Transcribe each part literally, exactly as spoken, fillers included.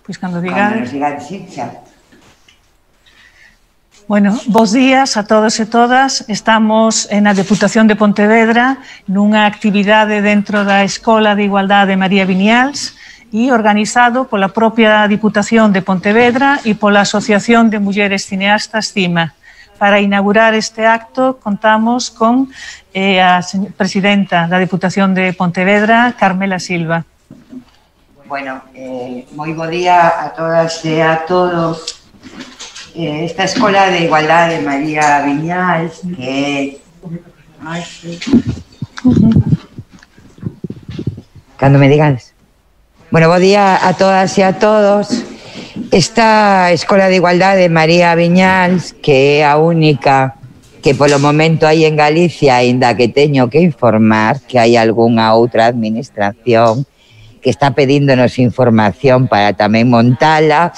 Pois cando digades. Cando nos digades, sí, xa. Bueno, bos días a todos e todas. Estamos na Deputación de Pontevedra nunha actividade dentro da Escola de Igualdade María Viñals e organizado pola propia Diputación de Pontevedra e pola Asociación de Mulleres Cineastas CIMA. Para inaugurar este acto contamos con eh, a presidenta da Deputación de Pontevedra, Carmela Silva. Bueno, eh, moi bo día a todas e a todos. Esta Escola de Igualdade María Viñals, que Ay, sí. Cando me digades. Bueno, bo día a todas e a todos. Esta Escola de Igualdade María Viñals, que é a única que polo momento hai en Galicia, aínda que teño que informar que hai algunha outra administración que está pedíndonos información para tamén montala,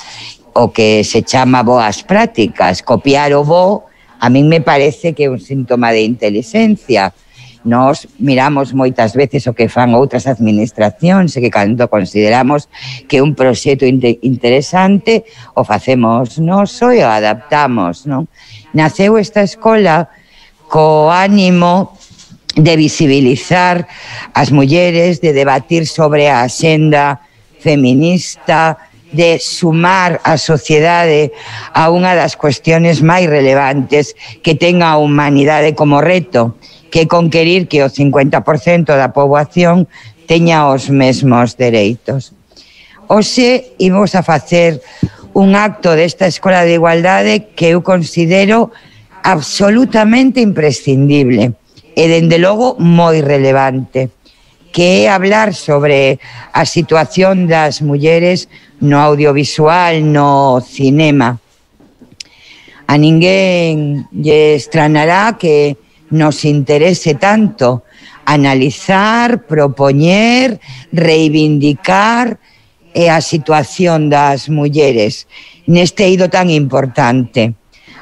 o que se chama boas prácticas. Copiar o bo, a min me parece que é un síntoma de inteligencia. Nos miramos moitas veces o que fan outras administracións e que cando consideramos que un proxecto interesante o facemos noso e o adaptamos, non? Naceu esta escola co ánimo de visibilizar as mulleres, de debatir sobre a axenda feminista, de sumar a sociedade a unha das cuestiones máis relevantes que ten a humanidade como reto, que é conquerir que o cincuenta por cento da poboación teña os mesmos dereitos. Hoxe imos a facer un acto desta Escola de Igualdade que eu considero absolutamente imprescindible e, dende logo, moi relevante, que é hablar sobre a situación das mulleres no audiovisual, no cinema. A ninguén lle estranará que nos interese tanto analizar, propoñer, reivindicar a situación das mulleres neste eido tan importante.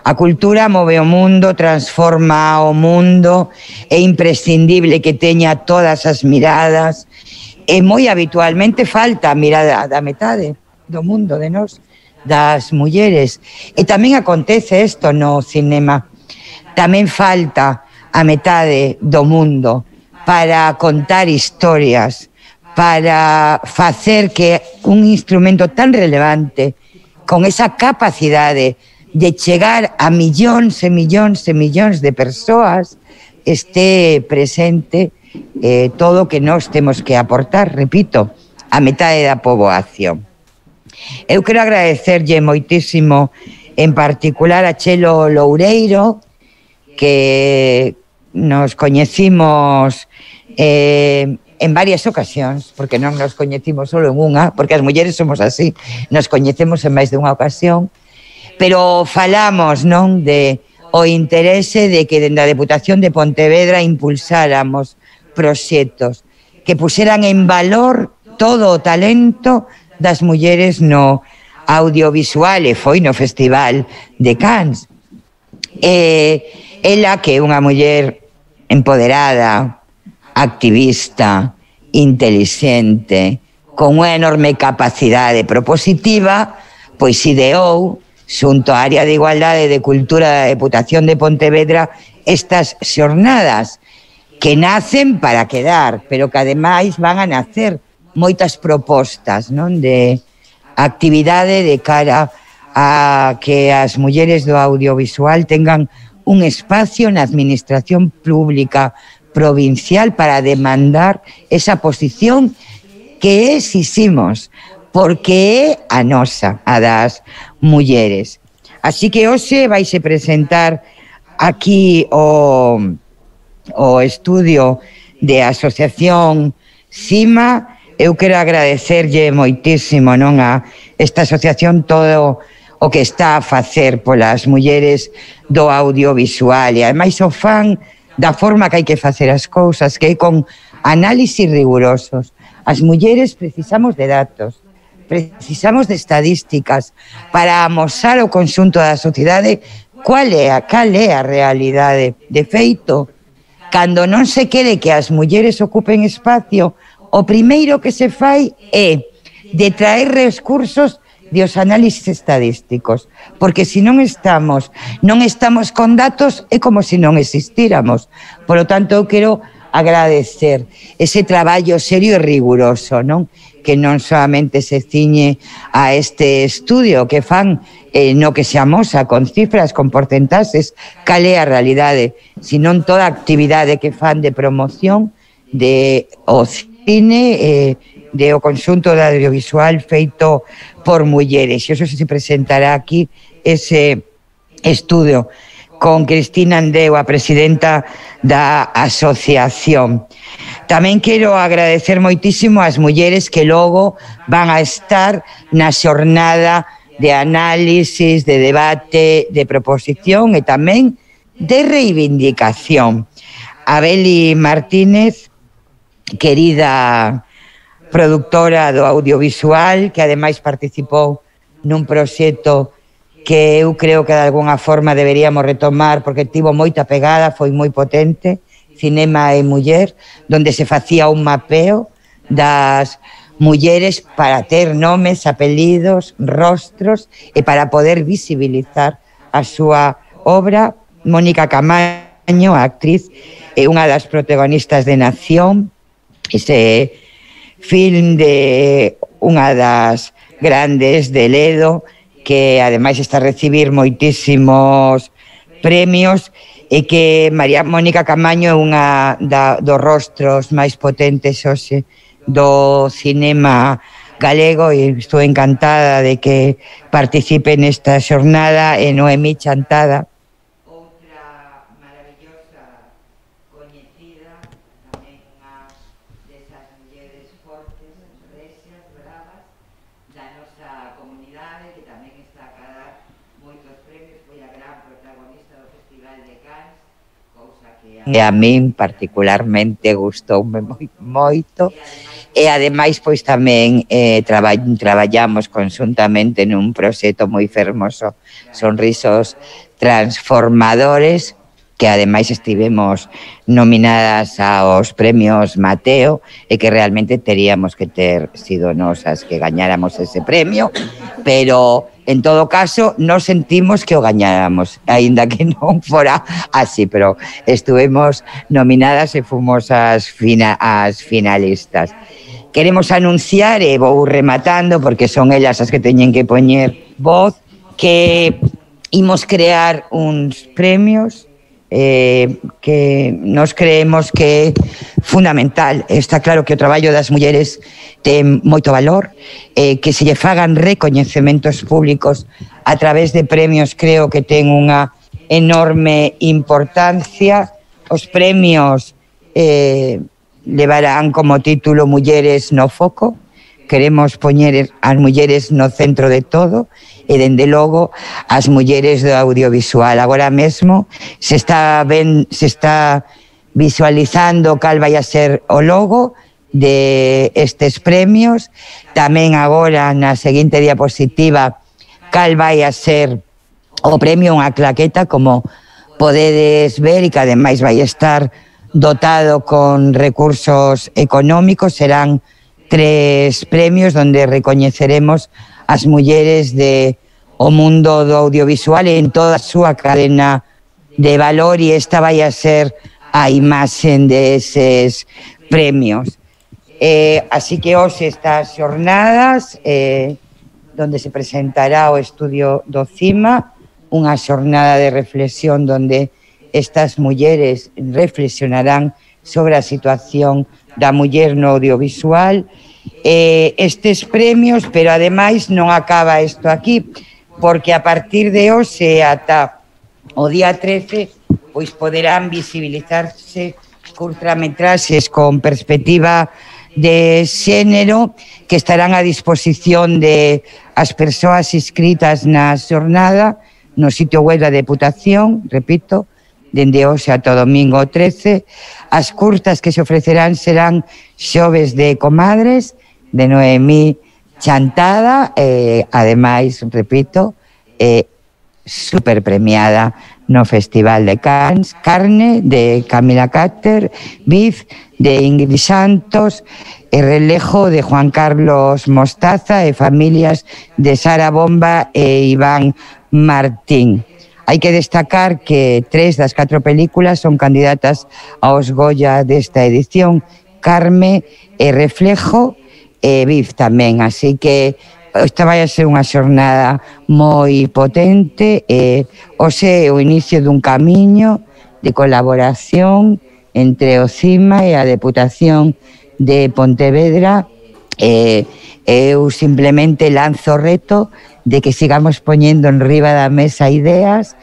A cultura move o mundo, transforma o mundo, é imprescindible que teña todas as miradas, e moi habitualmente falta a mirada da metade do mundo, de nós, das mulleres. E tamén acontece isto no cinema. Tamén falta a metade do mundo para contar historias, para facer que un instrumento tan relevante, con esa capacidade de chegar a millóns e millóns e millóns de persoas, este presente eh, todo o que nós temos que aportar, repito, a metade da poboación. Eu quero agradecerlle moitísimo, en particular a Chelo Loureiro, que nos coñecimos eh, en varias ocasións, porque non nos coñecimos solo en unha, porque as mulleres somos así, nos coñecemos en máis de unha ocasión, pero falamos, non, de o interese de que dende a Deputación de Pontevedra impulsáramos proxectos que puseran en valor todo o talento das mulleres no audiovisual, e foi no Festival de Cannes. E ela, que é unha muller empoderada, activista, inteligente, con unha enorme capacidade propositiva, pois ideou, xunto á Área de Igualdade e de Cultura da Deputación de Pontevedra, estas xornadas que nacen para quedar, pero que ademais van a nacer moitas propostas, non, de actividade de cara a que as mulleres do audiovisual tengan un espacio na administración pública provincial para demandar esa posición que exiximos, porque é a nosa, a das mulleres. Así que hoxe vaise presentar aquí o, o estudio de Asociación CIMA. Eu quero agradecerlle moitísimo, non, a esta asociación todo o que está a facer polas mulleres do audiovisual, e ademais o fan da forma que hai que facer as cousas, que é con análisis rigurosos. As mulleres precisamos de datos, precisamos de estadísticas para amosar ao conxunto da sociedade cual é a, cal é a realidade. De feito, cando non se quere que as mulleres ocupen espacio, o primeiro que se fai é de traer recursos de os análisis estadísticos, porque se non estamos, non estamos con datos, é como se non existíramos. Por lo tanto, eu quero agradecer ese traballo serio e riguroso, non? Que non solamente se ciñe a este estudio que fan eh, no que se amosa con cifras, con porcentaxes, cal é a realidade, senón toda a actividade que fan de promoción de o cine, eh, de o conxunto de audiovisual feito por mulleres. E iso se presentará aquí ese estudio con Cristina Andeu, a presidenta da asociación. Tamén quero agradecer moitísimo ás mulleres que logo van a estar na xornada de análisis, de debate, de proposición e tamén de reivindicación. A Beli Martínez, querida productora do audiovisual, que ademais participou nun proxecto que eu creo que de alguna forma deberíamos retomar porque tivo moita pegada, foi moi potente, Cinema e Muller, donde se facía un mapeo das mulleres para ter nomes, apelidos, rostros e para poder visibilizar a súa obra. Mónica Camaño, a actriz, é unha das protagonistas de Nación, ese film de unha das grandes de Ledo, que ademais está a recibir moitísimos premios e que María Mónica Camaño é unha da, dos rostros máis potentes hoxe do cinema galego e estou encantada de que participe nesta xornada. E Noemí Chantada, outra maravillosa coñecida, tamén unha desas mulleres fortes, rexas, bravas da nosa comunidade, que tamén está a cadar moitos premios, foi a gran protagonista do Festival de Cannes, cousa que a, e a min particularmente gustoume moi, moito. E ademais, pois tamén eh, traba, traballamos conjuntamente nun proxecto moi fermoso, Sonrisos Transformadores, que ademais estivemos nominadas aos premios Mateo e que realmente teríamos que ter sido nosas que gañáramos ese premio, pero en todo caso nos sentimos que o gañáramos, aínda que non fora así, pero estuvemos nominadas e fomos as, fina, as finalistas. Queremos anunciar, e vou rematando porque son elas as que teñen que poñer voz, que imos crear uns premios eh, que nos creemos que é fundamental. Está claro que o traballo das mulleres ten moito valor, eh, que se lle fagan recoñecementos públicos a través de premios, creo que ten unha enorme importancia. Os premios eh, levarán como título Mulleres no foco. Queremos poñer as mulleres no centro de todo e, dende logo, as mulleres do audiovisual. Agora mesmo se está, ben, se está visualizando cal vai a ser o logo de estes premios. Tamén agora, na seguinte diapositiva, cal vai a ser o premio, unha claqueta, como podedes ver, e que ademais vai estar dotado con recursos económicos. Serán tres premios donde recoñeceremos as mulleres de o mundo do audiovisual en toda a súa cadena de valor, e esta vai a ser a imaxen deses premios. Eh, así que hoxe estas xornadas eh, donde se presentará o estudio do CIMA, unha xornada de reflexión donde estas mulleres reflexionarán sobre a situación da muller no audiovisual. Eh, estes premios, pero ademais non acaba isto aquí, porque a partir de hoxe ata o día trece pois poderán visibilizarse curtametraxes con perspectiva de xénero que estarán a disposición de as persoas inscritas na xornada no sitio web da Deputación, repito, dende hoxe ata o domingo trece. As curtas que se ofrecerán serán Xoves de Comadres, de Noemí Chantada, e ademais, repito, eh, super premiada no Festival de Cannes, Carne, de Camila Cáter, Viz, de Ingrid Santos, e Relejo de Juan Carlos Mostaza e Familias de Sara Bomba e Iván Martín. Hai que destacar que tres das catro películas son candidatas aos Goya desta edición, Carme e Reflejo e Viv tamén, así que esta vai a ser unha xornada moi potente e hoxe é o inicio dun camiño de colaboración entre o CIMA e a Deputación de Pontevedra. E eu simplemente lanzo o reto de que sigamos poñendo en riba da mesa ideas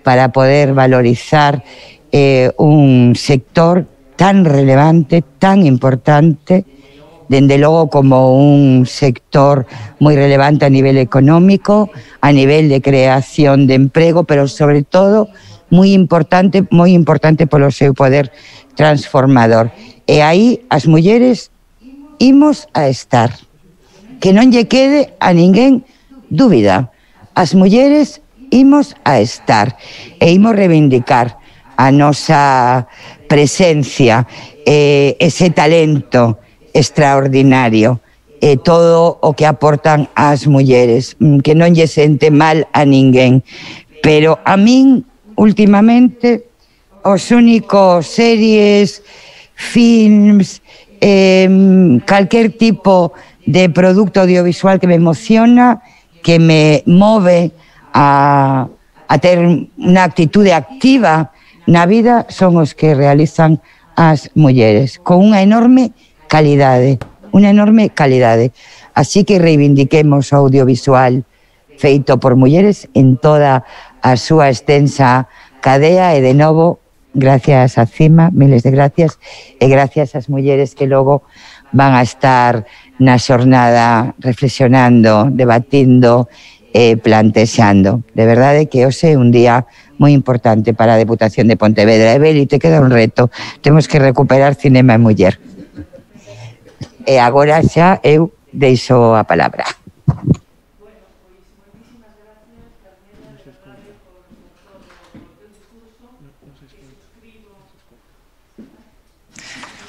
para poder valorizar eh, un sector tan relevante, tan importante, dende logo como un sector moi relevante a nivel económico, a nivel de creación de emprego, pero sobre todo moi importante, moi importante polo seu poder transformador. E aí as mulleres imos a estar. Que non lle quede a ninguén dúbida. As mulleres imos a estar e imos reivindicar a nosa presencia, eh, ese talento extraordinario, e todo o que aportan as mulleres, que non lle sente mal a ninguén. Pero a min, últimamente, os únicos series, films, eh, calquer tipo de producto audiovisual que me emociona, que me move a, a ter unha actitude activa na vida, son os que realizan as mulleres, con unha enorme calidade, unha enorme calidade. Así que reivindiquemos o audiovisual feito por mulleres en toda a súa extensa cadea e, de novo, gracias a CIMA, miles de gracias, e gracias ás mulleres que logo van a estar na xornada reflexionando, debatindo e plantexando. De verdade que hoxe é un día moi importante para a Deputación de Pontevedra. E, Beli, te queda un reto. Temos que recuperar cinema e muller. E agora xa eu deixo a palabra.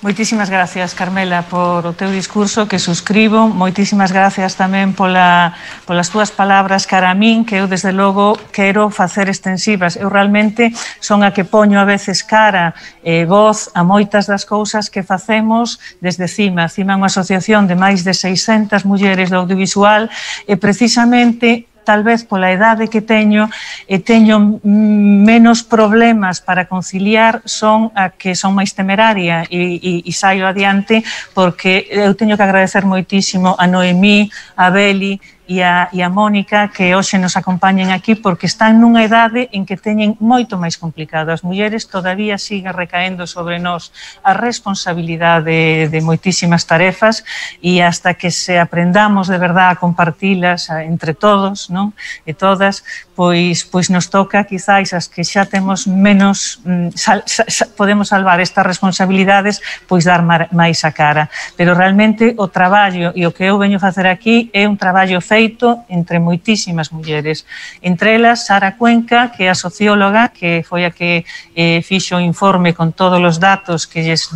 Moitísimas gracias, Carmela, por o teu discurso, que suscribo. Moitísimas gracias tamén pola, polas túas palabras cara a min, que eu, desde logo, quero facer extensivas. Eu realmente son a que poño a veces cara e voz a moitas das cousas que facemos desde CIMA. CIMA é unha asociación de máis de seiscentas mulleres do audiovisual e, precisamente, tal vez pola idade que teño e teño menos problemas para conciliar, son a que son máis temeraria e, e, e saio adiante, porque eu teño que agradecer moitísimo a Noemí, a Beli e a, e a Mónica, que hoxe nos acompañen aquí, porque están nunha idade en que teñen moito máis complicado. As mulleres todavía sigue recaendo sobre nós a responsabilidade de, de moitísimas tarefas, e hasta que se aprendamos de verdad a compartilas entre todos, non? E todas, pois, pois nos toca, quizáis, as que xa temos menos, sal, sal, podemos salvar estas responsabilidades, pois dar máis a cara. Pero realmente o traballo e o que eu veño facer aquí é un traballo feito entre moitísimas mulleres. Entre elas, Sara Cuenca, que é a socióloga, que foi a que eh, fixo o informe con todos os datos que lles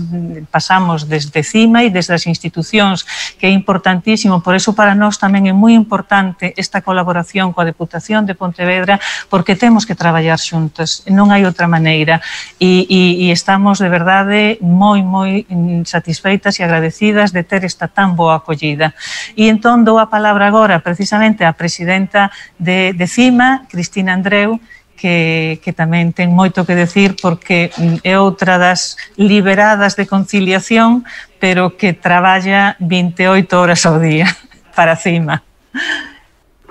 pasamos desde CIMA e desde as institucións, que é importantísimo. Por eso, para nós tamén é moi importante esta colaboración coa Deputación de Pontevedra, porque temos que traballar xuntas, non hai outra maneira. E, e, e estamos, de verdade, moi, moi satisfeitas e agradecidas de ter esta tan boa acollida. E entón dou a palabra agora, precisamente, a presidenta de, de CIMA, Cristina Andreu, que, que tamén ten moito que decir, porque é outra das liberadas de conciliación, pero que traballa vinte e oito horas ao día para CIMA.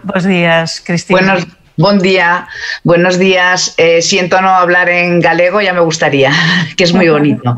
Bos días, Cristina. Buenos Buen día, buenos días. Eh, siento no hablar en galego, ya me gustaría, que es muy bonito.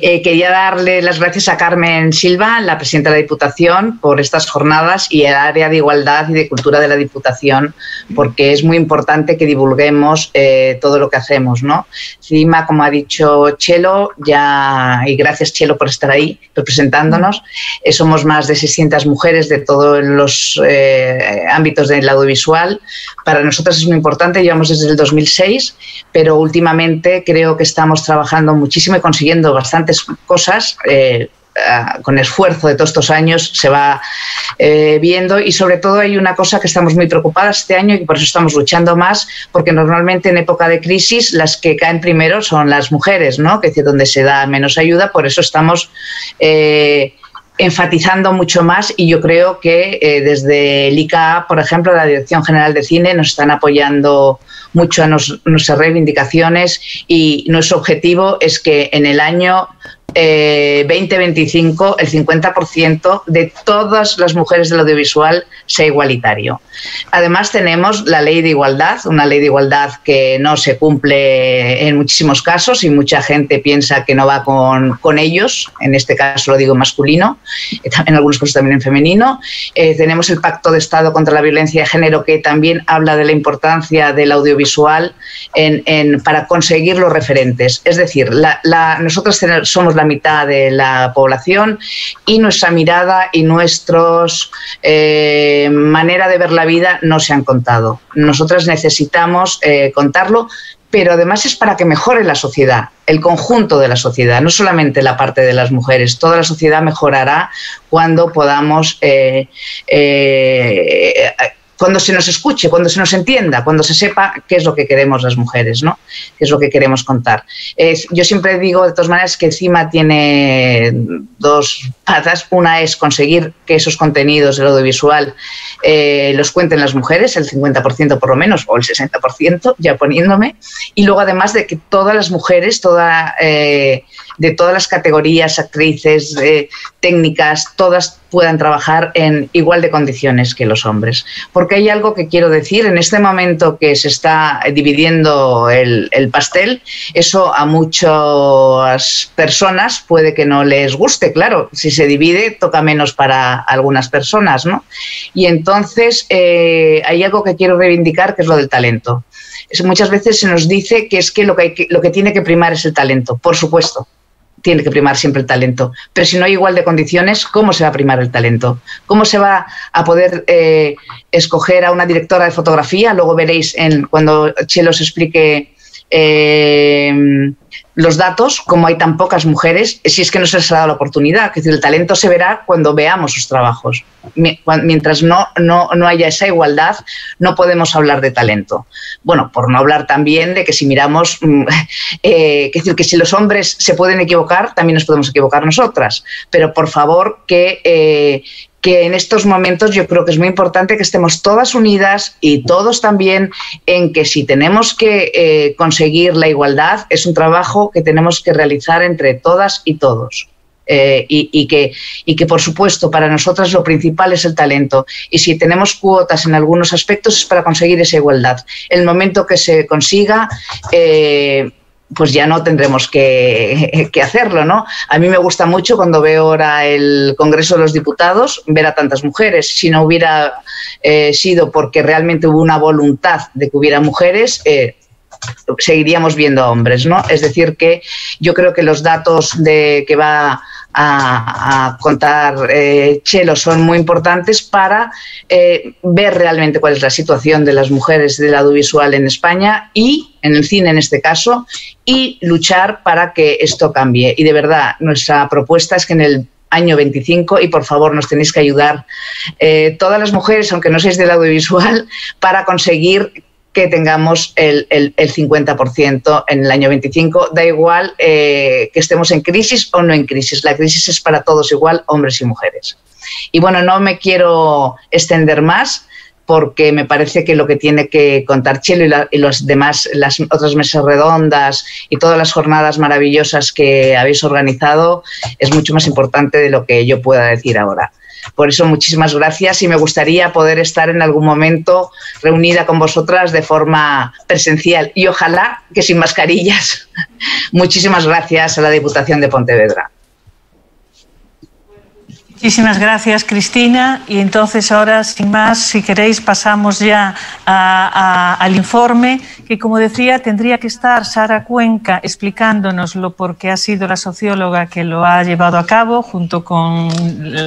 Eh, quería darle las gracias a Carmen Silva, la presidenta de la Diputación, por estas jornadas, y al área de Igualdad y de Cultura de la Diputación, porque es muy importante que divulguemos eh, todo lo que hacemos, ¿no? CIMA, como ha dicho Chelo, ya, y gracias, Chelo, por estar ahí representándonos, eh, somos más de seiscientas mujeres de todos los eh, ámbitos del audiovisual. Para nosotras es muy importante, llevamos desde el dos mil seis, pero últimamente creo que estamos trabajando muchísimo y consiguiendo bastantes cosas, eh, uh, con esfuerzo de todos estos años se va eh, viendo, y sobre todo hay una cosa que estamos muy preocupadas este año y por eso estamos luchando más, porque normalmente en época de crisis las que caen primero son las mujeres, ¿no? Que es donde se da menos ayuda, por eso estamos eh, enfatizando mucho más, y yo creo que eh, desde el I C A A, por ejemplo, la Dirección General de Cine, nos están apoyando mucho a nos, nuestras reivindicaciones, y nuestro objetivo es que en el año eh, veinte veinticinco el cincuenta por ciento de todas las mujeres del audiovisual sea igualitario. Además tenemos la ley de igualdad, una ley de igualdad que no se cumple en muchísimos casos y mucha gente piensa que no va con, con ellos, en este caso lo digo masculino, en algunos casos también en femenino. Eh, tenemos el Pacto de Estado contra la Violencia de Género, que también habla de la importancia del audiovisual en, en, para conseguir los referentes. Es decir, la, la, nosotros somos la mitad de la población, y nuestra mirada y nuestra eh, manera de ver la vida no se han contado. Nosotras necesitamos eh, contarlo, pero además es para que mejore la sociedad, el conjunto de la sociedad, no solamente la parte de las mujeres. Toda la sociedad mejorará cuando podamos... Eh, eh, cuando se nos escuche, cuando se nos entienda, cuando se sepa qué es lo que queremos las mujeres, ¿no? Qué es lo que queremos contar. Eh, yo siempre digo, de todas maneras, que CIMA tiene dos patas. Una es conseguir que esos contenidos del audiovisual eh, los cuenten las mujeres, el cincuenta por ciento por lo menos, o el sesenta por ciento, ya poniéndome. Y luego, además, de que todas las mujeres, toda, eh, de todas las categorías, actrices, eh, técnicas, todas puedan trabajar en igual de condiciones que los hombres. Porque hay algo que quiero decir, en este momento que se está dividiendo el, el pastel, eso a muchas personas puede que no les guste, claro, si se divide toca menos para algunas personas, ¿no? Y entonces eh, hay algo que quiero reivindicar, que es lo del talento. Es, muchas veces se nos dice que es que lo que, hay que lo que tiene que primar es el talento, por supuesto. Tiene que primar siempre el talento, pero si no hay igual de condiciones, ¿cómo se va a primar el talento? ¿Cómo se va a poder eh, escoger a una directora de fotografía? Luego veréis en, cuando Chelo os explique eh, los datos, cómo hay tan pocas mujeres, si es que no se les ha dado la oportunidad. Es decir, el talento se verá cuando veamos sus trabajos. Mientras no, no, no haya esa igualdad, no podemos hablar de talento. Bueno, por no hablar también de que si miramos, eh, es decir, que si los hombres se pueden equivocar, también nos podemos equivocar nosotras. Pero por favor, que... Eh, que en estos momentos yo creo que es muy importante que estemos todas unidas, y todos también, en que si tenemos que eh, conseguir la igualdad, es un trabajo que tenemos que realizar entre todas y todos. Eh, y, y, que, y que, por supuesto, para nosotras lo principal es el talento. Y si tenemos cuotas en algunos aspectos es para conseguir esa igualdad. El momento que se consiga... Eh, pues ya no tendremos que, que hacerlo, ¿no? A mí me gusta mucho cuando veo ahora el Congreso de los Diputados ver a tantas mujeres. Si no hubiera eh, sido porque realmente hubo una voluntad de que hubiera mujeres, eh, seguiríamos viendo a hombres, ¿no? Es decir, que yo creo que los datos de que va a, a contar eh, Chelo son muy importantes para eh, ver realmente cuál es la situación de las mujeres del audiovisual en España, y en el cine en este caso, y luchar para que esto cambie. Y de verdad, nuestra propuesta es que en el año veinticinco, y por favor nos tenéis que ayudar eh, todas las mujeres, aunque no seáis del audiovisual, para conseguir que tengamos el, el, el cincuenta por ciento en el año veinticinco. Da igual eh, que estemos en crisis o no en crisis. La crisis es para todos igual, hombres y mujeres. Y bueno, no me quiero extender más, porque me parece que lo que tiene que contar Chelo y, la, y los demás, las otras mesas redondas y todas las jornadas maravillosas que habéis organizado, es mucho más importante de lo que yo pueda decir ahora. Por eso, muchísimas gracias, y me gustaría poder estar en algún momento reunida con vosotras de forma presencial, y ojalá que sin mascarillas. Muchísimas gracias a la Diputación de Pontevedra. Muchísimas gracias, Cristina. Y entonces ahora, sin más, si queréis, pasamos ya a, a, al informe, que, como decía, tendría que estar Sara Cuenca explicándonoslo, porque ha sido la socióloga que lo ha llevado a cabo junto con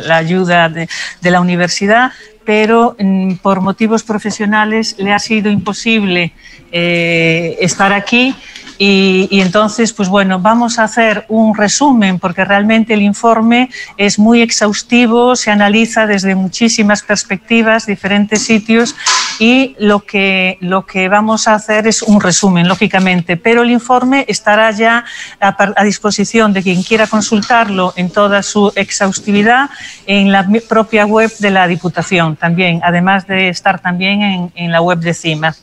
la ayuda de, de la universidad, pero por motivos profesionales le ha sido imposible eh, estar aquí. y, y entonces, pues bueno, vamos a hacer un resumen porque realmente el informe es muy exhaustivo, se analiza desde muchísimas perspectivas, diferentes sitios, y lo que, lo que vamos a hacer es un resumen, lógicamente, pero el informe estará ya a, a disposición de quien quiera consultarlo en toda su exhaustividad en la propia web de la Diputación también, además de estar también en, en la web de CIMA.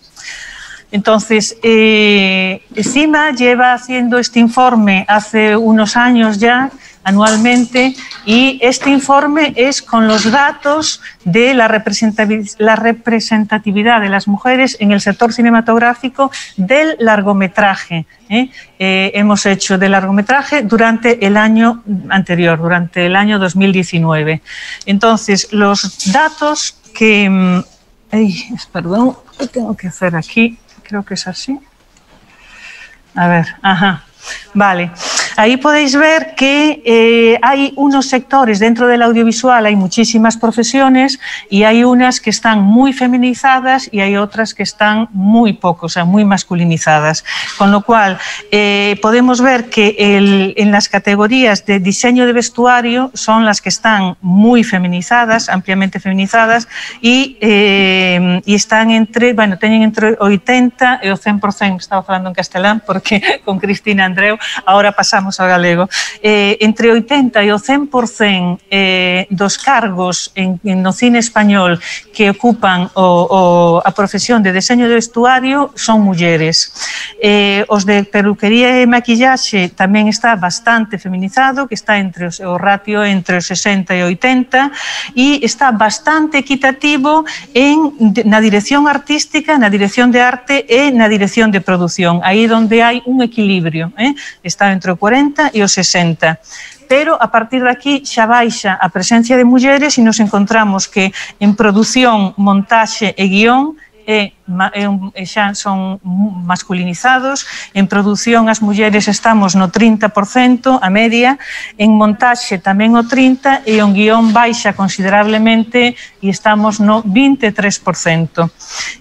Entonces, eh, CIMA lleva haciendo este informe hace unos años ya, anualmente, y este informe es con los datos de la representatividad, la representatividad de las mujeres en el sector cinematográfico del largometraje. ¿eh? Eh, hemos hecho de largometraje durante el año anterior, durante el año dos mil diecinueve. Entonces, los datos que... Ay, perdón, ¿qué tengo que hacer aquí? Creo que es así. A ver, ajá. Vale, ahí podéis ver que eh, hay unos sectores dentro del audiovisual, hay muchísimas profesiones y hay unas que están muy feminizadas y hay otras que están muy poco, o sea, muy masculinizadas. Con lo cual, eh, podemos ver que el, en las categorías de diseño de vestuario son las que están muy feminizadas, ampliamente feminizadas, y, eh, y están entre, bueno, tienen entre ochenta e o cien por cento, estaba falando en castelán porque con Cristina Andreu, ahora pasamos ao galego, eh, entre oitenta e o cen por cento eh, dos cargos en, en no cine español que ocupan o, o, a profesión de deseño de vestuario son mulleres. Eh, os de peluquería e maquillaxe tamén está bastante feminizado, que está entre os, o ratio entre os sesenta e oitenta, e está bastante equitativo en, na dirección artística, na dirección de arte e na dirección de produción, aí onde hai un equilibrio. Eh? Está entre o cuarenta e o sesenta. Pero a partir de aquí xa baixa a presencia de mulleres e nos encontramos que en produción, montaxe e guión e, e xa son masculinizados. En produción as mulleres estamos no trinta por cento, a media, en montaxe tamén o trinta por cento e en guión baixa considerablemente e estamos no vinte e tres por cento.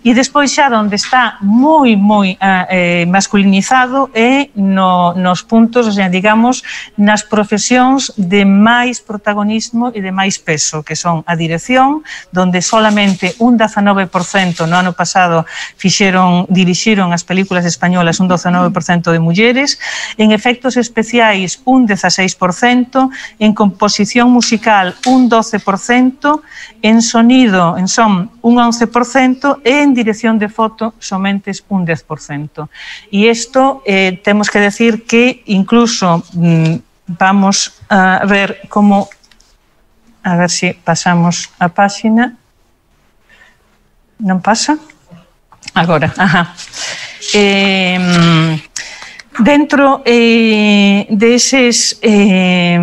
E despois xa onde está moi, moi eh, masculinizado é no, nos puntos, o sea, digamos, nas profesións de máis protagonismo e de máis peso, que son a dirección, donde solamente un dezanove por cento no ano pasado fixeron, dirixiron as películas españolas un dezanove por cento de mulleres, en efectos especiais un dezaseis por cento, en composición musical un doce por cento, en sonido, en son un once por cento e en dirección de foto somente un dez por cento. E isto eh, temos que decir que incluso mmm, vamos a ver como, a ver si pasamos a páxina, non pasa? Agora, ajá. Eh, dentro eh, deses, eh,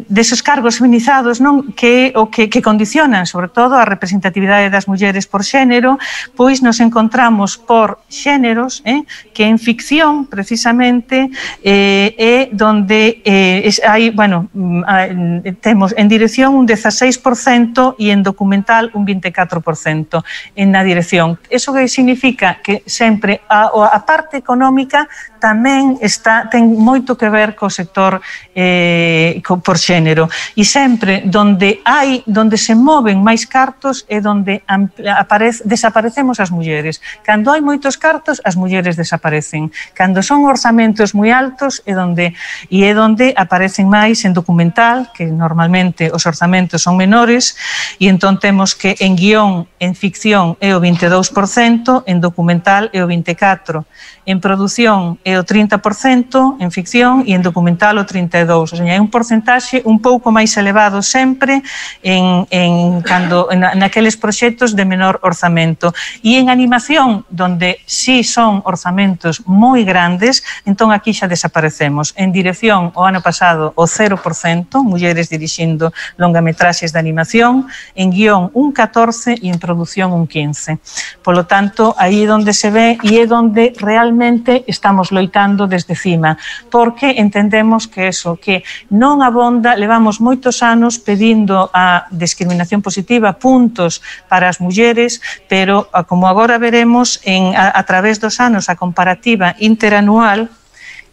deses cargos feminizados, non, que o que, que condicionan sobre todo a representatividade das mulleres por xénero, pois nos encontramos por xéneros, eh, que en ficción precisamente eh, é donde eh, es, hai, bueno, eh, temos en dirección un dezaseis por cento e en documental un vinte e catro por cento en na dirección. Eso que significa que sempre a, a parte económica tamén está, ten moito que ver co sector eh, co, por xénero, e sempre donde hai, donde se moven máis cartos é donde aparece, desaparecemos as mulleres. Cando hai moitos cartos, as mulleres desaparecen. Cando son orzamentos moi altos é donde, e é donde aparecen máis en documental, que normalmente os orzamentos son menores, e entón temos que en guión, en ficción é o vinte e dous por cento, en documental é o vinte e catro por cento, en produción é o trinta por cento, en ficción, e en documental o trinta e dous por cento. O sea, é un porcentaxe un pouco máis elevado sempre en, en, cando, en naqueles proxectos de menor orzamento. E en animación, donde sí son orzamentos moi grandes, entón aquí xa desaparecemos. En dirección, o ano pasado, o cero por cento, mulleres dirixindo longametraxes de animación, en guión un catorce por cento e en produción un quince por cento. Polo tanto, aí é onde se ve e é onde realmente estamos loitando desde CIMA, porque entendemos que eso, que non abonda, levamos moitos anos pedindo a discriminación positiva, puntos para as mulleres, pero como agora veremos en, a, a través dos anos a comparativa interanual,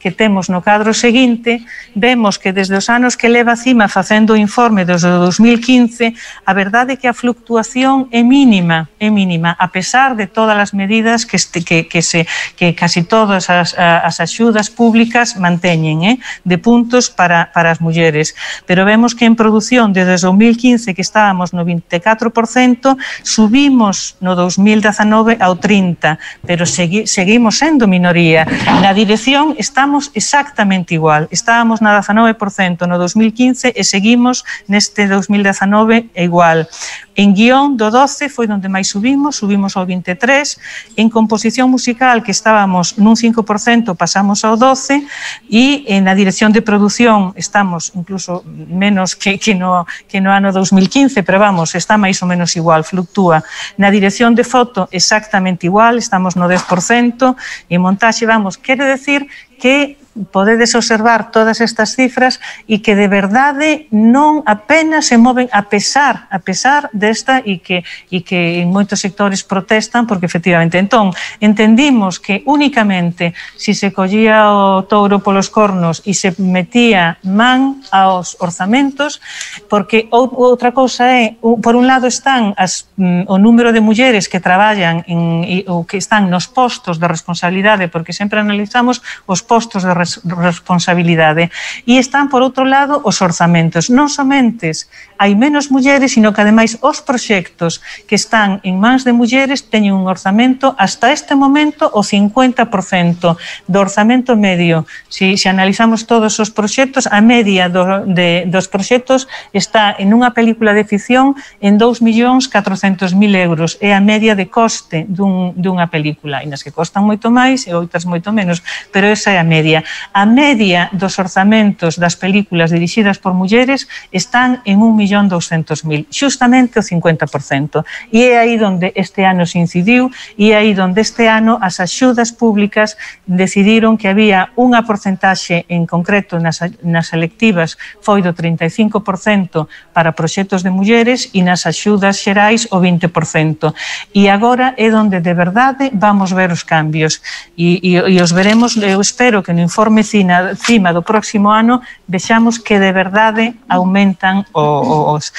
que temos no cadro seguinte, vemos que desde os anos que leva Cima facendo o informe desde o dos mil quince, a verdade é que a fluctuación é mínima, é mínima, a pesar de todas as medidas que, este, que, que, se, que casi todas as, as axudas públicas manteñen, eh, de puntos para, para as mulleres. Pero vemos que en produción desde o dos mil quince, que estábamos no vinte e catro por cento, subimos no dos mil dezanove ao trinta por cento, pero segui, seguimos sendo minoría. Na dirección estamos exactamente igual. Estábamos na dezanove por cento no dos mil quince e seguimos neste dos mil dezanove igual. En guión do doce foi onde máis subimos, subimos ao vinte e tres por cento. En composición musical, que estábamos nun cinco por cento, pasamos ao doce por cento, e na dirección de produción estamos incluso menos que, que, no, que no ano dos mil quince, pero vamos, está máis ou menos igual, fluctúa. Na dirección de foto exactamente igual, estamos no dez por cento, e montaxe, vamos, quere decir que podedes observar todas estas cifras e que de verdade non apenas se moven a pesar, a pesar desta e que, e que en moitos sectores protestan porque efectivamente. Entón, entendimos que únicamente si se collía o touro polos cornos e se metía man aos orzamentos, porque outra cousa é, por un lado están as, o número de mulleres que traballan en, ou que están nos postos de responsabilidade, porque sempre analizamos os postos de responsabilidade, e están por outro lado os orzamentos. Non somente hai menos mulleres, sino que ademais os proxectos que están en mans de mulleres teñen un orzamento hasta este momento o cincuenta por cento do orzamento medio. Si, si analizamos todos os proxectos, a media do, de, dos proxectos está en unha película de ficción en dous millóns catrocentos mil euros, é a media de coste dun, dunha película, e nas que costan moito máis e outras moito menos, pero esa é a media. A media dos orzamentos das películas dirixidas por mulleres están en un millón douscentos mil, xustamente o cincuenta por cento. E é aí onde este ano se incidiu, e é aí onde este ano as axudas públicas decidiron que había unha porcentaxe en concreto nas, nas selectivas foi do trinta e cinco por cento para proxectos de mulleres e nas axudas xerais o vinte por cento. E agora é onde de verdade vamos ver os cambios. E, e, e os veremos, eu espero que no informe Cima do próximo ano vexamos que de verdade aumentan os...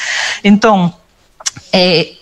Entón, eh,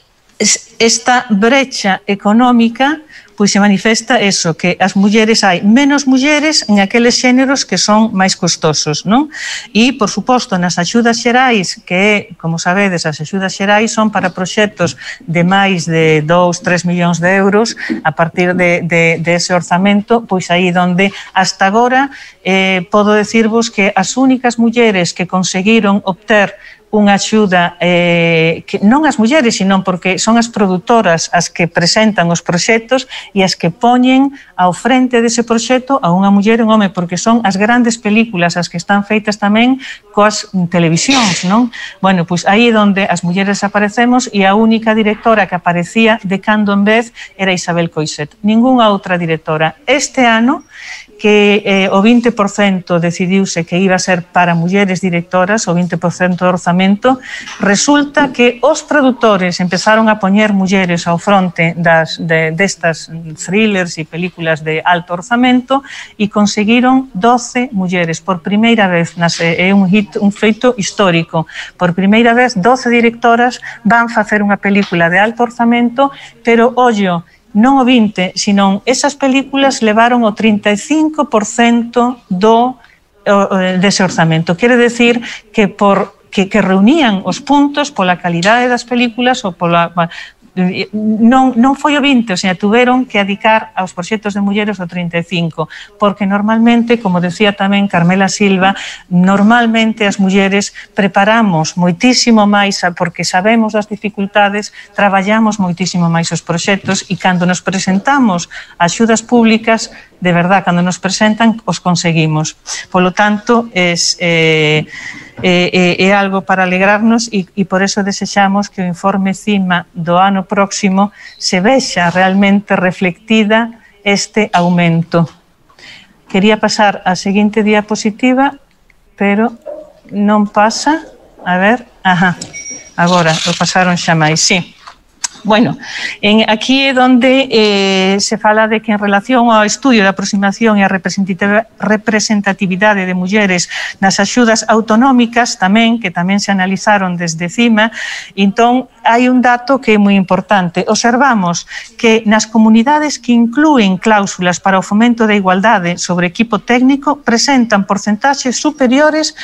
esta brecha económica pois se manifesta eso, que as mulleres hai menos mulleres en aqueles xéneros que son máis costosos, non? E, por suposto, nas axudas xerais, que, como sabedes, as axudas xerais son para proxectos de máis de dous, tres millóns de euros, a partir de, de, de ese orzamento, pois aí donde hasta agora eh, podo decirvos que as únicas mulleres que conseguiron obter unha axuda, eh, que non as mulleres, sino porque son as produtoras as que presentan os proxectos e as que poñen ao frente dese proxecto a unha muller e un home, porque son as grandes películas as que están feitas tamén coas televisións, non? Bueno, pois aí é onde as mulleres aparecemos, e a única directora que aparecía de cando en vez era Isabel Coixet, ningunha outra directora. Este ano, que eh, o vinte por cento decidiuse que iba a ser para mulleres directoras, o vinte por cento do orzamento, resulta que os produtores empezaron a poñer mulleres ao fronte das, de, destas thrillers e películas de alto orzamento e conseguiron doce mulleres por primeira vez. É un, hit, un feito histórico. Por primeira vez, doce directoras van facer unha película de alto orzamento, pero, ollo, non o vinte, senón esas películas levaron o trinta e cinco por cento do, dese orzamento. Quere decir que, por, que, que reunían os puntos pola calidade das películas ou pola... Non, non foi o vinte, o sea, tuveron que adicar aos proxectos de mulleres o trinta e cinco, porque normalmente, como decía tamén Carmela Silva, normalmente as mulleres preparamos moitísimo máis, porque sabemos das dificultades, traballamos moitísimo máis os proxectos, e cando nos presentamos a axudas públicas, de verdad, cando nos presentan, os conseguimos. Polo tanto, es... Eh, É, é algo para alegrarnos, e, e por eso desexamos que o informe Cima do ano próximo se vexa realmente reflectida este aumento. Quería pasar á seguinte diapositiva, pero non pasa. A ver, ajá, agora o pasaron xa máis, sí. Bueno, en, aquí é onde eh, se fala de que en relación ao estudio da aproximación e a representatividade de mulleres nas axudas autonómicas tamén, que tamén se analizaron desde cima, entón hai un dato que é moi importante. Observamos que nas comunidades que inclúen cláusulas para o fomento da igualdade sobre equipo técnico presentan porcentaxes superiores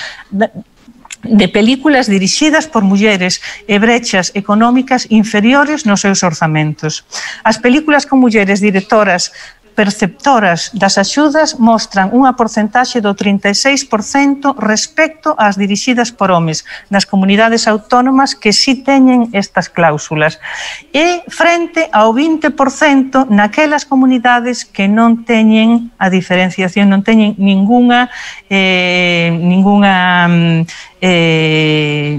de películas dirixidas por mulleres e brechas económicas inferiores nos seus orzamentos. As películas con mulleres directoras perceptoras das axudas mostran unha porcentaxe do trinta e seis por cento respecto ás dirixidas por homes nas comunidades autónomas que si teñen estas cláusulas e frente ao vinte por cento naquelas comunidades que non teñen a diferenciación, non teñen ningunha eh, ningunha eh,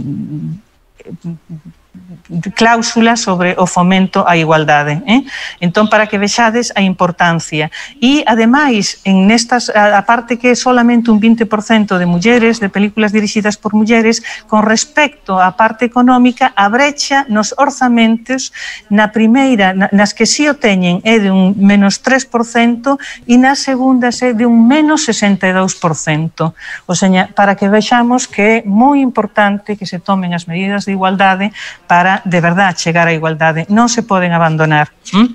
cláusula sobre o fomento á igualdade. Eh? Entón, para que vexades a importancia. E, ademais, en nestas, a parte que é solamente un vinte por cento de mulleres, de películas dirixidas por mulleres, con respecto á parte económica, a brecha nos orzamentos, na primeira, nas que si o teñen, é de un menos tres por cento e nas segundas é de un menos sesenta e dous por cento. O sea, para que vexamos que é moi importante que se tomen as medidas de igualdade para de verdade chegar á igualdade, non se poden abandonar. ¿Mm?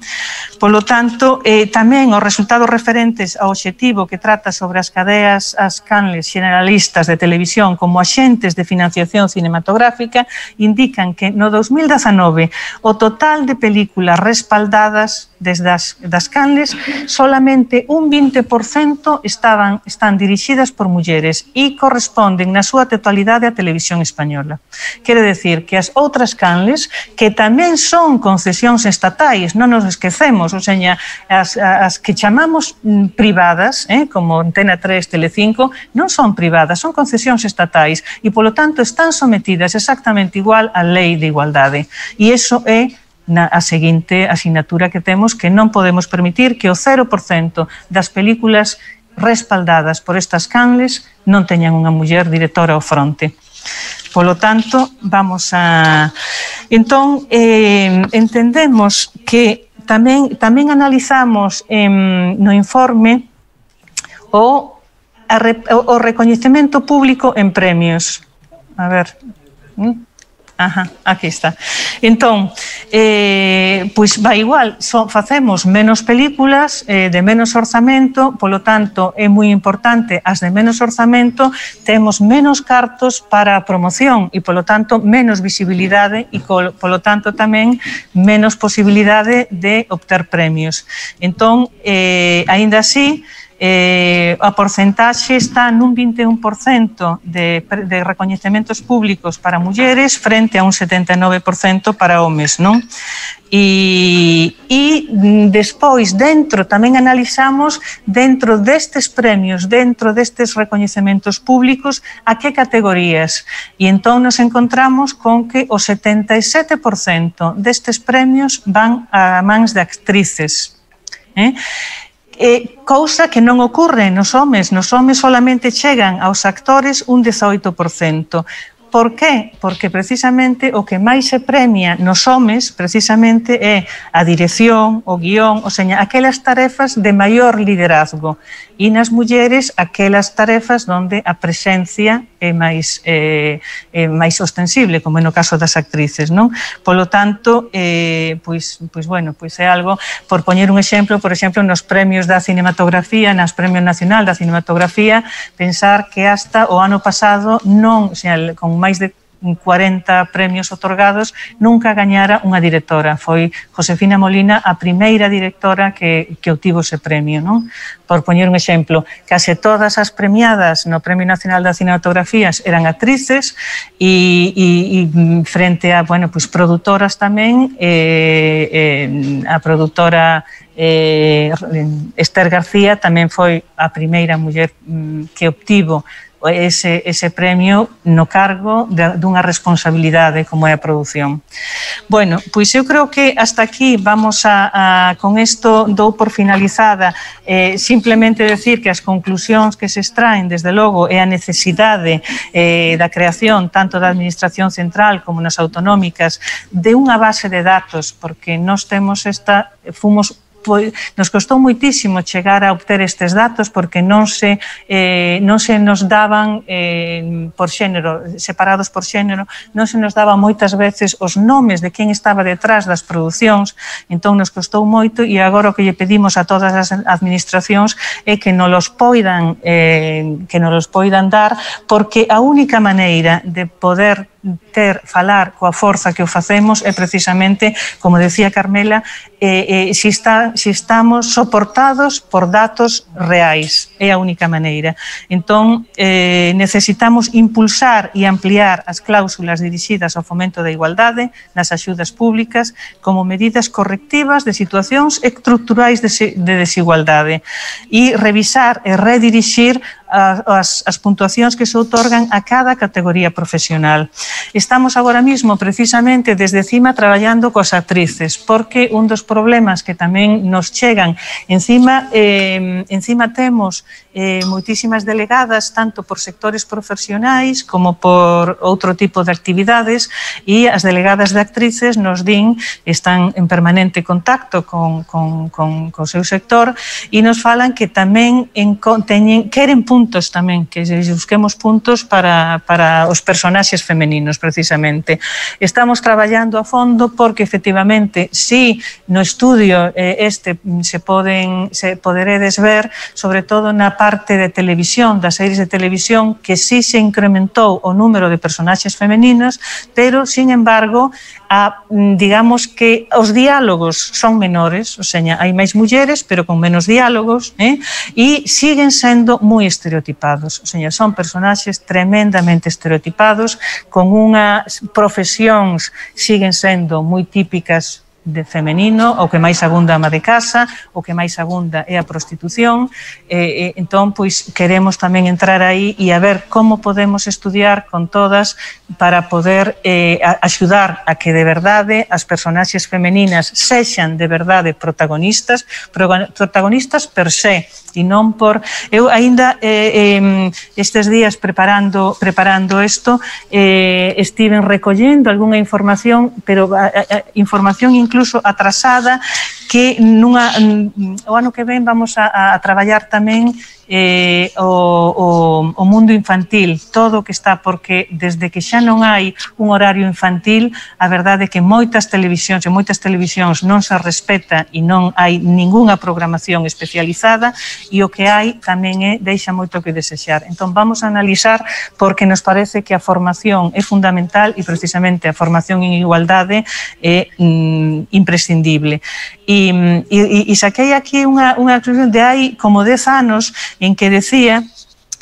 Polo tanto, eh, tamén os resultados referentes ao obxectivo que trata sobre as cadeas, as canles generalistas de televisión como axentes de financiación cinematográfica indican que no dos mil dezanove o total de películas respaldadas desde as das canles solamente un vinte por cento estaban, están dirixidas por mulleres e corresponden na súa totalidade á televisión española. Quere decir que as outras canles, que tamén son concesións estatais, non nos esquecemos, o sea, as, as que chamamos privadas, eh, como Antena tres, Telecinco, non son privadas, son concesións estatais e, polo tanto, están sometidas exactamente igual á lei de igualdade. E iso é na a seguinte asignatura que temos, que non podemos permitir que o cero por cento das películas respaldadas por estas canles non teñan unha muller directora ao fronte. Polo tanto, vamos a... Entón, eh, entendemos que tamén, tamén analizamos eh, no informe o, a, o recoñecemento público en premios. A ver... ¿Mm? Ajá, aquí está. Entón, eh, pois vai igual, so, facemos menos películas eh, de menos orzamento, polo tanto é moi importante as de menos orzamento, temos menos cartos para a promoción e polo tanto menos visibilidade e polo tanto tamén menos posibilidade de obter premios. Entón, eh, aínda así, Eh, a porcentaxe está nun vinte e un por cento de, de recoñecementos públicos para mulleres frente a un setenta e nove por cento para homes, non? E, e despois dentro tamén analizamos dentro destes premios, dentro destes recoñecementos públicos, a que categorías, e entón nos encontramos con que o setenta e sete por cento destes premios van a mans de actrices, eh? Eh, cousa que non ocorre nos homes, nos homes solamente chegan aos actores un dezoito por cento. Por qué? Porque precisamente o que máis se premia nos homes precisamente é a dirección, o guión, o sea, aquelas tarefas de maior liderazgo, e nas mulleres aquelas tarefas onde a presencia é máis, eh, é máis ostensible, como no caso das actrices, non? Polo tanto, eh, pois, pois, bueno, pois é algo, por poñer un exemplo, por exemplo, nos premios da cinematografía, nas Premios Nacional da Cinematografía, pensar que hasta o ano pasado non, o sea, con máis de cuarenta premios otorgados, nunca gañara unha directora. Foi Josefina Molina a primeira directora que, que obtivo ese premio, non? Por poñer un exemplo, case todas as premiadas no Premio Nacional das Cinematografías eran actrices e, e, e frente a, bueno, pues, produtoras tamén, eh, eh, a produtora eh, Esther García tamén foi a primeira muller que obtivo ese, ese premio no cargo de, dunha responsabilidade como é a produción. Bueno, pois eu creo que hasta aquí vamos a, a con isto dou por finalizada eh, simplemente decir que as conclusións que se extraen desde logo é a necesidade eh, da creación tanto da Administración Central como nas autonómicas de unha base de datos, porque nós temos esta, fomos nos costou moitísimo chegar a obter estes datos porque non se, eh, non se nos daban eh, por xénero, separados por xénero, non se nos daban moitas veces os nomes de quen estaba detrás das producións, entón nos costou moito e agora o que lle pedimos a todas as administracións é que nos los poidan, eh, que nos los poidan dar, porque a única maneira de poder ter, falar coa forza que o facemos é precisamente, como decía Carmela, eh, eh, si, está, si estamos soportados por datos reais, é a única maneira. Entón, eh, necesitamos impulsar e ampliar as cláusulas dirixidas ao fomento da igualdade nas axudas públicas como medidas correctivas de situacións estruturais de, de desigualdade e revisar e redirixir As, as puntuacións que se outorgan a cada categoría profesional. Estamos agora mismo precisamente desde cima traballando coas actrices, porque un dos problemas que tamén nos chegan encima, eh, encima temos eh, moitísimas delegadas tanto por sectores profesionais como por outro tipo de actividades e as delegadas de actrices nos din, están en permanente contacto con, con, con, con o seu sector e nos falan que tamén en, teñen, queren puntos tamén, que busquemos puntos para, para os personaxes femeninos, precisamente. Estamos traballando a fondo porque, efectivamente, si no estudio eh, este se poden, se poderedes ver, sobre todo na parte de televisión, das series de televisión, que si se incrementou o número de personaxes femeninos, pero, sin embargo, a, digamos que os diálogos son menores, o sea, hai máis mulleres, pero con menos diálogos, eh? E siguen sendo moi estereotipados, o sea, son personaxes tremendamente estereotipados, con unhas profesións siguen sendo moi típicas de femenino, o que máis abunda a ama de casa, o que máis abunda é a prostitución, e, e, entón, pois, queremos tamén entrar aí e a ver como podemos estudiar con todas para poder eh, axudar a que de verdade as personaxes femeninas sexan de verdade protagonistas, protagonistas per se, e non por... Eu aínda eh, eh, estes días preparando preparando isto, eh, estiven recollendo algunha información, pero a, a, información incluso atrasada, que nunha, o ano que ven vamos a, a traballar tamén eh, o, o, o mundo infantil, todo o que está, porque desde que xa non hai un horario infantil, a verdade é que moitas televisións e moitas televisións non se respeta e non hai ningunha programación especializada e o que hai tamén é, deixa moito que desexar. Entón vamos a analizar porque nos parece que a formación é fundamental e precisamente a formación en igualdade é mm, imprescindible. E, e, e saquei aquí unha, unha conclusión de hai como dez anos en que decía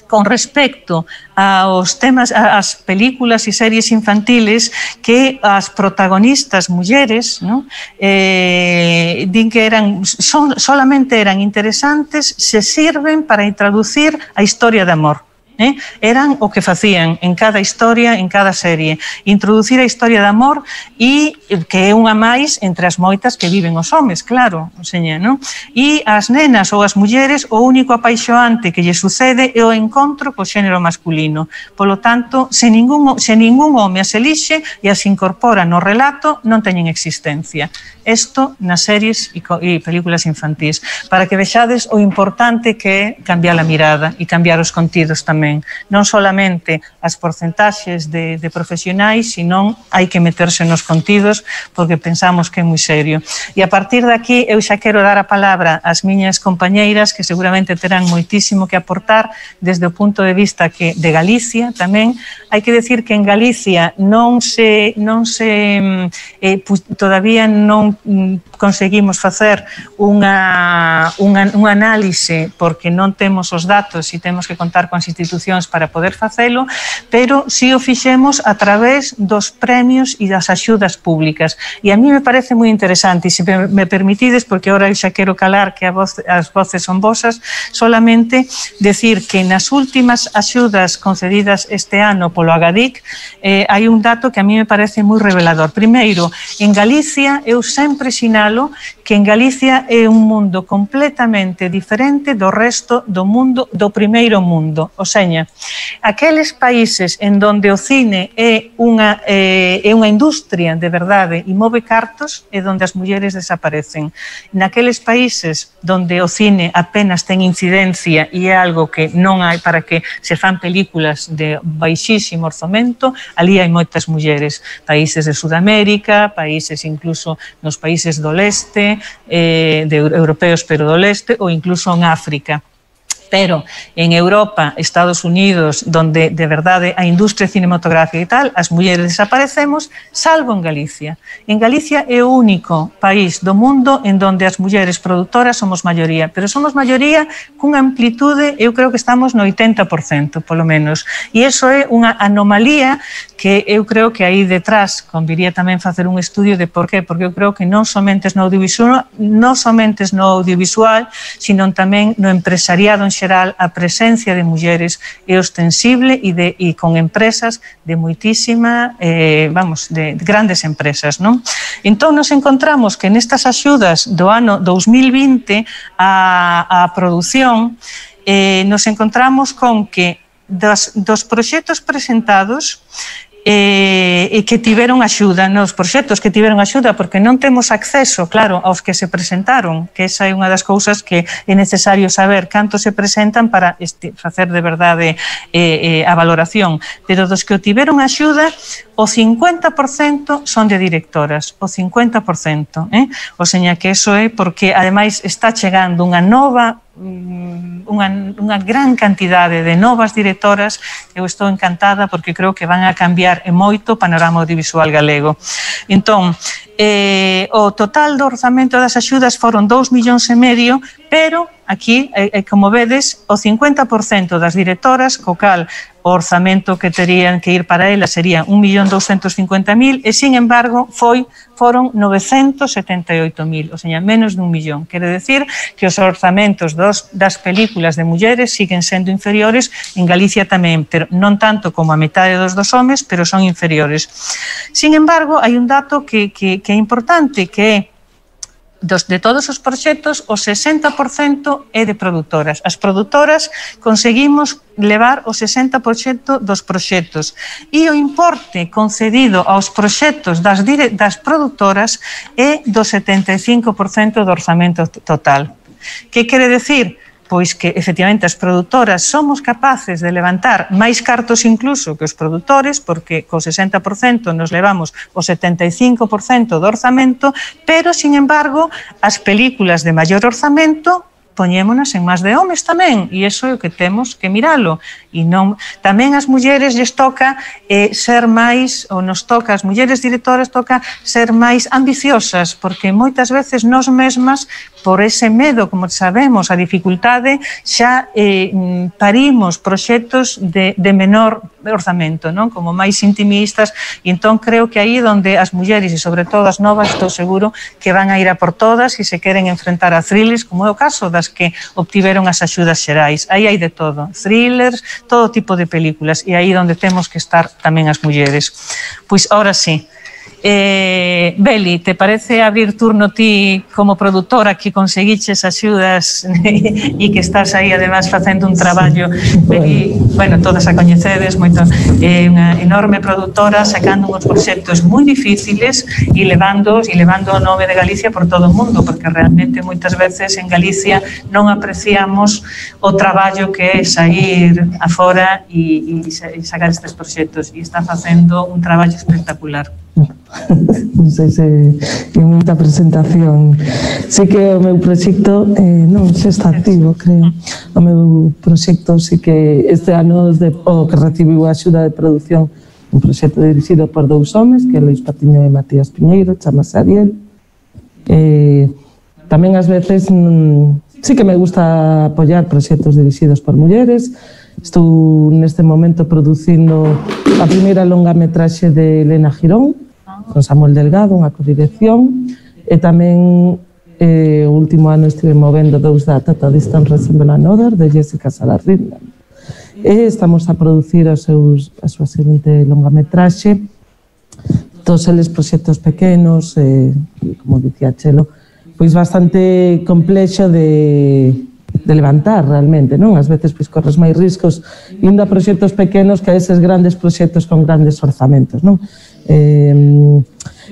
con respecto aos temas, ás películas e series infantiles, que as protagonistas mulleres, ¿no? eh, din que eran son, solamente eran interesantes se sirven para introducir a historia de amor. Eh? Eran o que facían en cada historia, en cada serie, introducir a historia de amor e que é unha máis entre as moitas que viven os homes, claro, seña, non? E as nenas ou as mulleres o único apaixoante que lle sucede é o encontro co xénero masculino. Polo tanto, se ningún, se ningún home as elixe e as incorpora no relato, non teñen existencia. Isto nas series e, e películas infantís, para que vexades o importante que é cambiar a mirada e cambiar os contidos tamén. Non solamente as porcentaxes de, de profesionais, senón hai que meterse nos contidos porque pensamos que é moi serio. E a partir de aquí eu xa quero dar a palabra ás miñas compañeiras que seguramente terán moitísimo que aportar desde o punto de vista que de Galicia tamén, hai que decir que en Galicia non se, non se eh, pues, todavía non conseguimos facer unha, unha, un análise porque non temos os datos e temos que contar con as institucións para poder facelo, pero si o fixemos a través dos premios e das axudas públicas. E a mí me parece moi interesante, e se me permitides, porque agora xa quero calar que a voz, as voces son vosas, solamente decir que nas últimas axudas concedidas este ano polo Agadic eh, hai un dato que a mí me parece moi revelador. Primeiro, en Galicia eu sempre sinalo que en Galicia é un mundo completamente diferente do resto do mundo, do primeiro mundo. O seña, aqueles países en donde o cine é unha, eh, é unha industria de verdade e move cartos é donde as mulleres desaparecen. Naqueles países donde o cine apenas ten incidencia e é algo que non hai para que se fan películas de baixísimo orzamento, ali hai moitas mulleres. Países de Sudamérica, países incluso nos países do leste, eh, de europeos pero do leste, ou incluso en África. Pero en Europa, Estados Unidos, donde de verdade a industria cinematográfica e tal, as mulleres desaparecemos, salvo en Galicia. En Galicia é o único país do mundo en donde as mulleres produtoras somos maioría, pero somos maioría cunha amplitude, eu creo que estamos no oitenta por cento, polo menos. E iso é unha anomalía que eu creo que aí detrás conviría tamén facer un estudio de por qué, porque eu creo que non somente no audiovisual, non somente no audiovisual, sino tamén no empresariado en xeral, a presencia de mulleres é ostensible e, de, e con empresas de moitísima, eh, vamos, de, de grandes empresas, non? Entón, nos encontramos que nestas axudas do ano dous mil vinte a, a produción, eh, nos encontramos con que dos, dos proxectos presentados e eh, que tiveron axuda, nos proxectos que tiveron axuda, porque non temos acceso, claro, aos que se presentaron, que esa é unha das cousas que é necesario saber cantos se presentan para este, facer de verdade eh, eh, a valoración, pero dos que o tiveron axuda, o cincuenta por cento son de directoras, o cincuenta por cento, eh? O seña que eso é porque, ademais, está chegando unha nova Unha, unha gran cantidade de novas directoras. Eu estou encantada porque creo que van a cambiar e moito o panorama audiovisual galego. Entón, eh, o total do orzamento das axudas foron dous millóns e medio, pero aquí, eh, como vedes, o cincuenta por cento das directoras, co cal o orzamento que terían que ir para elas sería un millón doscientos cincuenta mil e, sin embargo, foi, foron novecentos setenta e oito mil, ou seja, menos dun millón. Quere decir que os orzamentos dos, das películas de mulleres siguen sendo inferiores, en Galicia tamén, pero non tanto como a metade dos dos homes, pero son inferiores. Sin embargo, hai un dato que, que, que é importante, que é Dos, de todos os proxectos, o sesenta por cento é de produtoras. As produtoras conseguimos levar o sesenta por cento dos proxectos e o importe concedido aos proxectos das, dire, das produtoras é do setenta e cinco por cento do orzamento total. Que quere decir? Pois que, efectivamente, as produtoras somos capaces de levantar máis cartos incluso que os produtores, porque co sesenta por cento nos levamos o setenta e cinco por cento do orzamento, pero, sin embargo, as películas de maior orzamento poñémonas en máis de homes tamén, e iso é o que temos que miralo. E non, tamén as mulleres lles toca eh, ser máis, ou nos toca, as mulleres directoras toca ser máis ambiciosas, porque moitas veces nós mesmas, por ese medo, como sabemos, a dificultade, xa eh, parimos proxectos de, de menor orzamento, non? Como máis intimistas, e entón creo que aí onde as mulleres, e sobre todo as novas, estou seguro que van a ir a por todas e se queren enfrentar a thrillers, como é o caso das que obtiveron as axudas xerais. Aí hai de todo, thrillers, todo tipo de películas, e aí onde temos que estar tamén as mulleres. Pois, ahora sí. Eh, Beli, te parece abrir turno ti como produtora que conseguiches axudas e que estás aí además facendo un traballo, Beli, bueno, todas a coñecedes moito, é eh, unha enorme produtora sacando uns proxectos moi difíciles e levándoos e levando o nome de Galicia por todo o mundo, porque realmente moitas veces en Galicia non apreciamos o traballo que é sair afora e, e sacar estes proxectos, e está facendo un traballo espectacular. Non sei se é moita presentación. Sí que o meu proxecto eh, non se está activo, creo. O meu proxecto sí que este ano de, o que recibiu a axuda de produción un proxecto dirixido por dous homes, que é Luís Patiño e Matías Piñeiro, chamase Ariel. Eh, tamén ás veces mm, sí que me gusta apoiar proxectos dirixidos por mulleres. Estou neste momento producindo a primeira longametraxe de Elena Girón, con Samuel Delgado, unha codirección, e tamén eh, o último ano estive movendo dous da Total Distance Resemble Another, de Jessica Salarrinda. E estamos a producir os seus, a súa seguinte longametraxe, todos eles proxectos pequenos, eh, como dicía Chelo, pois bastante complexo de, de levantar realmente, non? Ás veces pois corres máis riscos indo a proxectos pequenos que a eses grandes proxectos con grandes orzamentos, non? Eh,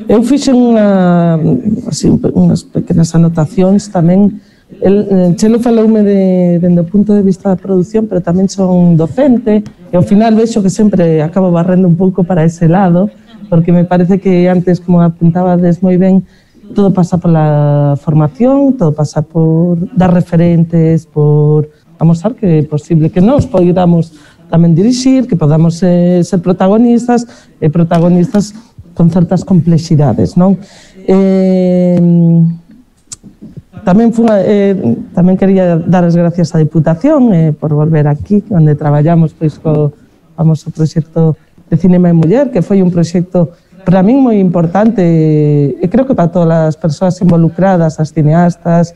eu fixe unha, así, unhas pequenas anotacións tamén. El, Chelo faloume de, dende o punto de vista da produción, pero tamén son docente e ao final vexo que sempre acabo barrendo un pouco para ese lado, porque me parece que antes, como apuntabades moi ben, todo pasa pola formación, todo pasa por dar referentes, por amosar que é posible que nos poidamos tamén dirixir, que podamos eh, ser protagonistas e protagonistas con certas complexidades, non? Eh, tamén, fun, eh, tamén quería dar as gracias á Diputación eh, por volver aquí, onde traballamos pois co famoso proxecto de Cinema e Muller, que foi un proxecto para min moi importante e creo que para todas as persoas involucradas, as cineastas,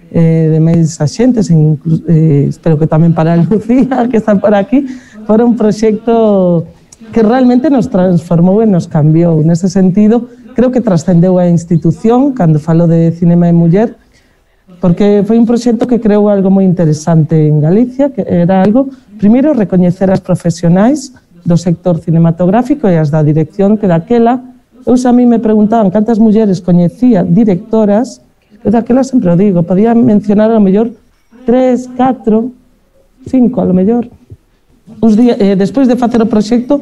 eh, de máis axentes, eh, espero que tamén para a Lucía, que está por aquí, fora un proxecto que realmente nos transformou e nos cambiou. Nese sentido, creo que trascendeu a institución cando falo de Cinema e Muller, porque foi un proxecto que creou algo moi interesante en Galicia, que era algo, primeiro, recoñecer as profesionais do sector cinematográfico e as da dirección, que daquela, eu xa a mí me preguntaban cantas mulleres coñecía directoras. Eu daquela sempre o digo, podía mencionar a lo mellor tres, catro, cinco, a lo mellor. Uns días, eh, despois de facer o proxecto,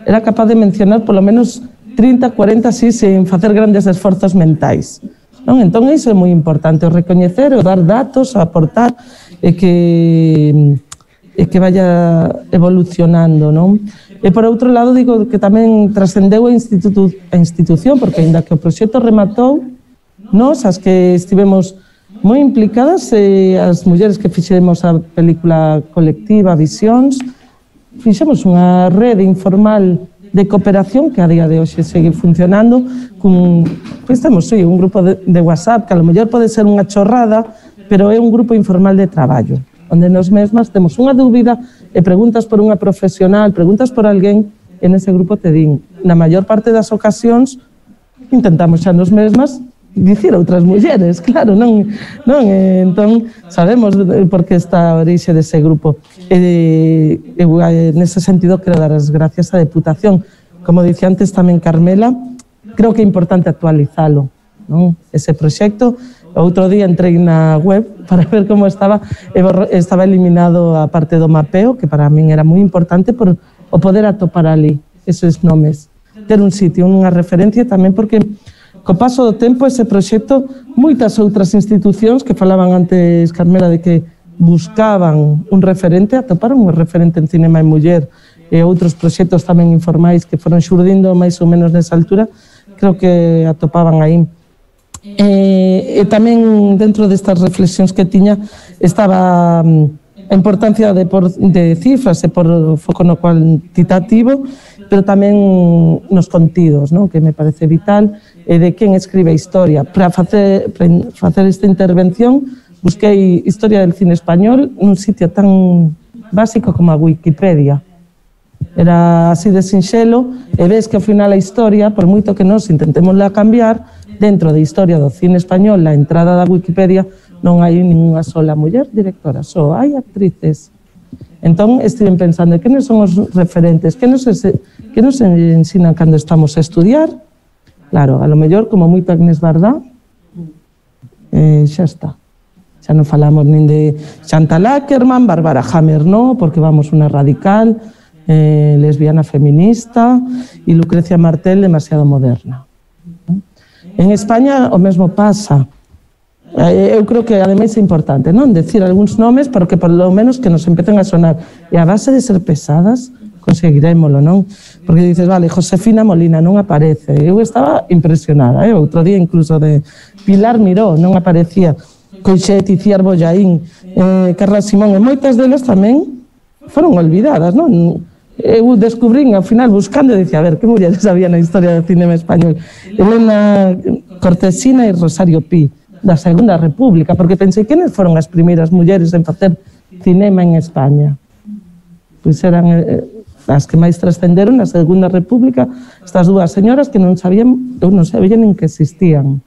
era capaz de mencionar polo menos trinta, cuarenta, así, sen facer grandes esforzos mentais. Non? Entón, iso é moi importante, o recoñecer, o dar datos, o aportar, e que, e que vaya evolucionando, non? E, por outro lado, digo que tamén trascendeu a, institutu a institución, porque, ainda que o proxecto rematou, nos, as que estivemos moi implicadas, eh, as mulleres que fixemos a película colectiva Visións, fixemos unha rede informal de cooperación que a día de hoxe segue funcionando, con, pois temos sí, un grupo de, de WhatsApp que a lo mellor pode ser unha chorrada, pero é un grupo informal de traballo, onde nos mesmas temos unha dúbida e preguntas por unha profesional, preguntas por alguén, e nese grupo te din, na maior parte das ocasións, intentamos xa nos mesmas dicir outras mulleres, claro, non, non, eh, entón sabemos por que está a orixe dese grupo. E, eu, nese sentido, quero dar as gracias á Deputación. Como dicía antes tamén Carmela, creo que é importante actualizalo, non? Ese proxecto. Outro día entrei na web para ver como estaba, e estaba eliminado a parte do mapeo, que para min era moi importante por o poder atopar ali esos nomes, ter un sitio, unha referencia tamén, porque co paso do tempo, ese proxecto, moitas outras institucións que falaban antes, Carmela, de que buscaban un referente, atoparon un referente en Cinema e Muller, e outros proxectos tamén informais que foron xurdindo máis ou menos nesa altura, creo que atopaban aí. E, e tamén dentro destas reflexións que tiña estaba a importancia de, por, de cifras e por foco no cuantitativo, pero tamén nos contidos, non? Que me parece vital, e de quen escribe a historia. Para facer, para facer esta intervención, busquei Historia del Cine Español nun sitio tan básico como a Wikipedia. Era así de sinxelo, e ves que ao final a historia, por moito que nos intentémosla cambiar, dentro de Historia do Cine Español, na entrada da Wikipedia, non hai ninguna sola muller directora, só hai actrices. Entón, estiven pensando, que non son os referentes, que nos, que nos ensinan cando estamos a estudiar? Claro, a lo mellor, como moito Agnès Varda, eh, xa está. Xa non falamos nin de Chantal Ackerman, Bárbara Hammer, no, porque vamos unha radical, eh, lesbiana feminista, e Lucrecia Martel, demasiado moderna. En España o mesmo pasa. Eu creo que ademais é importante, non? Decir algúns nomes para que por lo menos que nos empecen a sonar. E a base de ser pesadas conseguirémolo, non? Porque dices, vale, Josefina Molina non aparece. Eu estaba impresionada, eh? Outro día incluso de Pilar Miró non aparecía. Coixet, Iciar Bollaín, eh, Carla Simón, e moitas delas tamén foron olvidadas, non? Eu descubrín ao final buscando e dicía, a ver, que mulleres había na historia do cinema español? Elena Cortesina e Rosario Pi, da Segunda República, porque pensei, quenes foron as primeiras mulleres en facer cinema en España? Pois eran eh, as que máis trascenderon na Segunda República, estas dúas señoras que non sabían, eu non sabía nin que existían.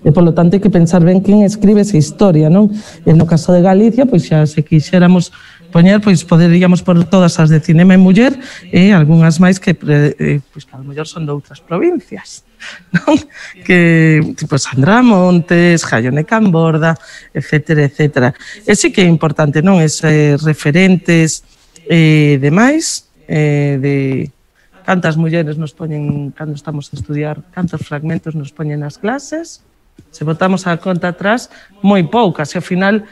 E, polo tanto, hai que pensar ben quen escribe esa historia, non? E no caso de Galicia, pois xa se quixéramos poñer, pois poderíamos por todas as de cinema e muller e algunhas máis que, eh, pois, que a lo mellor son de outras provincias, non? Que, tipo, Sandra Montes, Jaione Camborda, etcétera, etcétera. E sí que é importante, non? Ese referentes eh, demais, eh, de cantas mulleres nos poñen, cando estamos a estudiar, cantos fragmentos nos poñen nas clases. Se botamos a conta atrás, moi poucas, e ao final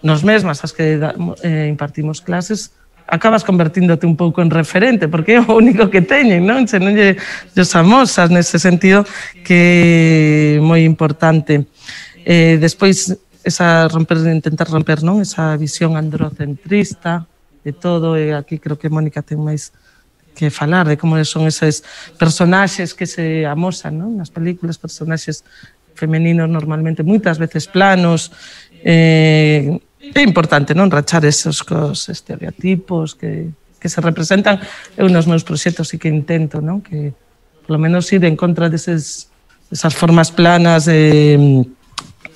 nos mesmas as que eh, impartimos clases acabas convertíndote un pouco en referente, porque é o único que teñen, non? Se non lle, lle famosas nese sentido, que é moi importante. Eh, despois, esa romper, intentar romper, non? Esa visión androcentrista de todo, e aquí creo que Mónica ten máis que falar de como son esos personaxes que se amosan, non? Nas películas, personaxes femeninos normalmente moitas veces planos. Eh, é importante, non? Rachar esos cos estereotipos que, que se representan. Eu nos meus proxectos sí que intento, non? Que polo menos ir en contra deses, esas formas planas de,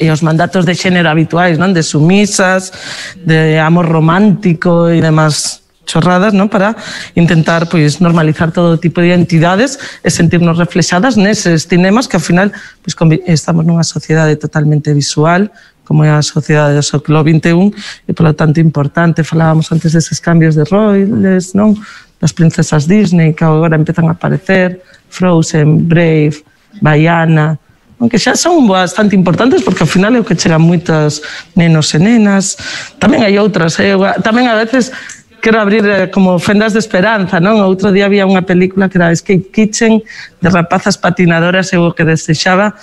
e os mandatos de xénero habituais, non? De sumisas, de amor romántico e demás chorradas, non? Para intentar, pois, normalizar todo tipo de identidades e sentirnos reflexadas neses cinemas que ao final, pois, estamos nunha sociedade totalmente visual, como é a sociedade do século vinte e un, e polo tanto importante. Falábamos antes deses cambios de roles, non? Das princesas Disney que agora empezan a aparecer, Frozen, Brave, Baiana, aunque xa son bastante importantes porque ao final é o que chegan moitas nenos e nenas. Tamén hai outras, eh? Tamén a veces quero abrir eh, como fendas de esperanza, non? Outro día había unha película que era Escape Kitchen, de rapazas patinadoras, e o que desexaba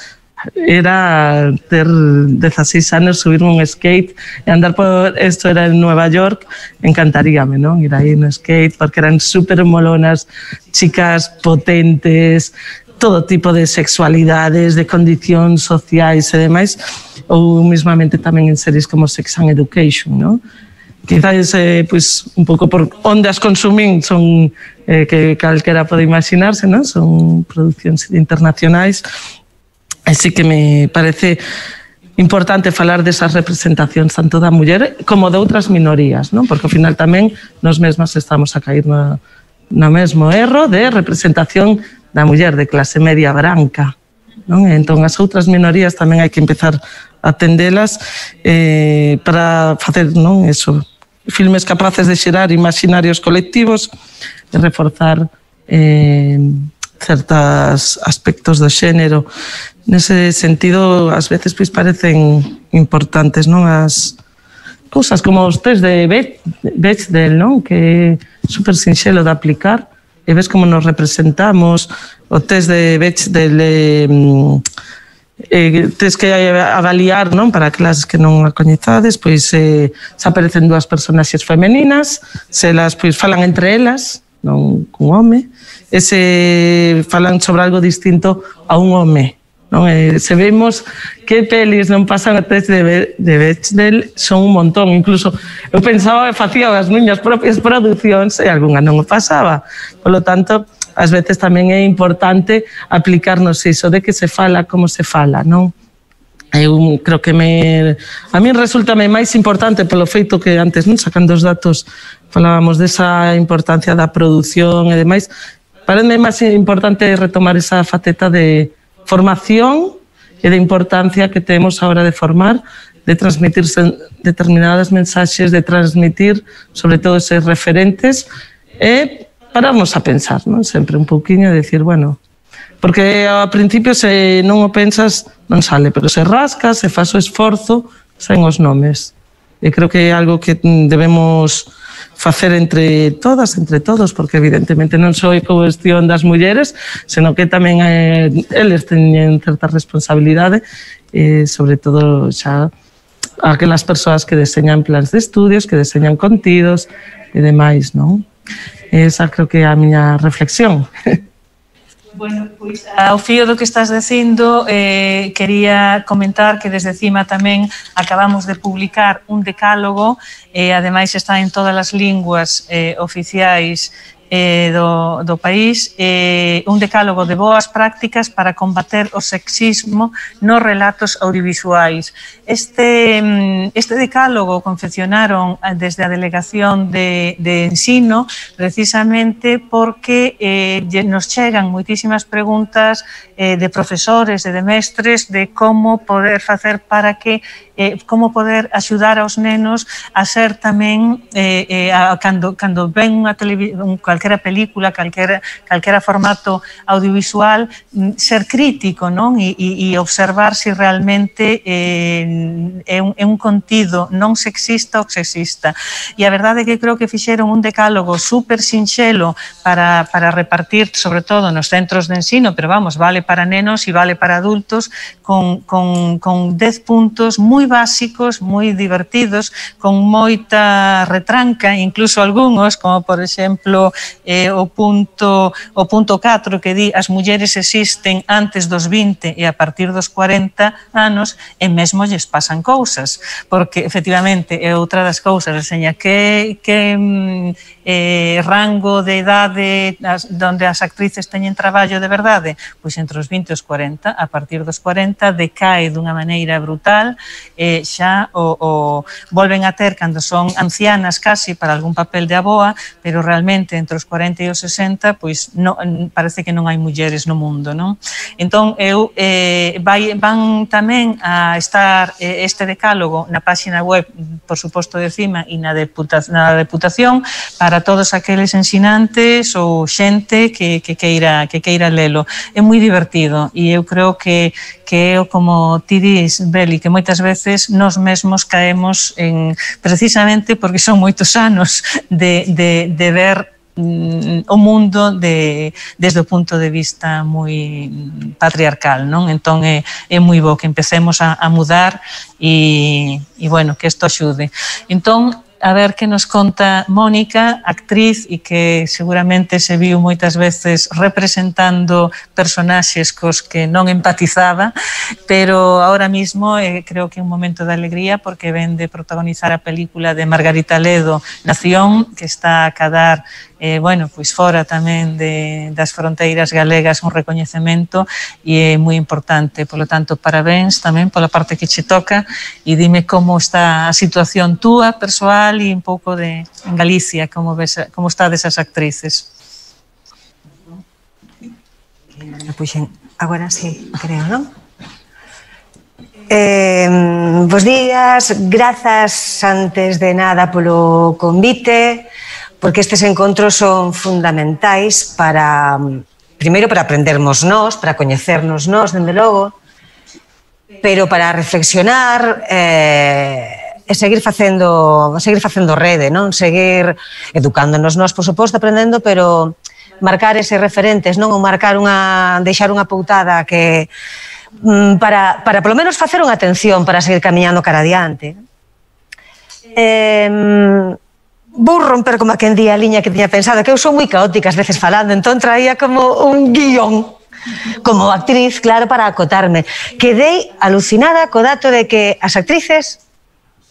era ter dezaseis anos, subirme un skate e andar por, esto era en Nueva York, encantaríame, non? Ir aí no skate, porque eran super molonas, chicas potentes, todo tipo de sexualidades, de condicións sociais e demais, ou mismamente tamén en series como Sex and Education, non? Quizás, eh, pues, un pouco por onde as consumín son eh, que calquera pode imaginarse, non? Son producións internacionais. Así que me parece importante falar desas representacións tanto da muller como de outras minorías, non? Porque ao final tamén nos mesmas estamos a cair no, no mesmo erro de representación da muller de clase media branca, non? Entón as outras minorías tamén hai que empezar a atendelas eh, para facer, non, eso, filmes capaces de xerar imaginarios colectivos e reforzar eh, certos aspectos do xénero. Nese sentido, ás veces pois parecen importantes, non? As cousas como os test de Bechdel, non? Que é super sinxelo de aplicar e ves como nos representamos. O test de Bechdel eh, eh, tens que avaliar, non? Para clases que non a coñezades, pois eh, se aparecen dúas personaxes femeninas, se elas pois falan entre elas, non cun home, e se falan sobre algo distinto a un home. Non? E se vemos que pelis non pasan a test de, de Bechdel, son un montón. Incluso eu pensaba que facía as miñas propias producións e algunha non o pasaba. Por lo tanto, ás veces tamén é importante aplicarnos iso de que se fala como se fala, non? Eu creo que me, a mí resultame máis importante polo feito que antes, non, sacando os datos, falábamos desa importancia da produción e demais. Parece máis importante retomar esa faceta de formación e de importancia que temos a hora de formar, de transmitir determinadas mensaxes, de transmitir sobre todo eses referentes é pararnos a pensar, non? Sempre un pouquiño de decir, bueno, porque ao principio se non o pensas non sale, pero se rascas, se faz o esforzo, saen os nomes. E creo que é algo que debemos facer entre todas, entre todos, porque evidentemente non só é cuestión das mulleres, senón que tamén eh, eles teñen certa responsabilidade, eh, sobre todo xa aquelas persoas que deseñan plans de estudios, que deseñan contidos e demais, non? Esa creo que é a miña reflexión. Bueno, pois ao fío do que estás dicindo, eh, quería comentar que desde cima tamén acabamos de publicar un decálogo, e eh, ademais está en todas as linguas eh, oficiais eh, do, do país, eh, un decálogo de boas prácticas para combater o sexismo nos relatos audiovisuais. Este, este decálogo confeccionaron desde a Delegación de, de Ensino precisamente porque eh, nos chegan moitísimas preguntas eh, de profesores e de mestres de como poder facer para que eh, como poder axudar aos nenos a ser tamén eh, eh, a, cando, cando ven unha televisión, calquera película, calquera, calquera formato audiovisual, ser crítico, non? E, e, e observar se si realmente eh, é, un, é un contido non sexista ou sexista. E a verdade é que creo que fixeron un decálogo super sinxelo para, para repartir, sobre todo nos centros de ensino, pero vamos, vale para nenos e vale para adultos, con, con, con dez puntos moi básicos, moi divertidos, con moita retranca, incluso algúns, como por exemplo eh, o punto o punto catro que di as mulleres existen antes dos vinte e a partir dos cuarenta anos e mesmo lles pasan cousas, porque efectivamente é outra das cousas, enseña que, que eh, rango de idade as, donde as actrices teñen traballo de verdade, pois entre os vinte e os cuarenta, a partir dos cuarenta decae dunha maneira brutal, eh, xa o, o volven a ter cando son ancianas casi para algún papel de aboa, pero realmente entre os cuarenta e os sesenta, pois no, parece que non hai mulleres no mundo, non? Entón, eu eh, vai, van tamén a estar eh, este decálogo na páxina web, por suposto de cima, e na, deputa, na deputación para todos aqueles ensinantes ou xente que, que, queira, que queira lelo. É moi divertido e eu creo que, que é como ti dis, Beli, que moitas veces nós mesmos caemos en, precisamente porque son moitos anos de, de, de ver o mundo de, desde o punto de vista moi patriarcal, non? Entón é, é moi bo que empecemos a, a mudar e, e bueno, que isto axude. Entón, a ver que nos conta Mónica, actriz e que seguramente se viu moitas veces representando personaxes cos que non empatizaba, pero ahora mismo eh, creo que é un momento de alegría porque ven de protagonizar a película de Margarita Ledo, Nación, que está a cadar eh, bueno, pois fora tamén de, das fronteiras galegas un recoñecemento e é moi importante, polo tanto, parabéns tamén pola parte que che toca e dime como está a situación túa, persoal e un pouco de en Galicia, como, ves, como está desas actrices. Puxen, agora sí, creo, non? Eh, bos días, grazas antes de nada polo convite, porque estes encontros son fundamentais para, primeiro, para aprendermos nós, para coñecernos nós, dende logo, pero para reflexionar eh, e seguir facendo, seguir facendo rede, non? Seguir educándonos nós, por suposto, aprendendo, pero marcar eses referentes, non? Ou marcar unha, deixar unha poutada que para, para polo menos facer unha atención para seguir camiñando cara adiante. Eh, Vou romper como a quen di a liña que tiña pensado, que eu sou moi caótica ás veces falando, entón traía como un guión, como actriz, claro, para acotarme. Quedei alucinada co dato de que as actrices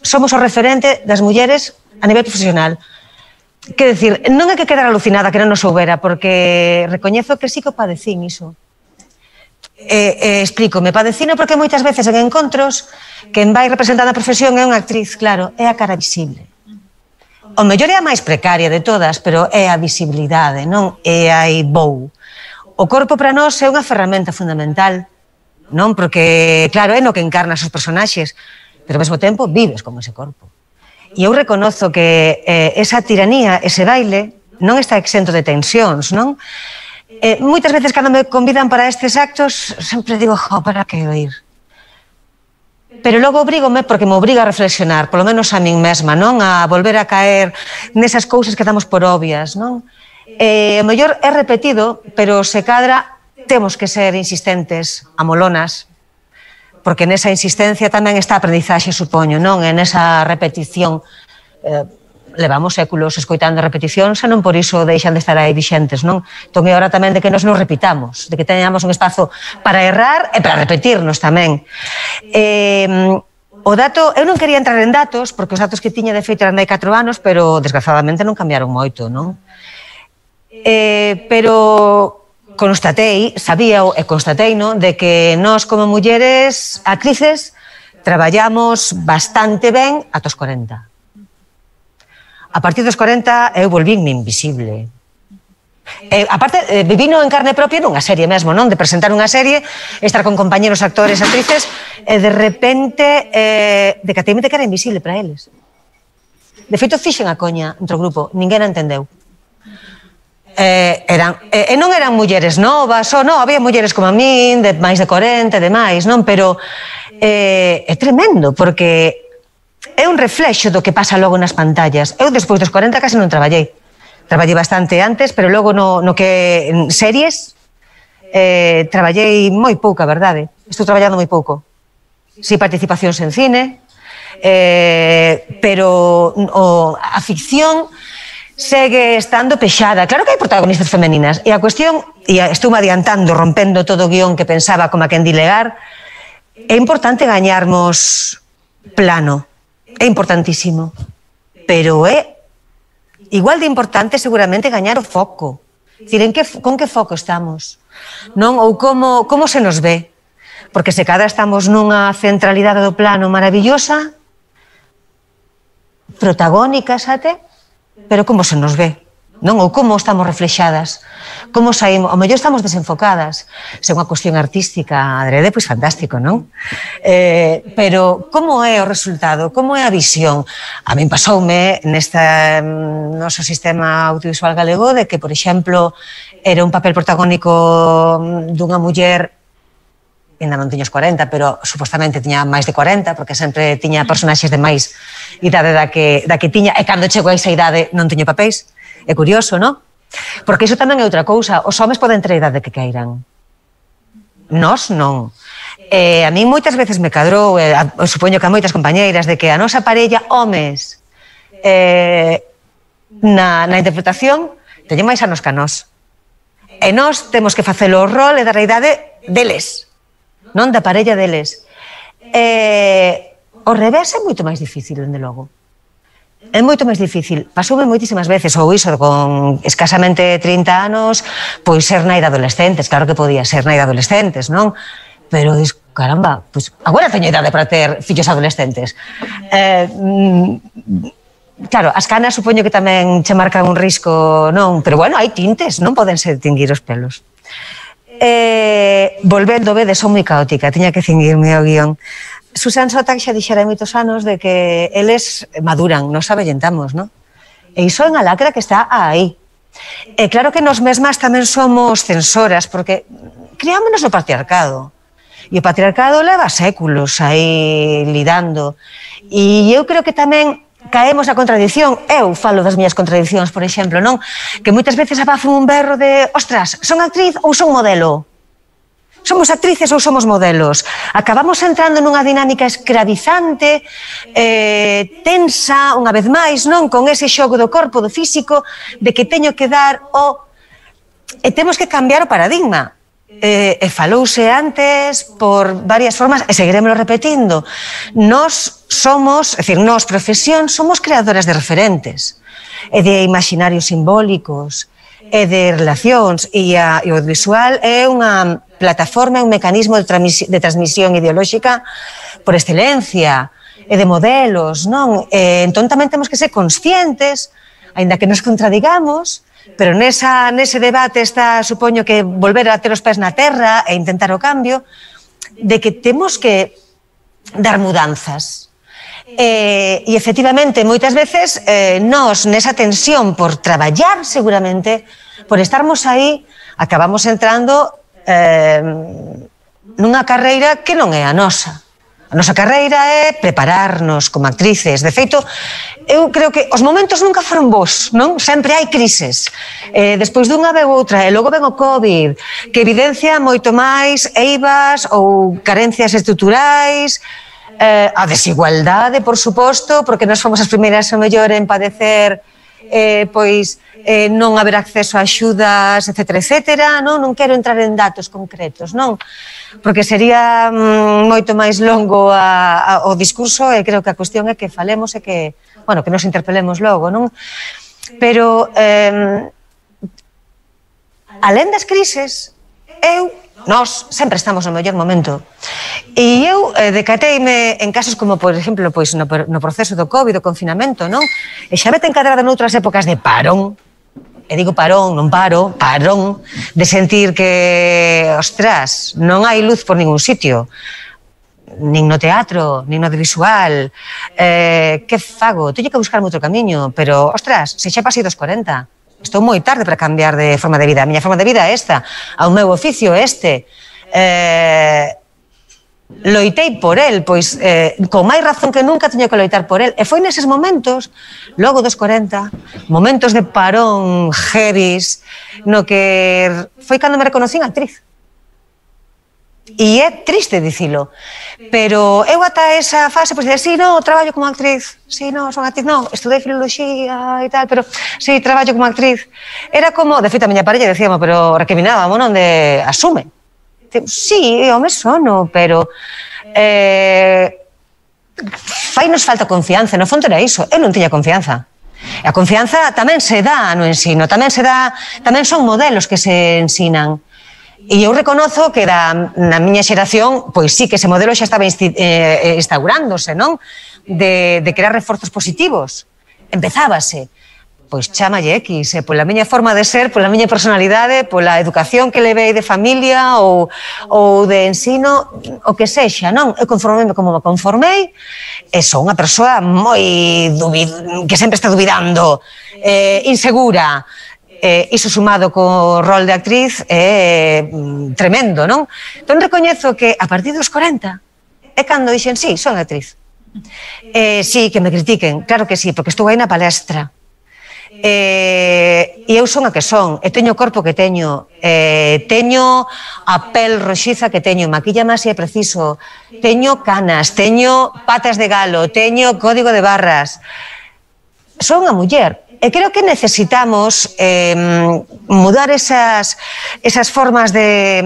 somos o referente das mulleres a nivel profesional. Quer decir, non é que quedar alucinada que non nos soubera, porque recoñezo que sí que o padecín iso. E, e explícome, padecino porque moitas veces en encontros quen vai representando a profesión é unha actriz, claro, é a cara visible. O mellor é a máis precaria de todas, pero é a visibilidade, non? É aí vou. O corpo para nós é unha ferramenta fundamental, non? Porque, claro, é no que encarnas os personaxes, pero ao mesmo tempo vives como ese corpo. E eu reconozo que eh, esa tiranía, ese baile, non está exento de tensións, non? Eh, moitas veces cando me convidan para estes actos sempre digo, jo, para que oír? Pero logo obrígome porque me obriga a reflexionar, polo menos a min mesma, non? A volver a caer nesas cousas que damos por obvias, non? Eh, o mellor é repetido, pero se cadra temos que ser insistentes, amolonas, porque nesa insistencia tamén está a aprendizaxe, supoño, non? En esa repetición eh, levamos séculos escoitando repeticións e non por iso deixan de estar aí vixentes, non? Entón é hora tamén de que nos nos repitamos, de que teñamos un espazo para errar e para repetirnos tamén. Eh, o dato, eu non quería entrar en datos, porque os datos que tiña de feito eran de hai catro anos, pero desgraciadamente non cambiaron moito, non? Eh, pero constatei, sabía e constatei, non? De que nós como mulleres actrices traballamos bastante ben ata os corenta. A partir dos corenta eu volvínme invisible. Eh, aparte, eh, vivino en carne propia nunha serie mesmo, non? De presentar unha serie, estar con compañeros actores, actrices, e de repente eh, decateime de que era invisible para eles. De feito, fixen a coña entre o grupo, ninguén a entendeu. Eh, eran, eh, e non eran mulleres novas, ou non, había mulleres como a min, de máis de corenta e demais, non? Pero eh, é tremendo, porque é un reflexo do que pasa logo nas pantallas. Eu, despois dos corenta, casi non traballei. Traballei bastante antes, pero logo no, no que en series eh, traballei moi pouco, a verdade. Estou traballando moi pouco. Si participacións en cine, eh, pero o, a ficción segue estando pexada. Claro que hai protagonistas femeninas. E a cuestión, e estou me adiantando, rompendo todo o guión que pensaba como a quen dilegar, é importante gañarmos plano. É importantísimo, pero é igual de importante seguramente gañar o foco. Dicir, en que, con que foco estamos? Non? Ou como, como se nos ve? Porque se cada estamos nunha centralidade do plano maravillosa, protagónica, xate, pero como se nos ve? Non? Ou como estamos reflexadas? Como saímos? Ao mellor estamos desenfocadas. Se é unha cuestión artística adrede, pois fantástico, non? Eh, pero como é o resultado? Como é a visión? A min pasoume neste noso sistema audiovisual galego de que, por exemplo, era un papel protagónico dunha muller, ainda non tiña os corenta, pero supostamente tiña máis de corenta, porque sempre tiña personaxes de máis idade da que, da que tiña, e cando chegou a esa idade non tiña papéis. É curioso, non? Porque iso tamén é outra cousa. Os homes poden ter a idade que queiran. Nós non. E a mí moitas veces me cadrou, e a, supoño que a moitas compañeiras, de que a nosa parella, homes, eh, na, na interpretación, teñen máis anos que a nós. E nós temos que facelo o rol e dar a idade deles, non da parella deles. E o revés é moito máis difícil, dende logo. É moito máis difícil. Pasoume moitísimas veces, ou iso, con escasamente trinta anos, pois ser nai de adolescentes. Claro que podía ser nai de adolescentes, non? Pero, dis, caramba, pois agora teño idade para ter fillos adolescentes. Eh, claro, as canas supoño que tamén che marcan un risco, non? Pero, bueno, hai tintes, non poden se tinguir os pelos. Eh, volvendo, vedes, son moi caótica, tiña que cingirme ao guión. Susan Sontag xa dixera hai moitos anos de que eles maduran, nos avellentamos, non? E iso é unha lacra que está aí. E claro que nos mesmas tamén somos censoras, porque criámonos no patriarcado. E o patriarcado leva séculos aí lidando. E eu creo que tamén caemos a contradición. Eu falo das miñas contradicións, por exemplo, non? Que moitas veces abafo un berro de ostras, son actriz ou son modelo? Somos actrices ou somos modelos? Acabamos entrando nunha dinámica escravizante, eh, tensa, unha vez máis, non? Con ese xogo do corpo, do físico, de que teño que dar o... E temos que cambiar o paradigma. E, e falouse antes por varias formas, e seguiremos repetindo. Nós somos, é dicir, nós, profesión, somos creadoras de referentes, e de imaginarios simbólicos, e de relacións, e, a, e o audiovisual é unha plataforma, un mecanismo de, de transmisión ideolóxica por excelencia, e de modelos, non? E, entón tamén temos que ser conscientes, aínda que nos contradigamos, pero nesa, nese debate está, supoño que volver a ter os pés na terra e intentar o cambio, de que temos que dar mudanzas. E, e efectivamente, moitas veces, eh, nós, nesa tensión por traballar, seguramente, por estarmos aí, acabamos entrando eh, nunha carreira que non é a nosa. A nosa carreira é prepararnos como actrices. De feito, eu creo que os momentos nunca foron bons, non? Sempre hai crises. Eh, despois dunha veu outra, e logo ven o COVID, que evidencia moito máis eivas ou carencias estruturais, eh, a desigualdade, por suposto, porque nós fomos as primeiras, a mellor, en padecer eh, pois, eh, non haber acceso a axudas, etcétera, etcétera, non? Non quero entrar en datos concretos, non? Porque sería mm, moito máis longo a, a, o discurso e creo que a cuestión é que falemos e que, bueno, que nos interpelemos logo, non? Pero, eh, alén das crises, eu, nós, sempre estamos no mellor momento. E eu eh, decateime en casos como, por exemplo, pois, no, no proceso do COVID, do confinamento, non? E xa vete encadrada noutras épocas de parón, e digo parón, non paro, parón, de sentir que, ostras, non hai luz por ningún sitio, nin no teatro, nin no audiovisual, eh, que fago? Teño que buscarme outro camiño, pero, ostras, se xa pasei dos corenta, estou moi tarde para cambiar de forma de vida, a miña forma de vida é esta, ao meu oficio é este, eh, loitei por el, pois eh, con máis razón que nunca teño que loitar por el, e foi neses momentos, logo dos corenta, momentos de parón heavies, no que foi cando me reconocín actriz. E é triste dicilo, pero eu ata esa fase, pois dicir, sí, no, traballo como actriz, sí, no, son actriz, no, estudei filoloxía e tal, pero sí, traballo como actriz. Era como, de feito, a miña parella decíamos, pero recriminábamos, non, de asume. Sí, home, sono, pero eh, fainos falta confianza, no fondo era iso, eu non tiña confianza. E a confianza tamén se dá no ensino, tamén se dá, tamén son modelos que se ensinan. E eu reconozo que da, na miña xeración, pois sí, que ese modelo xa estaba insti, eh, instaurándose, non? De, de crear reforzos positivos. Empezábase. Pois chámalle X, eh, pola miña forma de ser, pola miña personalidade, pola educación que levei de familia ou, ou de ensino, o que sexa, non? Eu conformei como me conformei, e son unha persoa moi duvid... que sempre está duvidando, eh, insegura. Eh, iso sumado co rol de actriz é eh, tremendo, non? Entón recoñezo que a partir dos corenta é cando dixen, sí, son actriz. Eh, sí, que me critiquen, claro que sí, porque estou aí na palestra. E eu son a que son, e teño o corpo que teño, e teño a pel roxiza que teño, maquilla máis se é preciso, teño canas, teño patas de galo, teño código de barras. Son unha muller, e creo que necesitamos eh, mudar esas, esas formas de,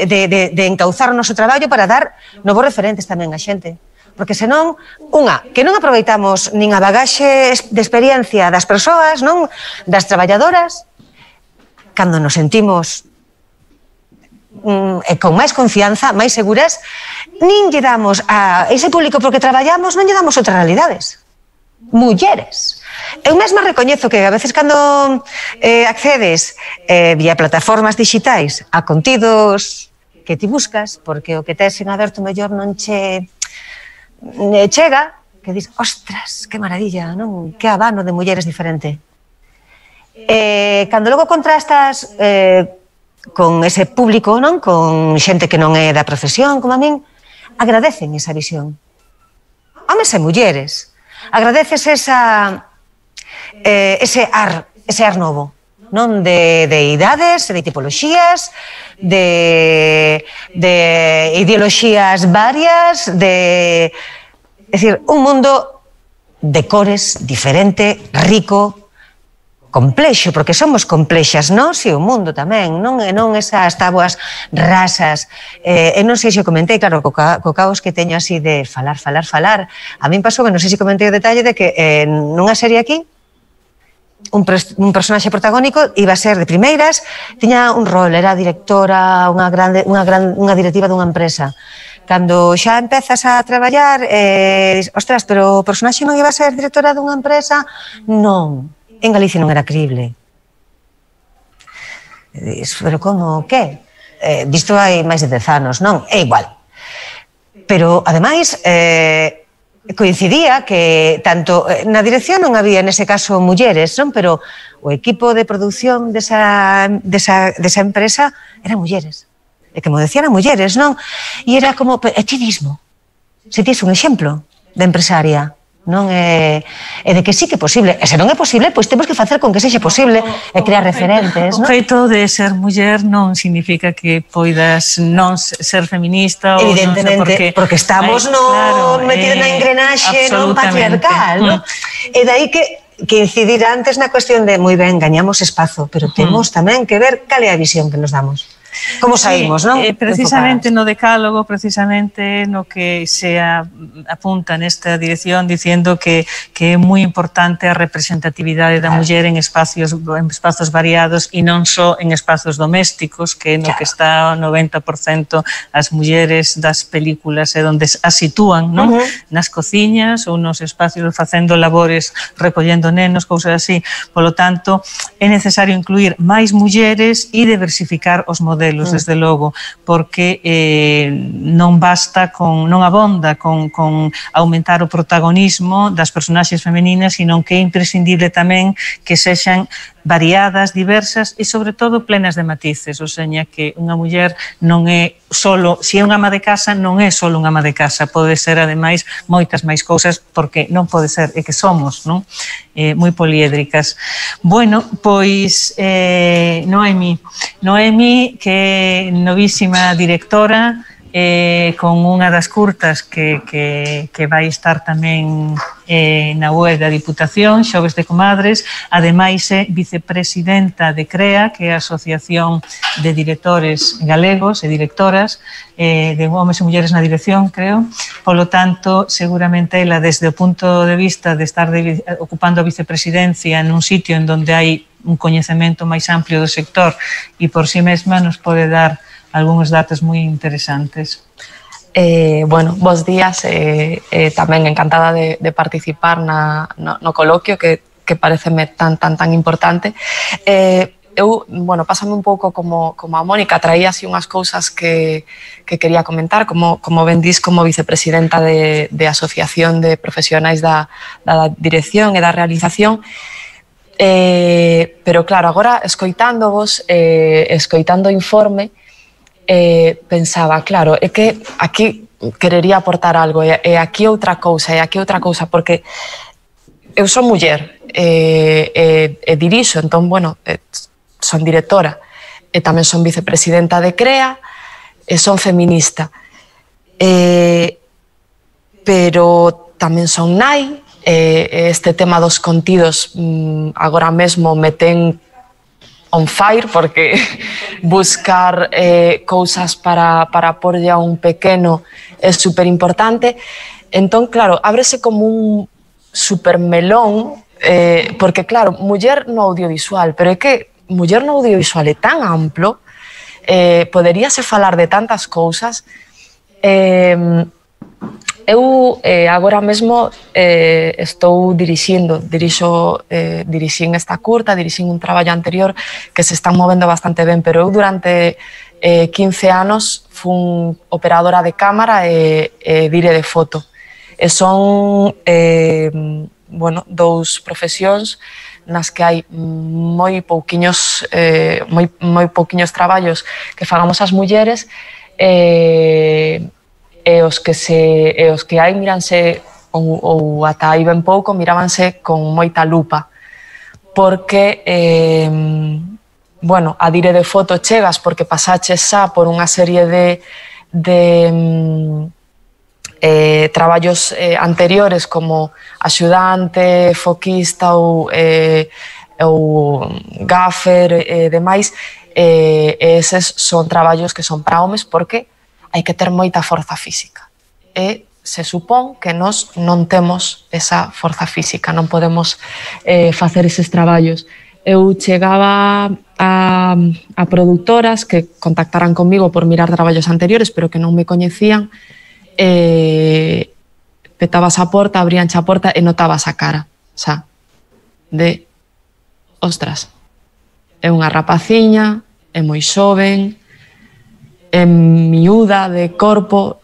de, de, de encauzar o noso traballo para dar novos referentes tamén a xente. Porque senón, unha, que non aproveitamos nin a bagaxe de experiencia das persoas, non, das traballadoras, cando nos sentimos mm, e con máis confianza, máis seguras, nin lle damos a ese público porque traballamos, non lle damos outras realidades. Mulleres. Eu mesma recoñezo que a veces cando eh, accedes eh, vía plataformas digitais a contidos que ti buscas, porque o que tes en aberto mellor non che chega, que dis, ostras, que maravilla, non? Que abano de mulleres diferente. E cando logo contrastas eh, con ese público, non? Con xente que non é da profesión, como a min, agradecen esa visión. Homes e mulleres. Agradeces esa, eh, ese ar, ese ar novo, non? De, de idades, de tipoloxías, de, de ideoloxías varias, de... É dicir, un mundo de cores diferente, rico, complexo, porque somos complexas, nós e o mundo tamén, non, e non esas tabuas rasas. Eh, e non sei se o comentei, claro, co, co caos que teño así de falar, falar, falar. A min pasou que non sei se comentei o detalle de que eh, nunha serie aquí, Un, un personaxe protagónico iba a ser de primeiras, tiña un rol, era directora, unha, grande, unha, gran, unha directiva dunha empresa. Cando xa empezas a traballar, eh, ostras, pero o personaxe non iba a ser directora dunha empresa? Non, en Galicia non era crible. Dis, pero como, que? Eh, disto hai máis de dez anos, non? É igual. Pero, ademais, eh, coincidía que tanto na dirección non había nese caso mulleres, non? Pero o equipo de produción desa, desa, desa empresa eran mulleres. E que mo decían mulleres, non? E era como, e ti mismo, se tis un exemplo de empresaria, non? E, e de que sí que é posible. E se non é posible, pois temos que facer con que sexa posible e crear referentes, non? O feito de ser muller non significa que poidas non ser feminista ou evidentemente, non sei porque, porque estamos Ay, no claro, metidos eh, na engrenaxe non patriarcal, non? Mm. E dai que que incidir antes na cuestión de moi ben, gañamos espazo, pero temos tamén que ver cal é a visión que nos damos. Como saímos, sí, non? Eh, precisamente no decálogo, precisamente no que se a, apunta nesta dirección diciendo que, que é moi importante a representatividade da muller en espacios, en espazos variados e non só en espazos domésticos, que no que está o noventa por cento as mulleres das películas é onde as sitúan, non? Uh -huh. Nas cociñas ou nos espacios facendo labores, recollendo nenos, cousas así. Polo tanto, é necesario incluir máis mulleres e diversificar os modelos, desde logo, porque eh, non basta con, non abonda con, con aumentar o protagonismo das personaxes femeninas, sino que é imprescindible tamén que sexan variadas, diversas e, sobre todo, plenas de matices. O seña que unha muller non é solo, se é unha ama de casa, non é solo unha ama de casa, pode ser, ademais, moitas máis cousas, porque non pode ser, é que somos, non? Eh, moi poliédricas. Bueno, pois, eh, Noemi, Noemi, que é novísima directora, eh, con unha das curtas que, que, que vai estar tamén eh, na web da Diputación, Xoves de Comadres, ademais é vicepresidenta de CREA, que é a Asociación de Directores Galegos e Directoras, eh, de homes e mulleres na dirección, creo. Polo tanto, seguramente ela, desde o punto de vista de estar de, ocupando a vicepresidencia nun sitio en donde hai un coñecemento máis amplio do sector e por si mesma nos pode dar algúns datos moi interesantes. Eh, bueno, bos días, eh, eh, tamén encantada de, de participar na, no, no coloquio que, que pareceme tan, tan, tan importante. Eh, eu, bueno, pásame un pouco como, como a Mónica, traía así unhas cousas que, que quería comentar, como, como ben dís, como vicepresidenta de, de Asociación de Profesionais da, da Dirección e da Realización. Eh, pero claro, agora escoitándovos, eh, escoitando o informe, Eh, pensaba, claro, é que aquí querería aportar algo, e, e aquí outra cousa, e aquí outra cousa, porque eu son muller, e, e, e dirixo, entón, bueno, e, son directora, e tamén son vicepresidenta de CREA, e son feminista, e, pero tamén son nai, e, este tema dos contidos mm, agora mesmo me ten on fire, porque buscar eh, cousas para, para porlle a un pequeno é super importante. Entón, claro, ábrese como un super melón, eh, porque, claro, muller no audiovisual, pero é que muller no audiovisual é tan amplo, eh, poderíase falar de tantas cousas. Eh, Eu eh, agora mesmo eh, estou dirixindo, dirixo, eh, dirixín esta curta, dirixín un traballo anterior que se están movendo bastante ben, pero eu durante eh, quince anos fun operadora de cámara e, e dire de foto. E son eh, bueno, dous profesións nas que hai moi pouquiños, eh, moi, moi pouquiños traballos que fagamos as mulleres, e eh, e os que se e os que hai míranse ou, ou ata aí ben pouco mirábanse con moita lupa, porque eh, bueno, a dire de foto chegas porque pasaches xa por unha serie de de eh, traballos eh, anteriores como axudante, foquista ou eh, ou gaffer e eh, demais, eh, eses son traballos que son para homes porque hai que ter moita forza física. E se supón que nós non temos esa forza física, non podemos eh, facer eses traballos. Eu chegaba a, a produtoras que contactaran comigo por mirar traballos anteriores, pero que non me coñecían, e petabas a porta, abríanche a porta e notabas a cara, xa, de, ostras, é unha rapaciña, é moi xoven, é miúda de corpo,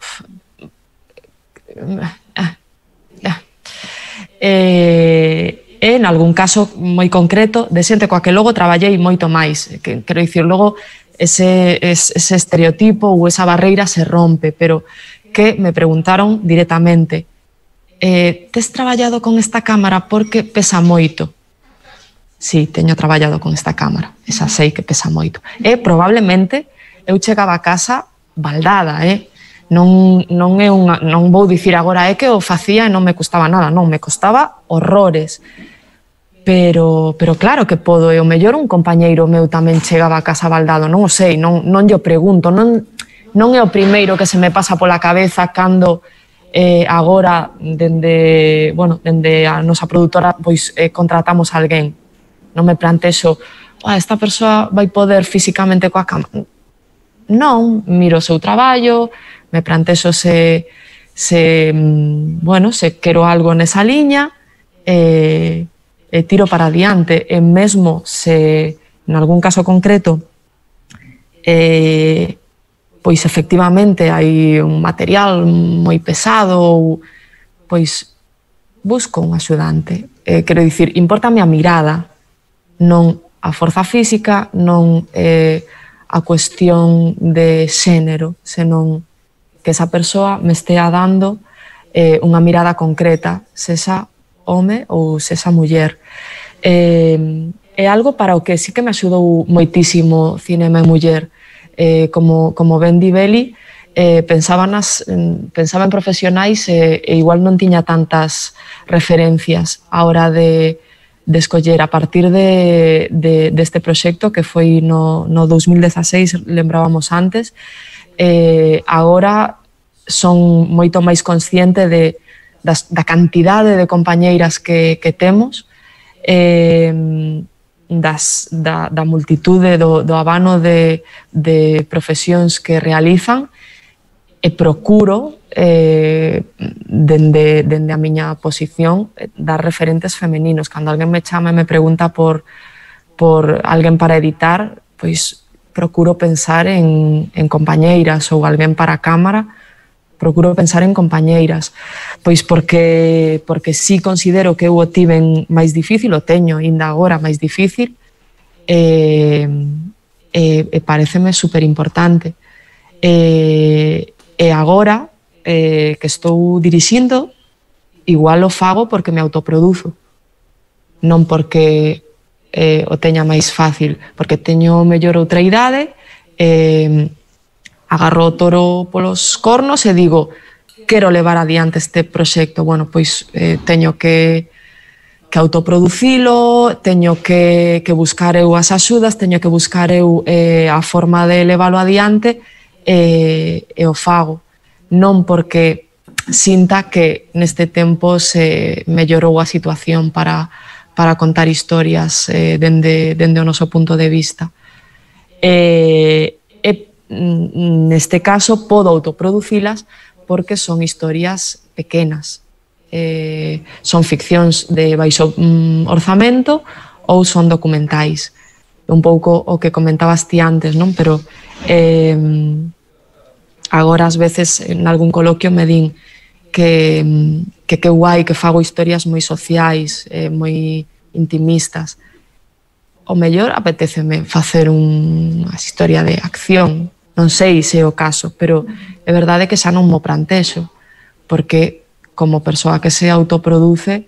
e, e en algún caso moi concreto de xente coa que logo traballei moito máis, que, quero dicir, logo ese, ese, ese estereotipo ou esa barreira se rompe, pero que me preguntaron directamente: eh, tes traballado con esta cámara porque pesa moito? Sí, teño traballado con esta cámara, esa sei que pesa moito. E probablemente eu chegaba a casa baldada, eh? Non, non, é unha, non vou dicir agora é que o facía e non me custaba nada, non, me costaba horrores. Pero, pero claro que podo, e o mellor un compañeiro meu tamén chegaba a casa baldado, non o sei, non, non lle pregunto, non, non é o primeiro que se me pasa pola cabeza cando eh, agora, dende, bueno, dende a nosa produtora, pois eh, contratamos a alguén. Non me plantexo, ah, esta persoa vai poder físicamente coa cámara. Non, miro o seu traballo, me plantexo se, se, bueno, se quero algo nesa liña, e, e tiro para adiante. E mesmo se, en algún caso concreto, eh, pois efectivamente hai un material moi pesado, ou, pois busco un axudante. Eh, quero dicir, importame a mirada, non a forza física, non eh, a cuestión de xénero, senón que esa persoa me estea dando eh, unha mirada concreta, sexa home ou sexa muller. Eh, é algo para o que sí que me axudou moitísimo Cinema e Muller. Eh, como, como ben di Beli, eh, pensaba, nas, pensaba en profesionais e, e igual non tiña tantas referencias a hora de, de escoller. A partir de, de, deste proxecto, que foi no, no dos mil dezaseis, lembrábamos antes, eh, agora son moito máis consciente de, das, da cantidade de compañeiras que, que temos, eh, das, da, da multitude, do, do abano de, de profesións que realizan, e procuro, eh, dende, dende a miña posición, dar referentes femeninos. Cando alguén me chama e me pregunta por, por alguén para editar, pois procuro pensar en, en compañeiras, ou alguén para a cámara, procuro pensar en compañeiras, pois porque, porque sí considero que eu o tiven máis difícil, o teño ainda agora máis difícil, e, e, e pareceme super importante. E, e agora eh, que estou dirixindo, igual o fago porque me autoproduzo, non porque eh, o teña máis fácil, porque teño mellor outra idade, eh, agarro o toro polos cornos e digo, quero levar adiante este proxecto. Bueno, pois eh, teño que, que autoproducilo, teño que, que buscar eu as axudas, teño que buscar eu eh, a forma de leválo adiante, e, e o fago. Non porque sinta que neste tempo se mellorou a situación para, para contar historias eh, dende, dende o noso punto de vista. E, e neste caso podo autoproducilas porque son historias pequenas, eh, son ficcións de baixo mm, orzamento ou son documentais. Un pouco o que comentabas ti antes, non? Pero eh, agora ás veces en algún coloquio me din que que que guai que fago historias moi sociais, eh, moi intimistas. O mellor apetéceme facer unha historia de acción, non sei se é o caso, pero é verdade que xa non mo plantexo, porque como persoa que se autoproduce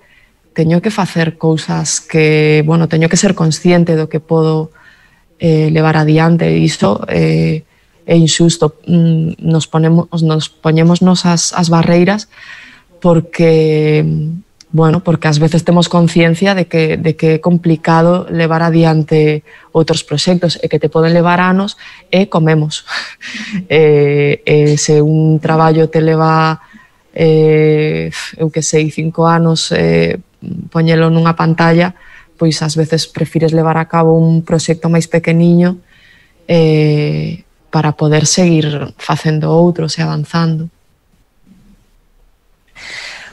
teño que facer cousas que, bueno, teño que ser consciente do que podo eh, levar adiante, e iso eh, é injusto. Nos ponemos, nos poñemos nos as, as barreiras porque, bueno, porque ás veces temos conciencia de que, de que é complicado levar adiante outros proxectos e que te poden levar anos e comemos. e, e se un traballo te leva, eh, eu que sei, cinco anos, eh, poñelo nunha pantalla, pois ás veces prefires levar a cabo un proxecto máis pequeniño eh, para poder seguir facendo outros e avanzando.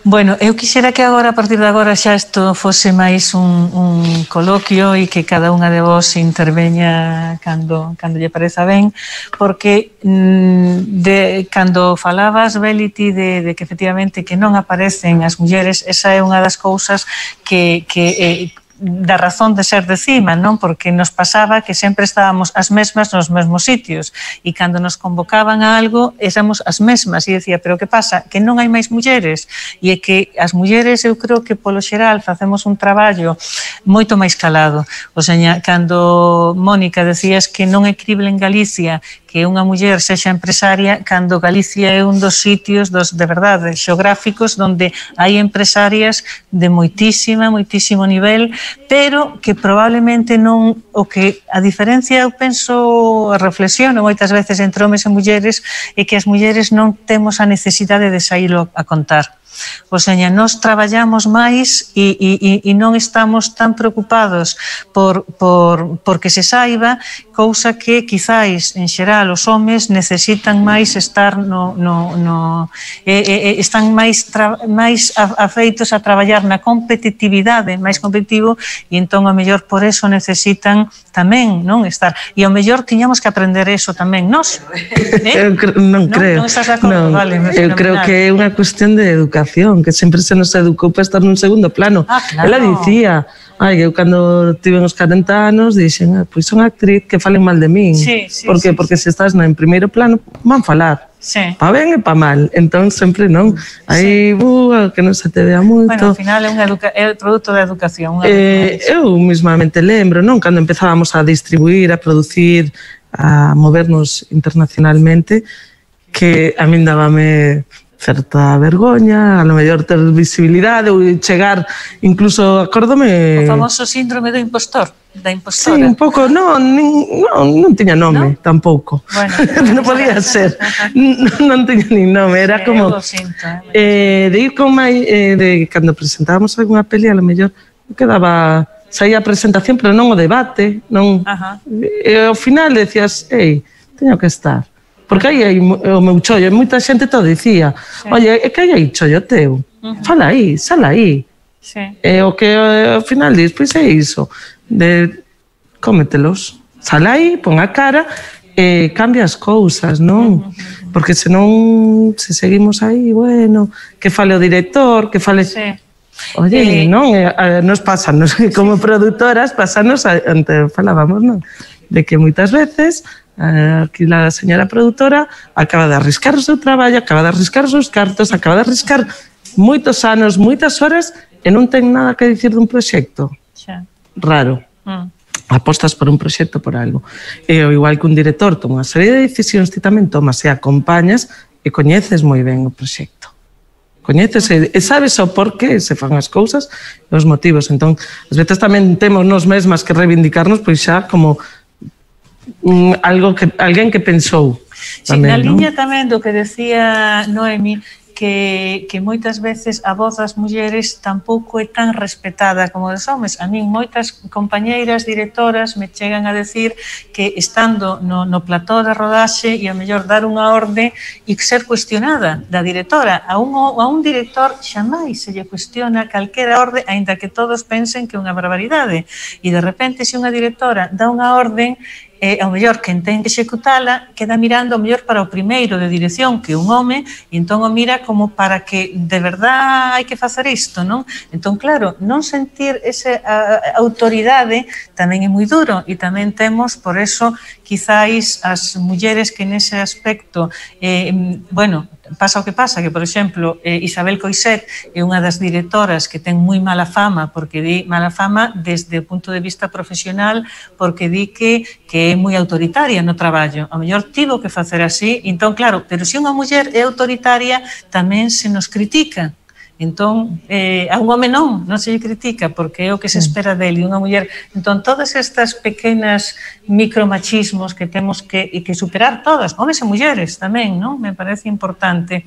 Bueno, eu quixera que agora, a partir de agora, xa isto fose máis un, un coloquio e que cada unha de vos interveña cando, cando lle pareza ben, porque de, cando falabas, Beliti, de, de que efectivamente que non aparecen as mulleres, esa é unha das cousas que, que eh, da razón de ser de cima, non? Porque nos pasaba que sempre estábamos as mesmas nos mesmos sitios e cando nos convocaban a algo éramos as mesmas e decía, pero que pasa? Que non hai máis mulleres e é que as mulleres eu creo que polo xeral facemos un traballo moito máis calado. O sea, cando Mónica decías que non é crible en Galicia que unha muller sexa empresaria, cando Galicia é un dos sitios dos, de verdade, xeográficos onde hai empresarias de moitísima, moitísimo nivel, pero que probablemente non, o que a diferencia eu penso, reflexiono moitas veces entre homes e mulleres, é que as mulleres non temos a necesidade de saílo a contar. O sea, nos traballamos máis e, e, e non estamos tan preocupados por, por, por que se saiba, cousa que quizáis en xeral os homes necesitan máis estar no, no, no eh, eh, están máis, tra, máis afeitos a traballar na competitividade, máis competitivo, e entón ao mellor por eso necesitan tamén non estar, e ao mellor tiñamos que aprender eso tamén nós. Eh? Eu cre non creo, non, non estás de acordo? Non, vale, eu creo que é unha cuestión de educación, que sempre se nos educou para estar nun segundo plano. Ah, claro. Ela dicía, ai, eu cando tive uns corenta anos dixen, ah, pois son actriz, que falen mal de min. Sí, sí, Por que? sí, Porque sí. se estás en primeiro plano, van falar. Sí. Pa ben e pa mal. Entón, sempre non. Aí, sí. uh, que non se te vea moito. Bueno, ao final é, unha educa é produto da educación. Unha eh, eu mismamente lembro, non? Cando empezábamos a distribuir, a producir, a movernos internacionalmente, que a min dábame certa vergoña, a lo mellor ter visibilidade ou chegar, incluso, acórdome... O famoso síndrome do impostor, da impostora. Sí, un pouco, non, non, non tiña nome, ¿No? tampouco. Bueno, non podía ser, non, non tiña nin nome, era sí, como... Eu lo sinto, Eh, eh, de ir con mai, eh, de cando presentábamos algunha peli, a lo mellor quedaba... Saía a presentación, pero non o debate, non... Ajá. E ao final decías, ei, teño que estar. Porque aí hai o meu chollo, e moita xente todo dicía, sí. Oye, é que hai aí chollo teu, uh-huh. Fala aí, sala aí. Sí. E o que ao final dis, pois é iso, de cómetelos, sala aí, pon a cara e cambia as cousas, non? Uh-huh. Porque senón, se seguimos aí, bueno, que fale o director, que fale... Sí. Oye, Eh, non, eh, nos pasanos, como produtoras, pasanos, ante falábamos, non? De que moitas veces... Aquí la señora productora acaba de arriscar o seu traballo, acaba de arriscar os seus cartos, acaba de arriscar moitos anos, moitas horas e non ten nada que dicir dun proxecto. Xa. Raro. Mm. Apostas por un proxecto, por algo. E ao igual que un director toma unha serie de decisións, ti tamén tomas e acompañas e coñeces moi ben o proxecto. Coñeces e, e sabes o porqué se fan as cousas e os motivos. Entón, ás veces tamén temos nos mesmas que reivindicarnos, pois xa como Um, algo que alguén que pensou tamén, sí, na liña non? tamén do que decía Noemi, que, que moitas veces a voz das mulleres tampouco é tan respetada como dos homes. A min moitas compañeiras directoras me chegan a decir que estando no, no plató da rodaxe e a mellor dar unha orde e ser cuestionada da directora. A un, a un director xamais se lle cuestiona calquera orde, aínda que todos pensen que é unha barbaridade. E de repente, se unha directora dá unha orden, e ao mellor quen ten que executala queda mirando ao mellor para o primeiro de dirección, que é un home, e entón o mira como para que de verdad hai que facer isto, non? Entón, claro, non sentir esa a, a autoridade tamén é moi duro, e tamén temos, por eso, quizáis as mulleres que nese aspecto, eh, bueno, pasa o que pasa, que, por exemplo, eh, Isabel Coixet é unha das directoras que ten moi mala fama, porque di mala fama desde o punto de vista profesional, porque di que, que é moi autoritaria no traballo. A mellor tivo que facer así, entón, claro, pero se unha muller é autoritaria, tamén se nos critica. Entón, eh, a un home non, non se lle critica, porque é o que se espera dele, unha muller. Entón, todas estas pequenas micromachismos que temos que, e que superar todas, homes e mulleres tamén, non? Me parece importante.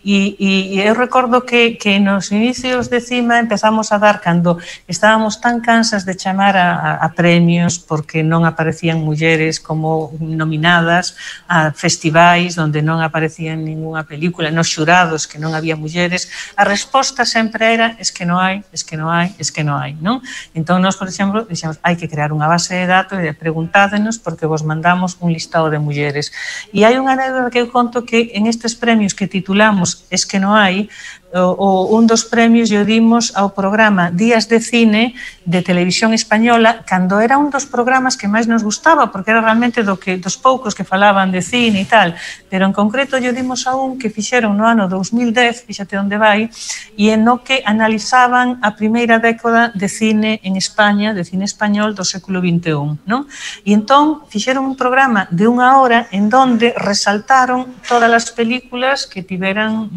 E, e, e eu recordo que, que nos inicios de Cima empezamos a dar, cando estábamos tan cansas de chamar a, a, a premios porque non aparecían mulleres como nominadas a festivais onde non aparecían ninguna película, nos xurados que non había mulleres, a resposta sempre era es que non hai, es que non hai, es que non hai, non? Entón, nós, por exemplo, dixemos, hai que crear unha base de datos e preguntádenos porque vos mandamos un listado de mulleres. E hai unha anécdota que eu conto que en estes premios que titulamos Es que non hai, o, o, un dos premios yo dimos ao programa Días de Cine de Televisión Española, cando era un dos programas que máis nos gustaba, porque era realmente do que, dos poucos que falaban de cine e tal, pero en concreto yo dimos a un que fixeron no ano dos mil dez, fíxate onde vai, e en no que analizaban a primeira década de cine en España, de cine español do século vinte e un, non? E entón fixeron un programa de unha hora en donde resaltaron todas as películas que tiveran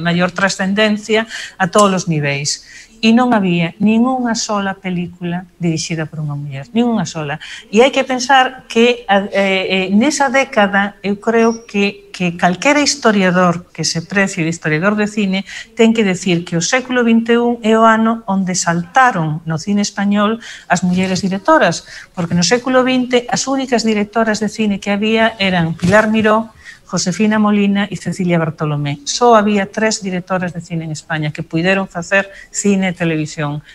maior trascendencia a todos os niveis. E non había ningunha sola película dirixida por unha muller, ningunha sola. E hai que pensar que eh, nesa década eu creo que, que calquera historiador que se precie de historiador de cine ten que decir que o século vinte e un é o ano onde saltaron no cine español as mulleres directoras, porque no século vinte as únicas directoras de cine que había eran Pilar Miró, Josefina Molina e Cecilia Bartolomé. Só había tres directoras de cine en España que puideron facer cine e televisión.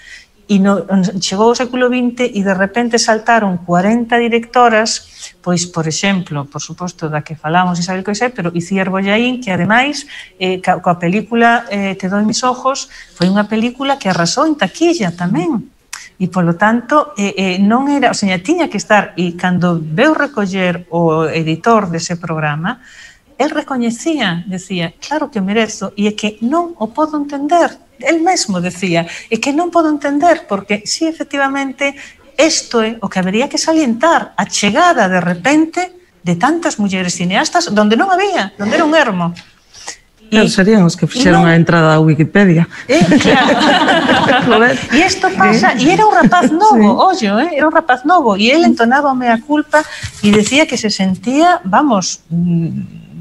E no, chegou o século vinte e de repente saltaron cuarenta directoras, pois, por exemplo, por suposto, da que falamos Isabel Coixet, pero Iciar Bollaín, que ademais, eh, coa película eh, Te doy mis ojos, foi unha película que arrasou en taquilla tamén. E, polo tanto, eh, eh, non era, o sea, tiña que estar, e cando veu recoller o editor dese programa, el recoñecía, decía, claro que merezo, e é que non o podo entender, el mesmo decía, é que non podo entender, porque, si, efectivamente, isto é o que habería que salientar, a chegada, de repente, de tantas mulleres cineastas, donde non había, donde era un ermo. Claro, serían os que fixeron a entrada a Wikipedia. Eh, claro. E isto pasa, e era un rapaz novo, ollo, eh, era un rapaz novo, e ele entonaba a culpa e decía que se sentía, vamos,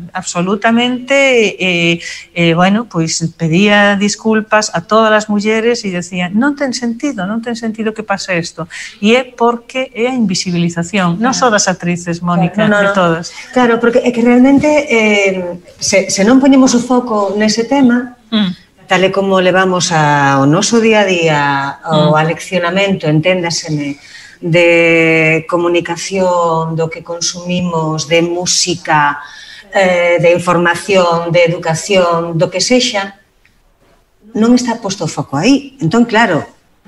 absolutamente, eh, eh, bueno, pois pedía disculpas a todas as mulleres e decía, non ten sentido, non ten sentido que pase isto. E é porque é a invisibilización, non só das actrices, Mónica, no, no, de todas. Claro, porque é que realmente eh, se, se non poñemos o foco nese tema, mm. tal e como levamos ao noso día a día, ao mm. aleccionamento, enténdaseme, de comunicación, do que consumimos, de música, Eh, de información, de educación, do que sexa, non está posto o foco aí. Entón, claro,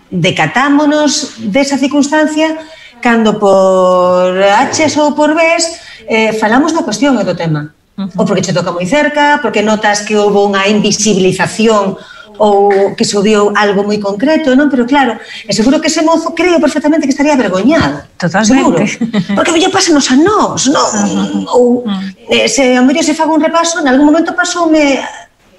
decatámonos desa circunstancia cando por H's ou por B's eh, falamos da cuestión e do tema. Uh-huh. Ou porque che toca moi cerca, porque notas que houve unha invisibilización ou que se odiou algo moi concreto, non? Pero claro, é seguro que ese mozo creo perfectamente que estaría avergoñado. Totalmente. Seguro. Porque lle pasanos a nós, non? Uh-huh. Ou eh, se a mellor se fago un repaso, en algún momento pasoume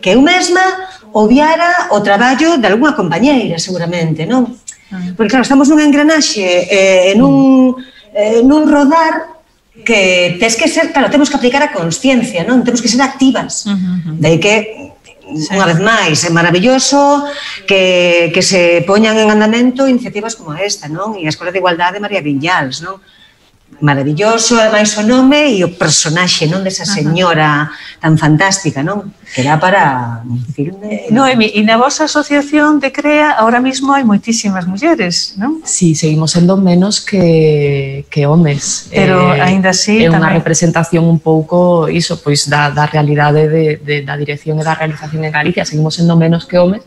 que eu mesma odiara o traballo de algunha compañeira, seguramente, non? Uh-huh. Porque claro, estamos nunha engranaxe, eh, nun, eh, nun rodar que tes que ser, claro, temos que aplicar a consciencia, non? Temos que ser activas. Uh-huh. De aí que sí. Unha vez máis, é maravilloso que, que se poñan en andamento iniciativas como esta, non? E a Escola de Igualdade de María Viñals, non? Maravilloso, ademais o nome e o personaxe, non? Desa señora tan fantástica, non? Que dá para un filme. Noemi, e na vosa asociación de CREA ahora mismo hai moitísimas mulleres, non? Sí, seguimos sendo menos que, que homes. Pero eh, aínda así é unha tamén representación un pouco iso, pois da, da realidade de, de, da dirección e da realización en Galicia. Seguimos sendo menos que homes,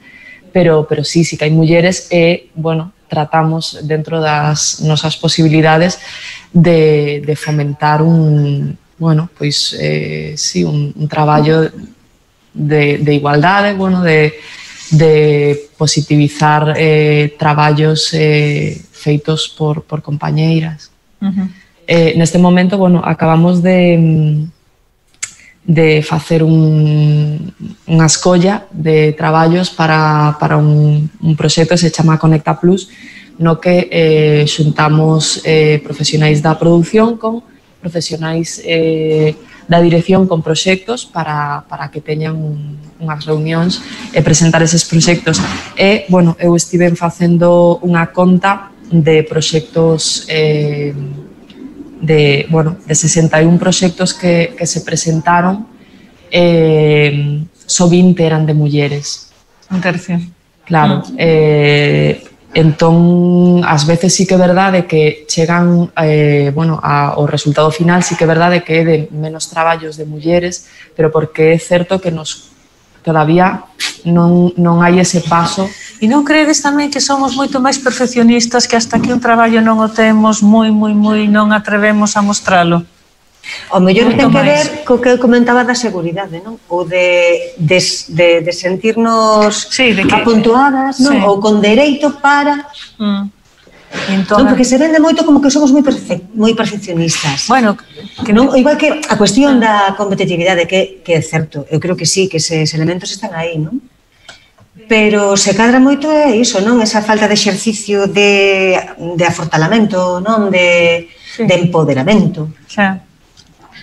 pero, pero sí, sí que hai mulleres e, bueno, tratamos dentro das nosas posibilidades de, de fomentar un, bueno, pois, eh, sí, un, un traballo de, de igualdade, bueno, de, de positivizar eh, traballos eh, feitos por, por compañeiras. Uh-huh. eh, neste momento, bueno, acabamos de, de facer un, unha escolla de traballos para, para un, un proxecto que se chama Conecta Plus, no que eh, xuntamos eh, profesionais da produción con profesionais eh, da dirección con proxectos para, para que teñan un, unhas reunións e presentar eses proxectos. E, bueno, eu estive facendo unha conta de proxectos eh, de, bueno, de sesenta e un proxectos que, que se presentaron, eh, só vinte eran de mulleres. Un tercio. Claro. Mm. Eh, entón, ás veces sí que é verdade que chegan eh, bueno, a, o resultado final sí que é verdade que é de menos traballos de mulleres, pero porque é certo que nos todavía non, non hai ese paso. E non credes tamén que somos moito máis perfeccionistas, que hasta que un traballo non o temos moi, moi, moi, non atrevemos a mostralo? O mellor ten que ver co que comentaba da seguridade, non? Ou de, de, de, de sentirnos sí, de que, apuntuadas, non? Sí. Ou con dereito para... Mm. Entón, non, porque se vende moito como que somos moi, perfe moi perfeccionistas. Bueno, que non, igual que a cuestión da competitividade, que, que é certo, eu creo que sí, que eses elementos están aí, non? Pero se cadra moito é iso, non? Esa falta de exercicio de, de afortalamento, non? De, sí. de empoderamento. Xa.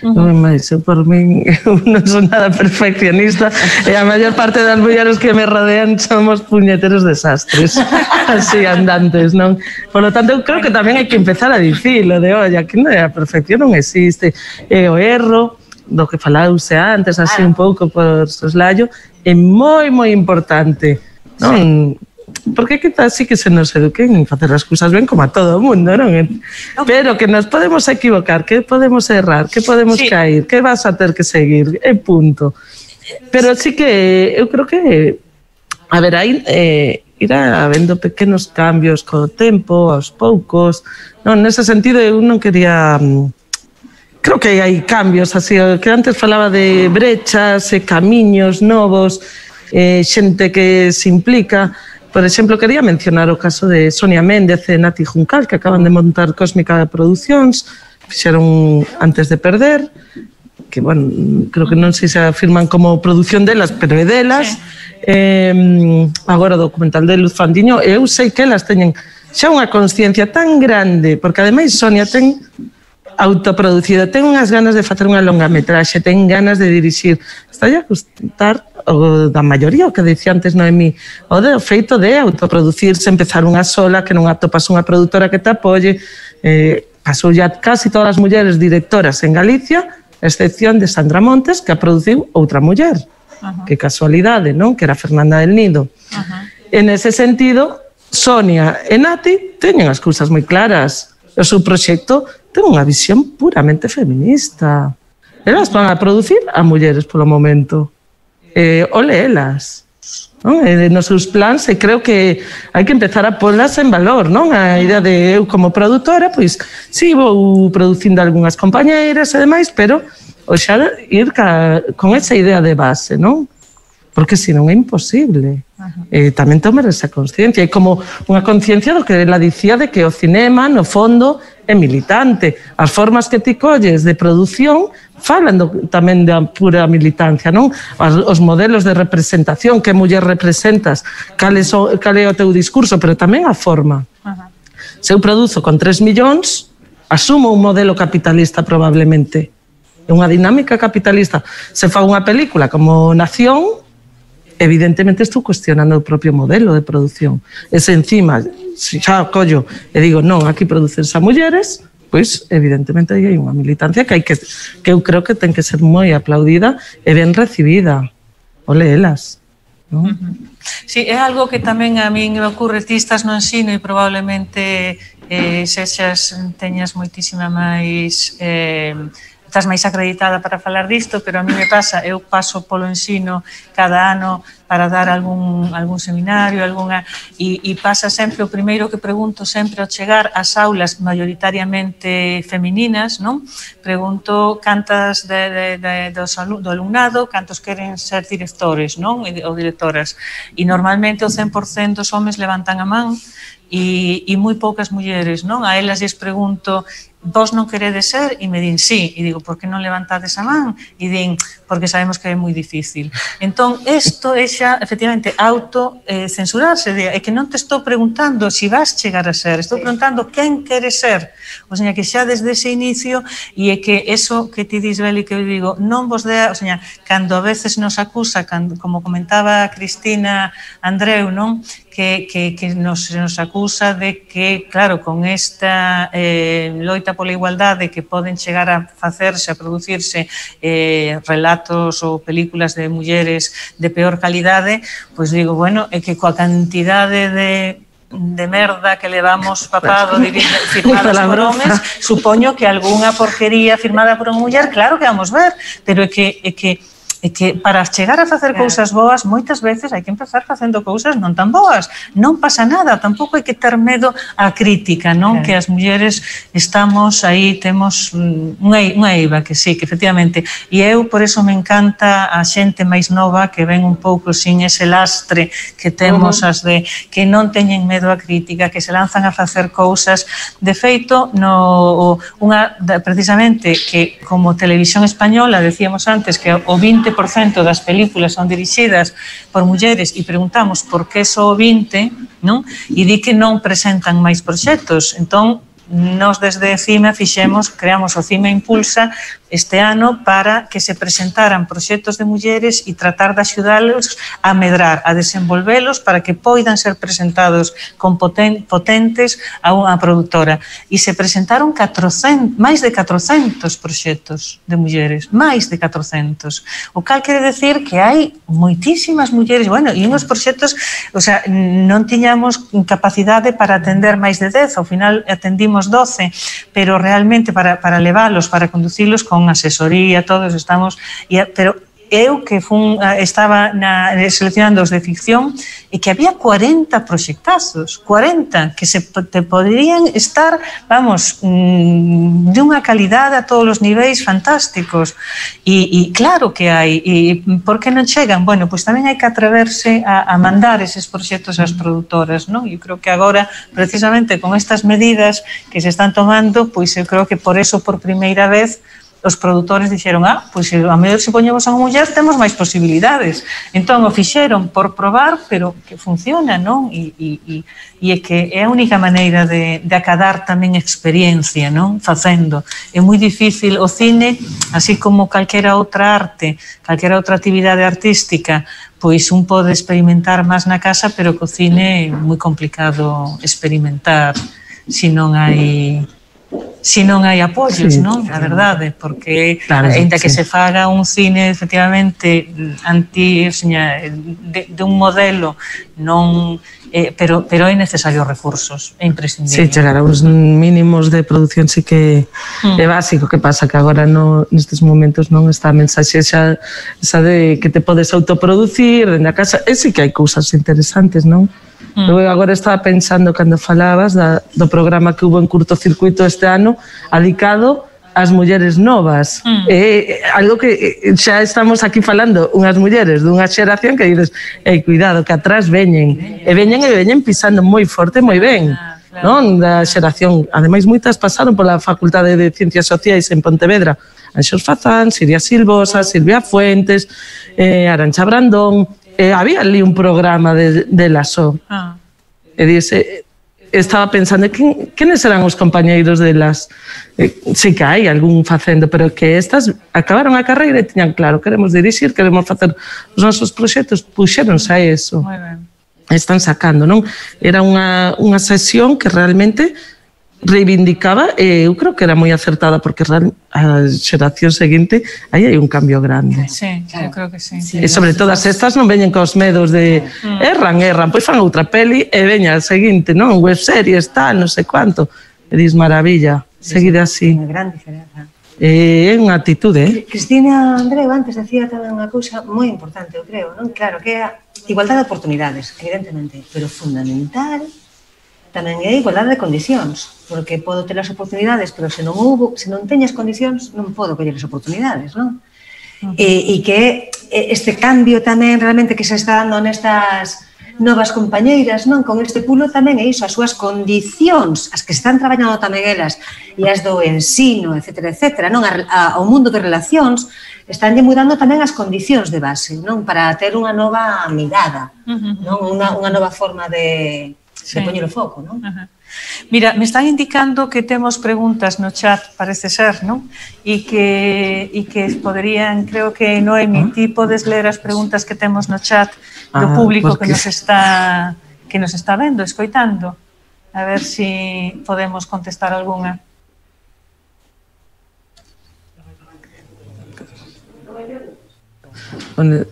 Non é máis, eu por min non son nada perfeccionista e a maior parte das mulleres que me rodean somos puñeteros desastres así andantes, non? Por lo tanto, eu creo que tamén hai que empezar a dicilo de, olla, que non é a perfección non existe, é o erro do que falause antes, así un pouco por soslayo, é moi, moi importante, non? Porque quizás sí que se nos eduquen en facer as cousas ben como a todo o mundo, non? Pero que nos podemos equivocar, que podemos errar, que podemos sí. cair, que vas a ter que seguir, é punto. Pero sí que eu creo que, a ver, aí eh, irá habendo pequenos cambios co tempo, aos poucos, non? Nese sentido eu non quería... Creo que hai cambios, así, que antes falaba de brechas, e camiños novos, eh, xente que se implica... Por exemplo, quería mencionar o caso de Sonia Méndez e Nati Juncal, que acaban de montar Cósmica Producións, fixeron Antes de Perder, que, bueno, creo que non sei se afirman como produción delas, pero é delas. Sí. Eh, agora o documental de Luz Fandiño, eu sei que elas teñen xa unha consciencia tan grande, porque ademais Sonia ten autoproducido, ten unhas ganas de facer unha longametraxe, ten ganas de dirixir. Está a gustar o da maioría, o que dicía antes Noemí, o de o feito de autoproducirse, empezar unha sola, que non atopas unha produtora que te apoie. Eh, pasou ya casi todas as mulleres directoras en Galicia, a excepción de Sandra Montes, que a produciu outra muller. Uh-huh. Que casualidade, non? Que era Fernanda del Nido. Uh-huh. En ese sentido, Sonia e Nati teñen as cousas moi claras. O seu proxecto ten unha visión puramente feminista. Elas van a producir a mulleres polo momento. Eh, ole elas, non? Eh, nos seus plans, e creo que hai que empezar a polas en valor, non? A idea de eu como produtora, pois, si, sí, vou producindo algunhas compañeiras e demais, pero o xa ir ca, con esa idea de base, non? Porque senón é imposible. Eh, tamén tomar esa consciencia, e como unha conciencia do que ela dicía de que o cinema, no fondo, é militante. As formas que ti colles de produción falan do, tamén da pura militancia, non? Os, os modelos de representación, que muller representas, cal é, so, cal é o teu discurso, pero tamén a forma. Uh-huh. Se eu produzo con tres millóns, asumo un modelo capitalista probablemente. É unha dinámica capitalista. Se fa unha película como Nación, evidentemente estou cuestionando o propio modelo de produción. E se encima xa collo e digo, non, aquí producense a mulleres, pois evidentemente hai unha militancia que hai que que eu creo que ten que ser moi aplaudida e ben recibida. Ole elas, non? Uh-huh. Sí, é algo que tamén a min me ocurre, ti estás no ensino e probablemente eh, sexas, teñas moitísima máis... Eh, estás máis acreditada para falar disto, pero a mí me pasa, eu paso polo ensino cada ano para dar algún, algún seminario, alguna, e, e pasa sempre, o primeiro que pregunto sempre ao chegar ás aulas maioritariamente femininas, non? Pregunto cantas de, de, de, dos, do alumnado, cantos queren ser directores, non? Ou directoras. E normalmente o cen por cento dos homes levantan a man e, e moi poucas mulleres, non? A elas lles pregunto, vos non queredes ser? E me din sí, e digo, por que non levantades a man? E din, porque sabemos que é moi difícil. Entón, isto é xa, efectivamente, auto-censurarse, eh, é que non te estou preguntando se si vas chegar a ser, estou preguntando quen queres ser. O sea, que xa desde ese inicio, e é que eso que ti dis, Beli, que eu digo, non vos dea, o sea, cando a veces nos acusa, cando, como comentaba Cristina Andreu, non? que, que, que nos, se nos acusa de que, claro, con esta eh, loita pola igualdade que poden chegar a facerse, a producirse eh, relatos ou películas de mulleres de peor calidade, pois digo, bueno, é que coa cantidade de de merda que levamos papado firmadas por homes, supoño que algunha porquería firmada por unha muller, claro que vamos ver, pero é que, é que é que para chegar a facer cousas boas moitas veces hai que empezar facendo cousas non tan boas, non pasa nada, tampouco hai que ter medo á crítica, non? Que as mulleres estamos aí, temos unha, unha eiva que sí, que efectivamente, e eu por eso me encanta a xente máis nova que ven un pouco sin ese lastre que temos as de que non teñen medo á crítica, que se lanzan a facer cousas, de feito no, unha, precisamente que como Televisión Española decíamos antes que o vinte por cento das películas son dirixidas por mulleres e preguntamos por que só o vinte, non? E di que non presentan máis proxectos. Entón, nos desde CIMA fixemos, creamos o CIMA Impulsa este ano para que se presentaran proxectos de mulleres e tratar de axudalos a medrar, a desenvolvelos para que poidan ser presentados con poten, potentes a unha produtora. E se presentaron catrocentos, máis de catrocentos proxectos de mulleres, máis de catrocentos. O cal quere decir que hai moitísimas mulleres, bueno, e uns proxectos, o sea, non tiñamos capacidade para atender máis de dez, ao final atendimos doce, pero realmente para, para leválos, para conducilos con asesoría, todos estamos, pero eu que fun, estaba na, seleccionando os de ficción e que había cuarenta proxectazos, cuarenta, que se te poderían estar, vamos, de unha calidade a todos os niveis fantásticos. E, e claro que hai, e por que non chegan? Bueno, pois tamén hai que atreverse a, a mandar eses proxectos ás produtoras, non? Eu creo que agora, precisamente con estas medidas que se están tomando, pois eu creo que por eso, por primeira vez, os produtores dixeron, ah, pois a mellor se poñemos a unha muller temos máis posibilidades. Entón o fixeron por probar, pero que funciona, non? E, e, e é que é a única maneira de, de acadar tamén experiencia, non? Facendo. É moi difícil o cine, así como calquera outra arte, calquera outra actividade artística, pois un pode experimentar máis na casa, pero co cine é moi complicado experimentar se non hai... se non hai apoios, sí, non? A verdade, porque claro, ainda que sí. se faga un cine efectivamente anti, seña, de, de un modelo non, eh, pero pero é necesario recursos, é imprescindible. Sí, chegar a uns mínimos de produción sí que mm. é básico, que pasa que agora no, nestes momentos non está a mensaxe xa, xa de que te podes autoproducir dende a casa, e sí que hai cousas interesantes, non? Mm. Eu agora estaba pensando, cando falabas da, do programa que hubo en curtocircuito este ano, adicado ás mulleres novas. Mm. É algo que xa estamos aquí falando, unhas mulleres dunha xeración que dices, ei, cuidado, que atrás veñen, e veñen e veñen pisando moi forte, moi ben. Claro. Non? Da xeración, ademais moitas pasaron pola Facultade de Ciencias Sociais en Pontevedra, Anxos Fazán, Siria Silvosa, Silvia Fuentes, eh, Arantxa Brandón. Eh, había ali un programa de, de la S O. Ah. E dice, estaba pensando, quen, quenes eran os compañeiros de las... Eh, sí que hai algún facendo, pero que estas acabaron a carreira e tiñan claro, queremos dirixir, queremos facer os nosos proxectos, puxéronse a eso. Muy ben. Están sacando, non? Era unha, unha sesión que realmente reivindicaba, e eu creo que era moi acertada, porque a xeración seguinte aí hai un cambio grande. Sí, claro. Eu creo que sí. E sobre todas estas non veñen cos medos de mm. erran, erran, pois fan outra peli e veña a seguinte, non? Web series, tal, non sei cuánto. E dis, maravilla, seguide así. Unha gran diferenza. É unha actitude, eh? Cristina Andreu antes decía tamén unha cousa moi importante, eu creo, non? Claro, que é a igualdade de oportunidades, evidentemente, pero fundamental tamén é a igualdade de condicións, porque podo ter as oportunidades, pero se non houve, se non teñas condicións, non podo coller as oportunidades, non? Uh -huh. E, e que este cambio tamén realmente que se está dando nestas novas compañeiras, non? Con este pulo tamén é iso, as súas condicións, as que están traballando tamén elas, e as do ensino, etcétera, etcétera, non? A, a, ao mundo de relacións, estánlle mudando tamén as condicións de base, non? Para ter unha nova mirada, uh -huh. non? Unha, unha nova forma de... se sí. poñer o foco, non? Uh -huh. Mira, me están indicando que temos preguntas no chat, parece ser, non? E que, e que poderían, creo que Noemi, ti podes ler as preguntas que temos no chat do ah, público porque... que nos está que nos está vendo, escoitando. A ver se si podemos contestar algunha. Onde...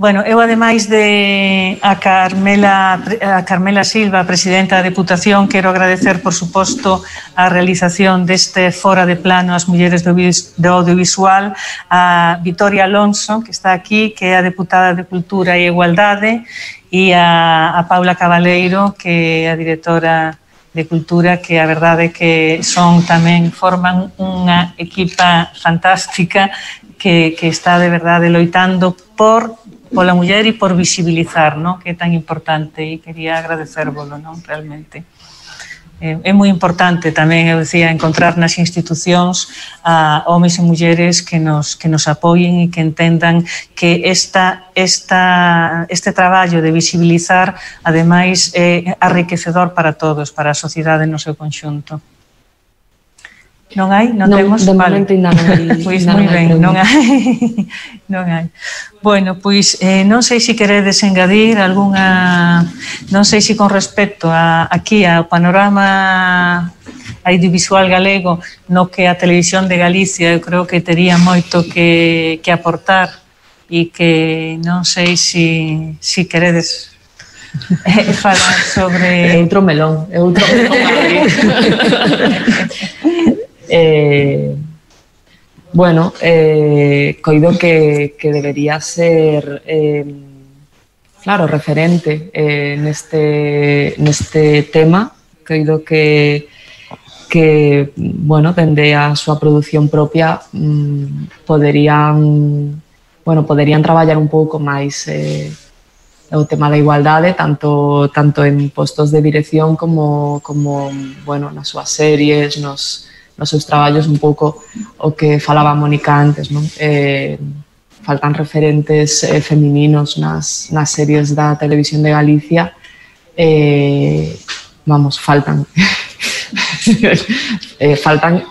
Bueno, eu ademais de a Carmela, a Carmela Silva, presidenta da Deputación, quero agradecer, por suposto, a realización deste Fora de Plano ás mulleres do audiovisual, a Vitoria Alonso, que está aquí, que é a deputada de Cultura e Igualdade, e a, a Paula Cabaleiro, que é a directora de Cultura, que a verdade é que son tamén, forman unha equipa fantástica que, que está de verdade loitando por pola muller e por visibilizar, non? Que é tan importante, e quería agradecérvolo, non? Realmente. É, é moi importante tamén, eu decía, encontrar nas institucións a homes e mulleres que nos, que nos apoien e que entendan que esta, esta, este traballo de visibilizar, ademais, é enriquecedor para todos, para a sociedade no seu conxunto. Non hai? Non, non temos? De vale. momento ainda non hai. Pois moi ben, non hai. Non hai. Bueno, pois eh, non sei se queredes engadir algunha... Non sei se con respecto a, aquí ao panorama audiovisual galego no que a Televisión de Galicia eu creo que tería moito que, que aportar e que non sei se si, si queredes eh, falar sobre... É outro melón, é outro melón. Eh, bueno, eh, coido que, que debería ser eh, claro, referente eh, neste, neste tema. Coido que, que bueno, dende a súa produción propia mmm, poderían bueno, poderían traballar un pouco máis eh, o tema da igualdade, tanto, tanto en postos de dirección como, como bueno, nas súas series, nos nos seus traballos, un pouco o que falaba Mónica antes, non? Eh, faltan referentes eh, femininos nas, nas series da Televisión de Galicia, eh, vamos, faltan eh, faltan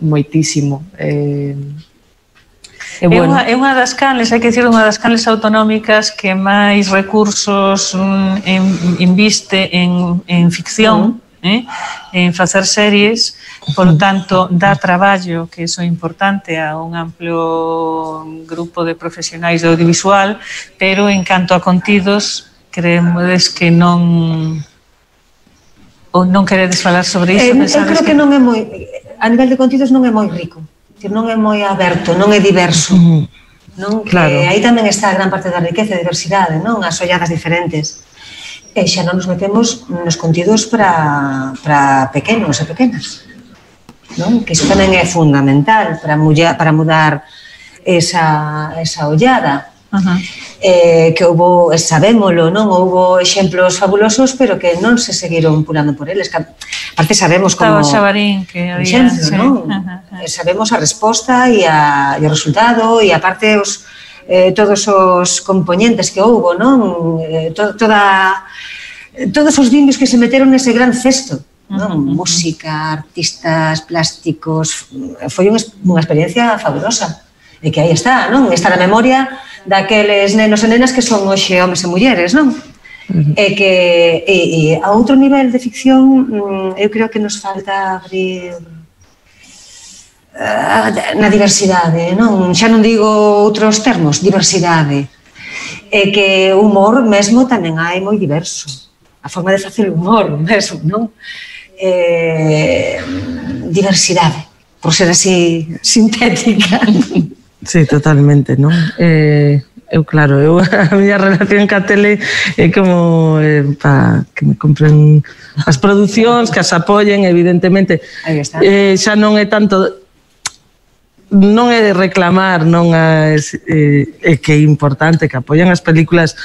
moitísimo. Eh, É, bueno. é, unha, é unha das canles, hai que dicir, unha das canles autonómicas que máis recursos mm, en, inviste en, en ficción, uh-huh. Eh, en facer series, polo tanto dá traballo, que iso é importante, a un amplio grupo de profesionais do audiovisual, pero en canto a contidos creemos que non ou non queredes falar sobre iso. Eh, eu creo que, que non é moi, a nivel de contidos non é moi rico, que non é moi aberto, non é diverso, non? Claro. Que aí tamén está a gran parte da riqueza e diversidade, non? As olladas diferentes. E xa non nos metemos nos contidos para, para pequenos e pequenas, non? Que iso tamén é fundamental para, mulla, para mudar esa, esa ollada. Uh-huh. Eh, que houbo, sabémolo, non? Houbo exemplos fabulosos, pero que non se seguiron pulando por eles. Aparte sabemos como... Estaba Xabarín, que había... Exemplo, sí. Non? Uh-huh. Sabemos a resposta e, a, e o resultado, e aparte os... Eh, todos os componentes que houbo, non? Eh, to, toda, todos os dindios que se meteron nese gran cesto, non? Uh-huh. Música, artistas, plásticos, foi unha, unha experiencia fabulosa. E que aí está, non? Está na memoria daqueles nenos e nenas que son hoxe homes e mulleres, non? Uh-huh. E que e, e a outro nivel de ficción eu creo que nos falta abrir na diversidade, non? Xa non digo outros termos, diversidade. E que o humor mesmo tamén hai moi diverso. A forma de facer o humor mesmo, non? Eh, diversidade, por ser así sintética. Sí, totalmente, non? Eh, eu, claro, eu, a miña relación ca tele é como eh, para que me compren as producións, que as apoyen, evidentemente. Aí está. Eh, xa non é tanto... Non é de reclamar, non é, eh, é que é importante que apoyen as películas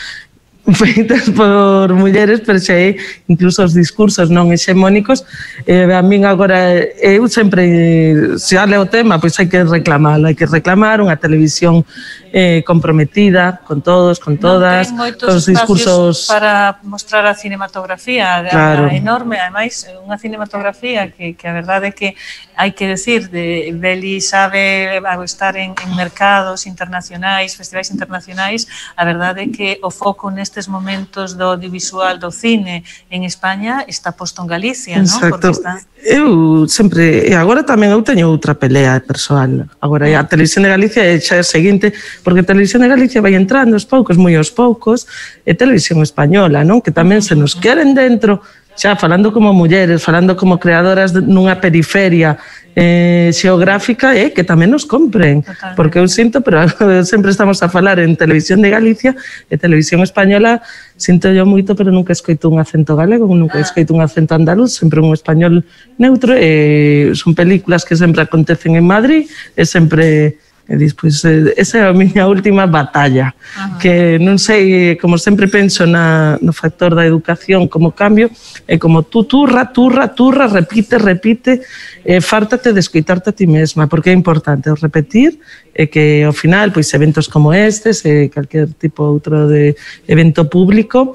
feitas por mulleres, pero xa é incluso os discursos non hexemónicos. Eh, a min agora, eu sempre, se ale o tema, pois hai que reclamalo, hai que reclamar unha televisión eh, comprometida con todos, con todas, non ten moitos os discursos para mostrar a cinematografía, claro. A enorme, ademais, unha cinematografía que, que a verdade é que hai que decir, de Beli sabe estar en, en mercados internacionais, festivais internacionais, a verdade é que o foco nestes momentos do audiovisual, do cine en España está posto en Galicia, non? Exacto. Está... Eu sempre, e agora tamén eu teño outra pelea persoal. Agora a Televisión de Galicia é xa o seguinte, porque a Televisión de Galicia vai entrando aos poucos, moi aos poucos, e Televisión Española, non? Que tamén se nos queren dentro, xa falando como mulleres, falando como creadoras nunha periferia eh, xeográfica, é eh, que tamén nos compren. Totalmente. Porque eu sinto, pero sempre estamos a falar en Televisión de Galicia e Televisión Española, sinto yo moito, pero nunca escoito un acento galego, nunca escoito un acento andaluz, sempre un español neutro, e son películas que sempre acontecen en Madrid, e sempre... E despois, esa é a miña última batalla. Ajá. Que non sei, como sempre penso na, no factor da educación como cambio, é como tú turra, turra, turra, repite, repite, e fártate de escoitarte a ti mesma, porque é importante o repetir, e que ao final, pois eventos como estes, e calquer tipo outro de evento público,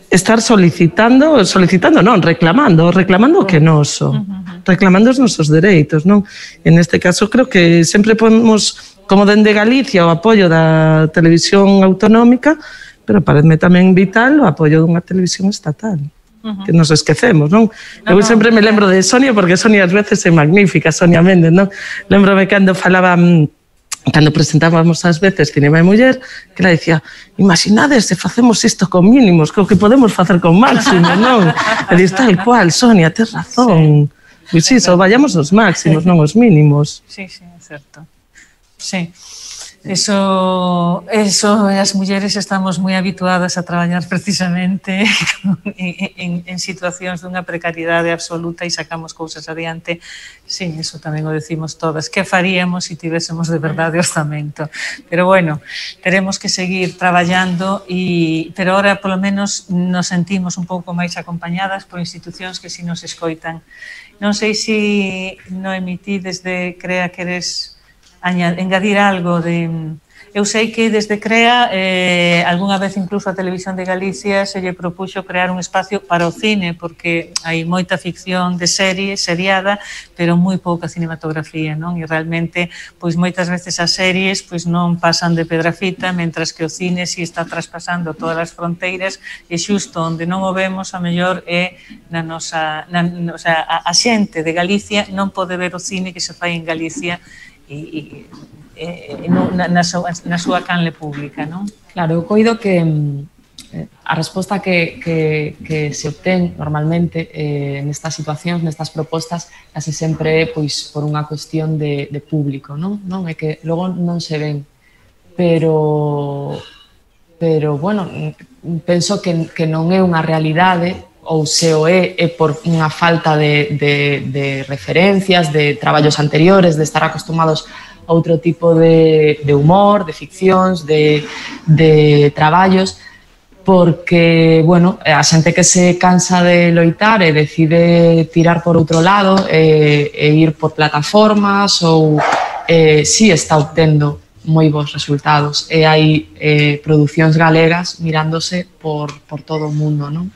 estar solicitando, solicitando non, reclamando, reclamando o que noso, reclamando os nosos dereitos, non? En este caso creo que sempre ponemos como dende Galicia o apoio da televisión autonómica, pero parece tamén vital o apoio dunha televisión estatal. Uh-huh. Que nos esquecemos, non? No, eu sempre no, me lembro de Sonia, porque Sonia ás veces é magnífica, Sonia Méndez, non? Lembrome cando falaba... Cando presentábamos ás veces Cinema e Muller, que ela dicía, imaginades se facemos isto con mínimos, co que podemos facer con máximos, non? E dis, tal cual, Sonia, tes razón. Pois sí, só vayamos aos máximos, non aos mínimos. Sí, sí, é certo. Sí. Eso, eso, as mulleres estamos moi habituadas a traballar precisamente en, en, en situacións dunha precariedade absoluta e sacamos cousas adiante. Sí, eso tamén o decimos todas. Que faríamos se tivésemos de verdade orzamento? Pero bueno, teremos que seguir traballando, e, pero ahora polo menos nos sentimos un pouco máis acompañadas por institucións que si nos escoitan. Non sei se Noemí desde Crea queres engadir algo de... Eu sei que desde Crea, eh, algunha vez incluso a Televisión de Galicia se lle propuxo crear un espacio para o cine, porque hai moita ficción de serie, seriada, pero moi pouca cinematografía, non? E realmente, pois moitas veces as series pois non pasan de Pedrafita, mentras que o cine si está traspasando todas as fronteiras, e xusto onde non o vemos, a mellor é na nosa... Na, o sea, a, a xente de Galicia non pode ver o cine que se fai en Galicia e, e, na, na, súa, na súa canle pública, non? Claro, eu coido que eh, a resposta que, que, que se obtén normalmente eh, nestas situacións, nestas propostas, case sempre é pois, por unha cuestión de, de público, non? non? É que logo non se ven, pero, pero bueno, penso que, que non é unha realidade, ou se o é, é por unha falta de, de, de referencias, de traballos anteriores, de estar acostumados a outro tipo de, de humor, de ficcións, de, de traballos, porque, bueno, a xente que se cansa de loitar e decide tirar por outro lado e, e ir por plataformas ou eh, si está obtendo moi bons resultados, e hai eh, producións galegas mirándose por, por todo o mundo, non?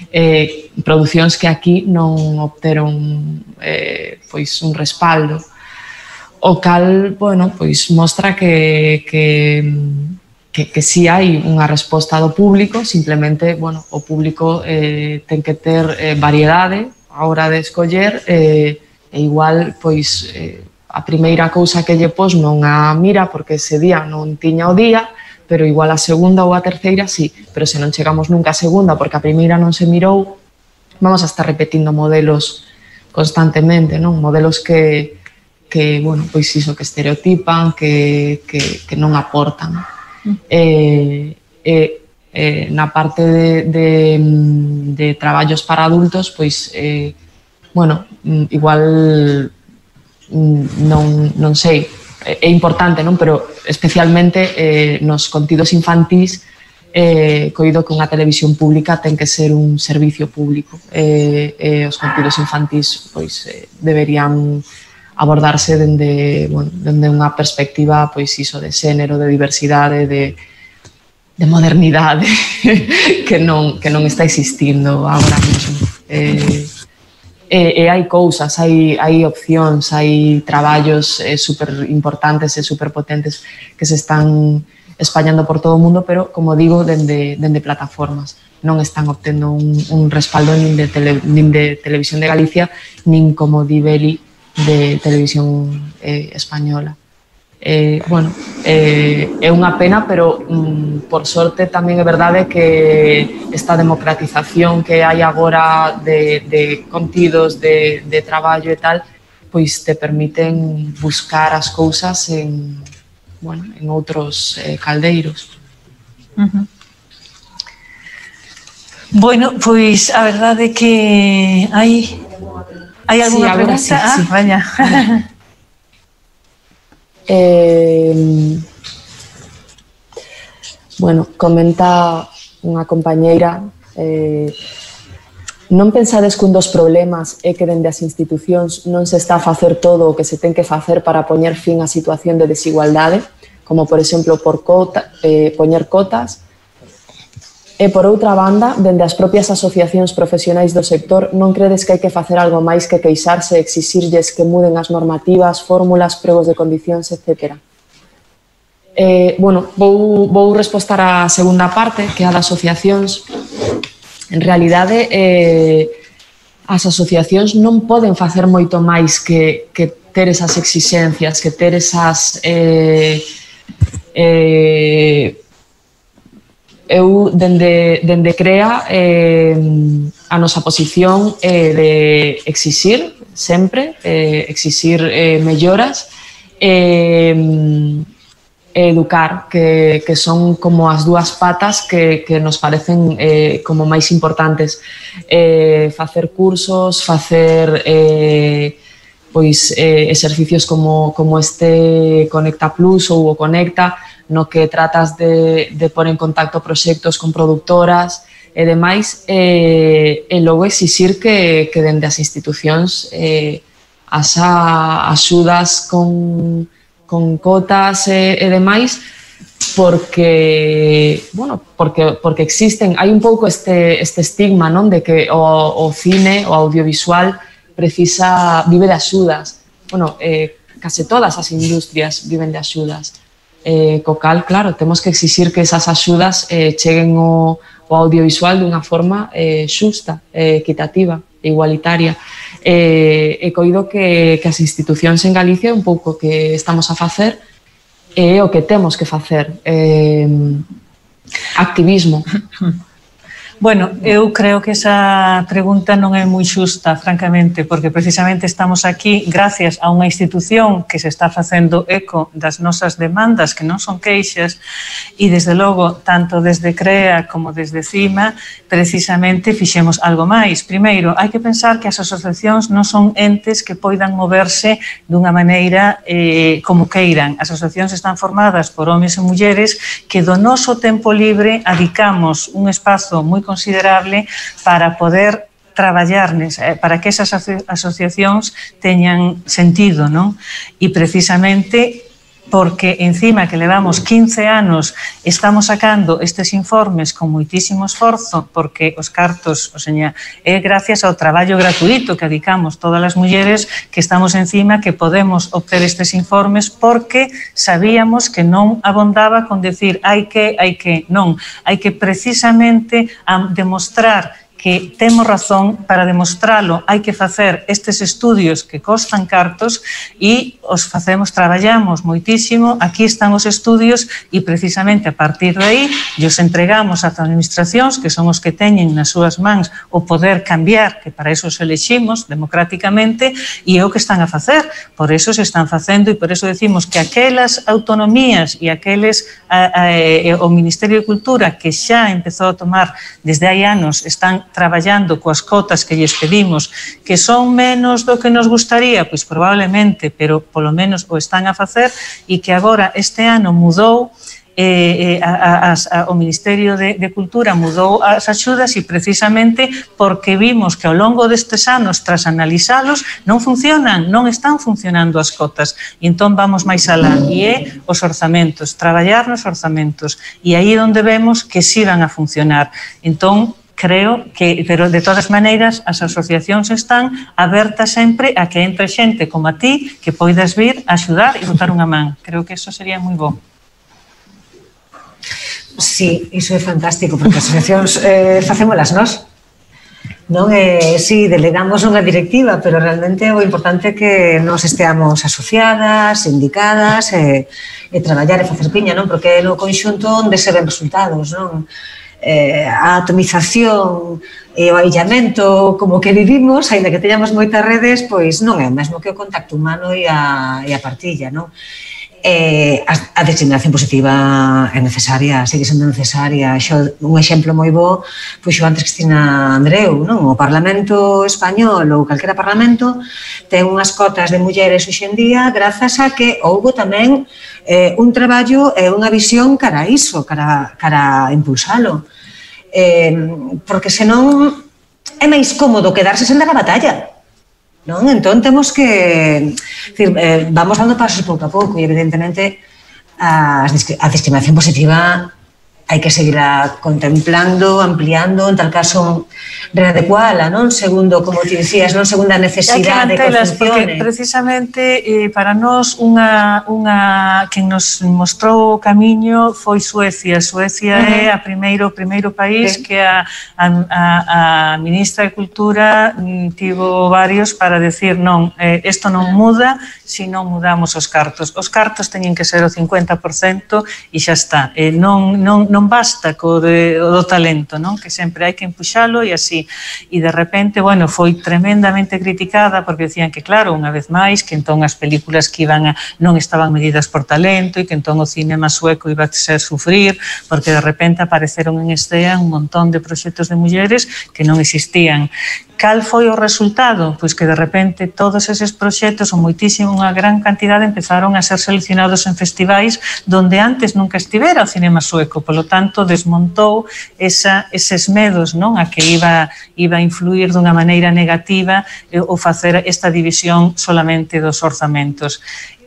Eh, producións que aquí non obteron eh, pois un respaldo, o cal, bueno, pois mostra que, que, que, que si hai unha resposta do público, simplemente, bueno, o público eh, ten que ter eh, variedade a hora de escoller, eh, e igual, pois, eh, a primeira cousa que lle pos non a mira porque ese día non tiña o día, pero igual a segunda ou a terceira sí, pero se non chegamos nunca a segunda porque a primeira non se mirou, vamos a estar repetindo modelos constantemente, non? Modelos que, que bueno, pois iso, que estereotipan, que, que, que non aportan. Mm. Eh, eh, eh, na parte de, de, de traballos para adultos, pois, eh, bueno, igual non, non sei, é importante, non? Pero especialmente eh, nos contidos infantís eh, coido que unha televisión pública ten que ser un servicio público e eh, eh, os contidos infantís pois, eh, deberían abordarse dende, bueno, dende unha perspectiva pois, iso de xénero, de diversidade, de, de modernidade que, non, que non está existindo agora mesmo. Eh, E, e hai cousas, hai, hai opcións, hai traballos eh, super importantes e super potentes que se están españando por todo o mundo, pero, como digo, dende, dende plataformas. Non están obtendo un, un respaldo nin de, tele, nin de Televisión de Galicia, nin, como di Beli, de Televisión eh, Española. Eh, bueno, eh, é unha pena, pero mm, por sorte tamén é verdade que esta democratización que hai agora de, de contidos, de, de traballo e tal, pois te permiten buscar as cousas en, bueno, en outros eh, caldeiros. Uh-huh. Bueno, pois a verdade é que hai hai alguna sí, pregunta? Sí, ah, sí. Vaya. Eh, bueno, comenta unha compañeira eh, non pensades que un dos problemas é que dende as institucións non se está a facer todo o que se ten que facer para poñer fin á situación de desigualdade, como por exemplo por cota, eh, poñer cotas, e por outra banda, dende as propias asociacións profesionais do sector, non credes que hai que facer algo máis que queixarse e exixirlles que muden as normativas, fórmulas, pregos de condicións, etcétera? Eh, bueno, vou, vou respostar á segunda parte, que é a das asociacións. En realidade, eh, as asociacións non poden facer moito máis que, que ter esas exixencias, que ter esas... Eh, eh, eu, dende, dende CREA, eh, a nosa posición é de exixir, sempre, eh, exixir eh, melloras, eh, educar, que, que son como as dúas patas que, que nos parecen eh, como máis importantes. Eh, facer cursos, facer eh, pois, eh, exercicios como, como este Conecta Plus ou o Conecta, no que tratas de, de pôr en contacto proxectos con productoras e demais, e, e logo exixir que, que dende as institucións eh, as axudas con, con cotas e, e demais, porque, bueno, porque, porque existen, hai un pouco este, este estigma, non, de que o, o cine, o audiovisual precisa, vive de axudas. Bueno, eh, case todas as industrias viven de axudas. Eh, co cal, claro, temos que exixir que esas axudas eh, cheguen ao, ao audiovisual dunha forma eh, xusta, eh, equitativa, igualitaria. Eh, e coido que, que as institucións en Galicia é un pouco que estamos a facer e é o que temos que facer. Eh, activismo. Bueno, eu creo que esa pregunta non é moi xusta, francamente, porque precisamente estamos aquí gracias a unha institución que se está facendo eco das nosas demandas, que non son queixas, e desde logo, tanto desde CREA como desde CIMA, precisamente fixemos algo máis. Primeiro, hai que pensar que as asociacións non son entes que poidan moverse dunha maneira eh, como queiran. As asociacións están formadas por homes e mulleres que do noso tempo libre adicamos un espazo moi considerable para poder traballar, para que esas asociacións teñan sentido, non? E precisamente porque encima que levamos quince anos estamos sacando estes informes con moitísimo esforzo, porque os cartos, o seña, é gracias ao traballo gratuito que adicamos todas as mulleres que estamos encima, que podemos obter estes informes, porque sabíamos que non abondaba con decir hai que, hai que, non, hai que precisamente demostrar que temos razón. Para demostralo hai que facer estes estudios que costan cartos e os facemos, traballamos moitísimo, aquí están os estudios e precisamente a partir de aí os entregamos ás administracións que son os que teñen nas súas mans o poder cambiar, que para eso os eleximos democráticamente, e é o que están a facer, por eso se están facendo, e por eso decimos que aquelas autonomías e aqueles a, a, o Ministerio de Cultura que xa empezou a tomar desde hai anos, están traballando coas cotas que lles pedimos, que son menos do que nos gustaría, pois probablemente, pero polo menos o están a facer, e que agora este ano mudou eh, a, a, a, o Ministerio de, de Cultura mudou as axudas e precisamente porque vimos que ao longo destes anos, tras analizalos, non funcionan, non están funcionando as cotas. E entón vamos máis alá, e é os orzamentos, traballar nos orzamentos. E aí é onde vemos que sí van a funcionar. Entón, creo que, pero de todas maneiras, as asociacións están abertas sempre a que entre xente como a ti que poidas vir a axudar e botar unha man. Creo que iso sería moi bo. Sí, iso é fantástico, porque as asociacións eh, facémolas nós. Non é, si, delegamos unha directiva, pero realmente o importante é que nos esteamos asociadas, indicadas, e, e traballar e facer piña, non? Porque é no conxunto onde se ven resultados, non? Eh, a atomización e o aillamento como que vivimos, aínda que teñamos moitas redes, pois non é o mesmo que o contacto humano e a, e a partilla, non? Eh, a, a discriminación positiva é necesaria, segue sendo necesaria. Xo, un exemplo moi bo puxo antes Cristina Andreu, non? O Parlamento Español ou calquera Parlamento ten unhas cotas de mulleres hoxe en día grazas a que houbo tamén eh, un traballo e unha visión cara a iso, cara, cara a impulsalo. Eh, porque senón é máis cómodo quedarse sen dar a batalla. Non? Entón temos que, decir, eh, vamos dando pasos pouco a pouco e evidentemente a, a discriminación positiva hai que seguirla contemplando, ampliando, en tal caso readecuala, non? Segundo, como te dicías, non? Segundo a necesidade que funcione. Porque precisamente eh, para nós unha, unha quen nos mostrou o camiño foi Suecia. Suecia uh -huh. é a primeiro, o primeiro país sí. que a, a, a, a ministra de Cultura mm, tivo varios para decir non, eh, isto non muda se non mudamos os cartos. Os cartos teñen que ser o cincuenta por cento e xa está. Eh, non, non, non basta co de, o do talento, non? Que sempre hai que empuxalo e así. E de repente, bueno, foi tremendamente criticada porque decían que, claro, unha vez máis, que entón as películas que iban a, non estaban medidas por talento e que entón o cinema sueco iba a ser sufrir porque de repente apareceron en Estea un montón de proxectos de mulleres que non existían. Cal foi o resultado? Pois que de repente todos eses proxectos, ou moitísimo, unha gran cantidade, empezaron a ser seleccionados en festivais donde antes nunca estivera o cinema sueco. Polo tanto, desmontou esa, eses medos, non? A que iba, iba a influir dunha maneira negativa ou facer esta división solamente dos orzamentos.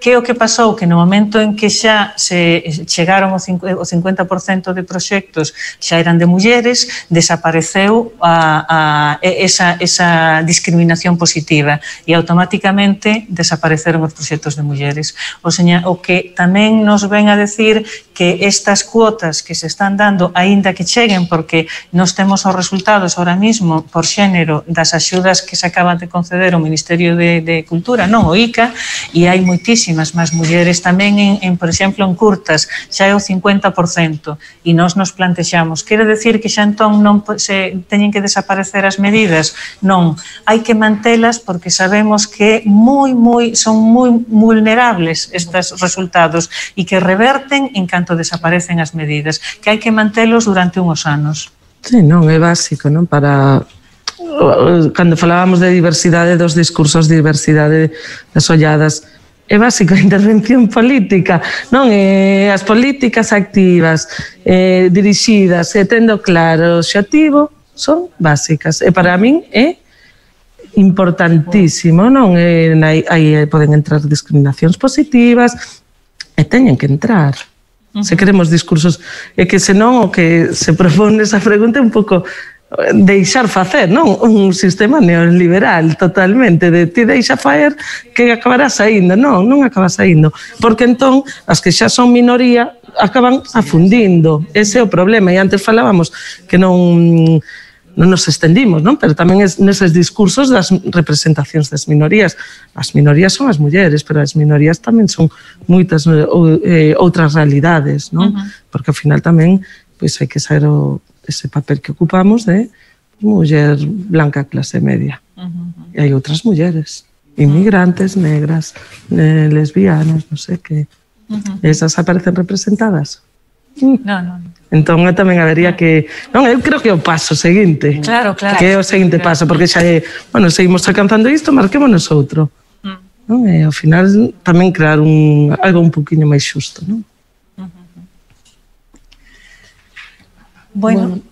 Que é o que pasou? Que no momento en que xa se chegaron o cincuenta por cento de proxectos xa eran de mulleres, desapareceu a, a, esa, esa discriminación positiva e automáticamente desapareceron os proxectos de mulleres. O, seña, o que tamén nos ven a decir que estas cuotas que se están dando, aínda que cheguen, porque nos temos os resultados ahora mismo por xénero das axudas que se acaban de conceder o Ministerio de, de Cultura, non o I C A, e hai moitísimas máis mulleres tamén, en, en, por exemplo, en curtas, xa é o cincuenta por cento, e nós nos plantexamos, quere decir que xa entón non se teñen que desaparecer as medidas? Non, hai que mantelas porque sabemos que moi, moi, son moi vulnerables estes resultados e que reverten en canto desaparecen as medidas, que hai que mantelos durante unhos anos. Sí, non, é básico, non? Para... Cando falábamos de diversidade dos discursos, diversidade das olladas, é básico a intervención política, non? E as políticas activas, eh, dirixidas e tendo claro o obxectivo son básicas. E para min é importantísimo, non? E aí, aí poden entrar discriminacións positivas e teñen que entrar. Se queremos discursos, é que senón o que se propone esa pregunta é un pouco deixar facer, non? Un sistema neoliberal totalmente, de ti deixa faer que acabará saindo. Non, non acaba saindo, porque entón as que xa son minoría acaban afundindo. Ese é o problema, e antes falábamos que non non nos estendimos, non? Pero tamén es neses discursos das representacións das minorías. As minorías son as mulleres, pero as minorías tamén son moitas eh, outras realidades, non? Uh-huh. Porque ao final tamén pois hai que saber o ese papel que ocupamos de muller blanca clase media. Uh-huh. E hai outras mulleres, inmigrantes, negras, eh, lesbianas, non sei que. Uh-huh. Esas aparecen representadas. No, no. Entón, tamén habería que... Non, eu creo que é o paso seguinte. Claro, claro. Que é o seguinte claro. paso, porque xa é... Bueno, seguimos alcanzando isto, marquémonos outro. Uh-huh. Non? E ao final tamén crear un, algo un poquinho máis xusto, non? Bueno, bueno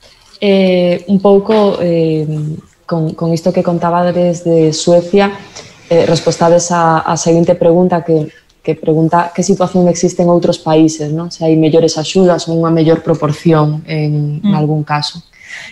eh, un pouco eh, con, con isto que contabades de Suecia, eh, respostades a, a seguinte pregunta que, que pregunta que situación existe en outros países, non? Se hai mellores axudas ou unha mellor proporción en, mm. en algún caso.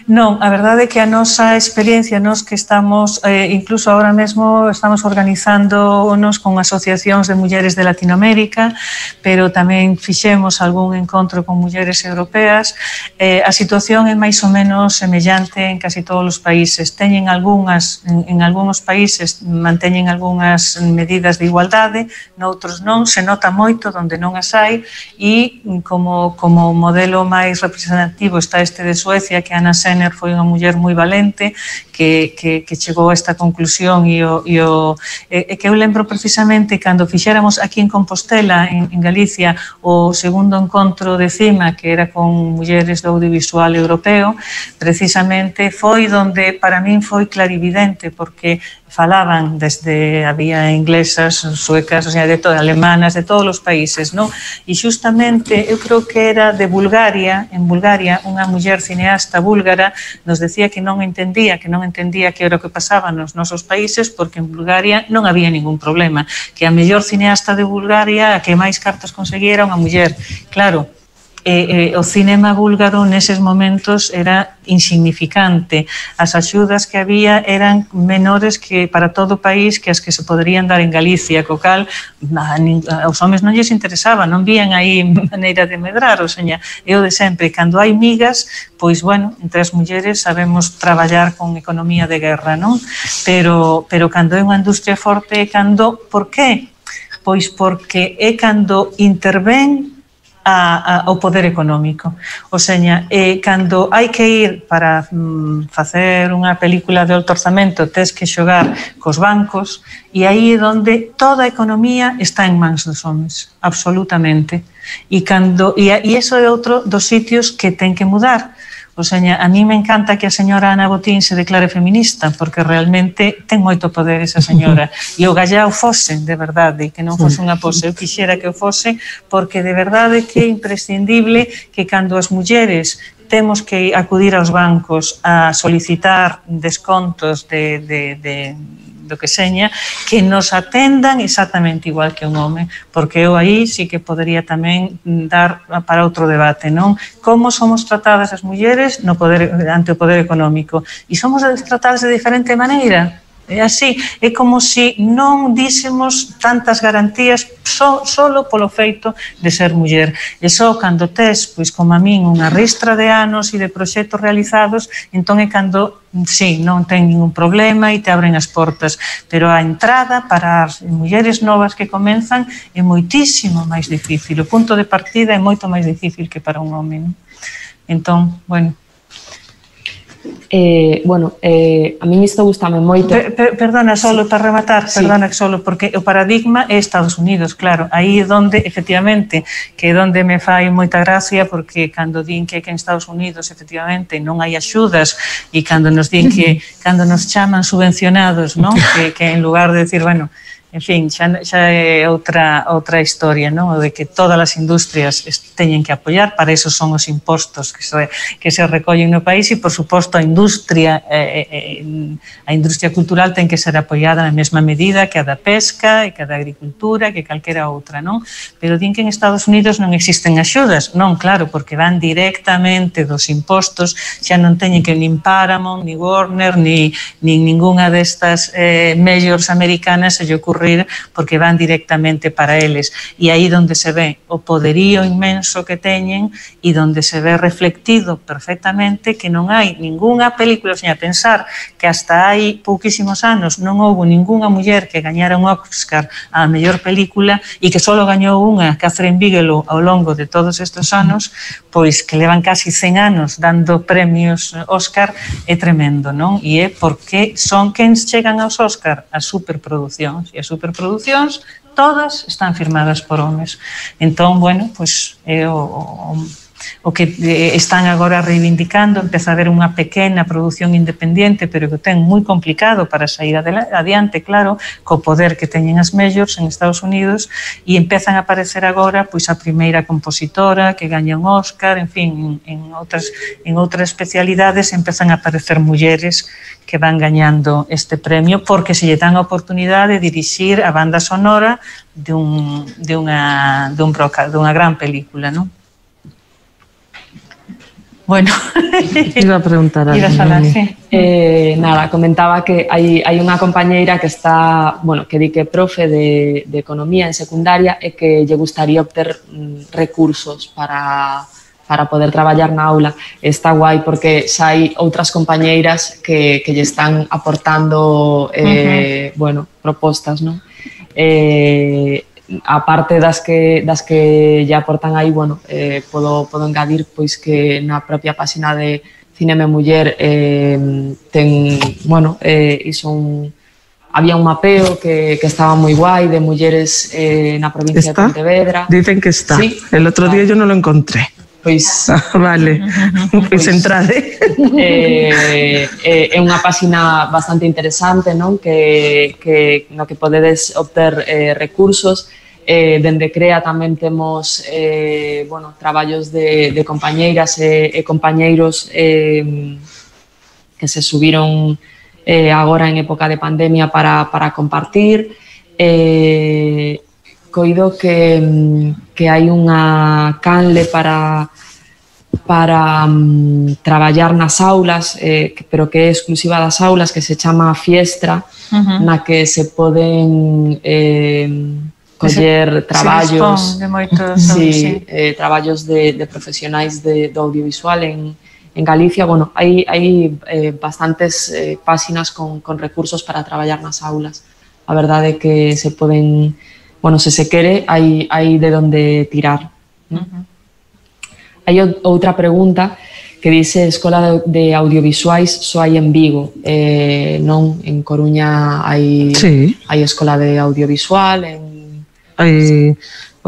Non, a verdade é que a nosa experiencia, nos que estamos, eh, incluso ahora mesmo estamos organizándonos con asociacións de mulleres de Latinoamérica, pero tamén fixemos algún encontro con mulleres europeas. Eh, a situación é máis ou menos semellante en casi todos os países. Teñen algunhas, en, en algúns países manteñen algunhas medidas de igualdade, noutros non, se nota moito onde non as hai, e como, como modelo máis representativo está este de Suecia, que Ana Senner foi unha muller moi valente que, que, que chegou a esta conclusión e, o, e, o, e que eu lembro precisamente cando fixéramos aquí en Compostela, en, en Galicia, o segundo encontro de CIMA, que era con mulleres do audiovisual europeo, precisamente foi donde para min foi clarividente, porque falaban desde, había inglesas, suecas, o sea, de todo, alemanas, de todos os países, non? E xustamente, eu creo que era de Bulgaria, en Bulgaria, unha muller cineasta búlgara nos decía que non entendía, que non entendía que era o que pasaba nos nosos países, porque en Bulgaria non había ningún problema, que a mellor cineasta de Bulgaria, a que máis cartas conseguira unha muller. Claro, E, e, o cinema búlgaro neses momentos era insignificante. As axudas que había eran menores que para todo o país que as que se poderían dar en Galicia, co cal a, a, aos homes non lles interesaba, non vían aí maneira de medrar, o seña, é o de sempre, cando hai migas, pois, bueno, entre as mulleres sabemos traballar con economía de guerra, non? Pero, pero cando é unha industria forte, cando, por qué? Pois porque é cando intervén A, a, ao poder económico. O seña, eh, cando hai que ir para mm, facer unha película de alto orzamento, tes que xogar cos bancos, e aí é onde toda a economía está en mans dos homes, absolutamente. E, cando, e, e iso é outro dos sitios que ten que mudar. O seña, a mí me encanta que a señora Ana Botín se declare feminista, porque realmente ten moito poder esa señora. E o gallao fose, de verdade, que non fose unha pose. Eu quixera que o fose, porque de verdade que é imprescindible que cando as mulleres temos que acudir aos bancos a solicitar descontos de, de, de do que seña, que nos atendan exactamente igual que un home, porque eu aí sí que podería tamén dar para outro debate, non? Como somos tratadas as mulleres no poder, ante o poder económico, e somos tratadas de diferente maneira. É así, é como se non dísemos tantas garantías só, solo polo feito de ser muller. E só cando tes, pois como a min, unha ristra de anos e de proxectos realizados, entón é cando, sí, non ten ningún problema e te abren as portas. Pero a entrada para as mulleres novas que comenzan é moitísimo máis difícil. O punto de partida é moito máis difícil que para un home, non? Entón, bueno... Eh, bueno, eh, a min isto gustame moito. Per, per, perdona, solo sí. para rematar, sí. perdona, solo, porque o paradigma é Estados Unidos, claro, aí é donde, efectivamente, que é donde me fai moita gracia, porque cando din que, que en Estados Unidos, efectivamente, non hai axudas, e cando nos din que, cando nos chaman subvencionados, non? Que, que en lugar de decir, bueno, en fin, xa, xa é outra, outra historia, non? O de que todas as industrias teñen que apoiar, para eso son os impostos que se, que se recollen no país, e, por suposto, a industria eh, eh, a industria cultural ten que ser apoiada na mesma medida que a da pesca e que a da agricultura, que calquera outra, non? Pero din que en Estados Unidos non existen axudas, non, claro, porque van directamente dos impostos, xa non teñen que nin Paramount, ni Warner, ni, ni ninguna destas eh, majors americanas se lle ocurre porque van directamente para eles, e aí donde se ve o poderío inmenso que teñen e donde se ve reflectido perfectamente que non hai ningunha película, sin a pensar que hasta hai pouquísimos anos non houve ningunha muller que gañara un Oscar a mellor película, e que só gañou unha, Catherine Bigelow, ao longo de todos estes anos, pois que levan casi cen anos dando premios Oscar, é tremendo, non? E é porque son quen chegan aos Oscar, as superproduccións, e as superproducións todas están firmadas por homes. Entón, bueno, pois é o, o, o que eh, están agora reivindicando, empeza a haber unha pequena produción independente, pero que ten moi complicado para sair adiante, claro, co poder que teñen as majors en Estados Unidos, e empezan a aparecer agora pois a primeira compositora que gaña un Oscar, en fin, en, en, outras, en outras especialidades empezan a aparecer mulleres que van gañando este premio porque se lle dan a oportunidade de dirixir a banda sonora de, un, de, unha, de, un broca, de unha gran película, non? Bueno, iba a preguntar algo. Iba a falar, sí. Eh, nada, comentaba que hai, hai unha compañeira que está, bueno, que di que é profe de, de economía en secundaria e que lle gustaría obter mm, recursos para... para poder traballar na aula. Está guai porque xa hai outras compañeiras que, que lle están aportando eh, uh-huh. bueno, propostas, non? Eh, a parte das que, das que lle aportan aí, bueno, eh, podo, podo engadir pois que na propia página de Cinema Muller eh, ten, bueno, eh, iso un, había un mapeo que, que estaba moi guai de mulleres eh, na provincia ¿Está? de Pontevedra. Dicen que está. Sí. El otro día yo no lo encontré. Pois, ah, vale, pois, pois entrade. Eh, eh, é unha página bastante interesante, non? Que, que no que podedes obter eh, recursos. Eh, dende CREA tamén temos eh, bueno, traballos de, de compañeiras e, e compañeiros eh, que se subiron eh, agora en época de pandemia para, para compartir. Eh, coido que, que hai unha canle para, para um, traballar nas aulas, eh, que, pero que é exclusiva das aulas, que se chama Fiestra, uh-huh. na que se poden eh, coller traballos, de moitos, sí, sí. eh, traballos de, de profesionais de, do audiovisual en, en Galicia. Bueno, hai, hai eh, bastantes eh, páxinas con, con recursos para traballar nas aulas. A verdade é que se poden... Bueno, se se quere, hai, hai de onde tirar. ¿No? Uh-huh. Hai outra pregunta que dice Escola de, de Audiovisuais só hai en Vigo. Eh, non, en Coruña hai, sí. hai Escola de Audiovisual. En... Hai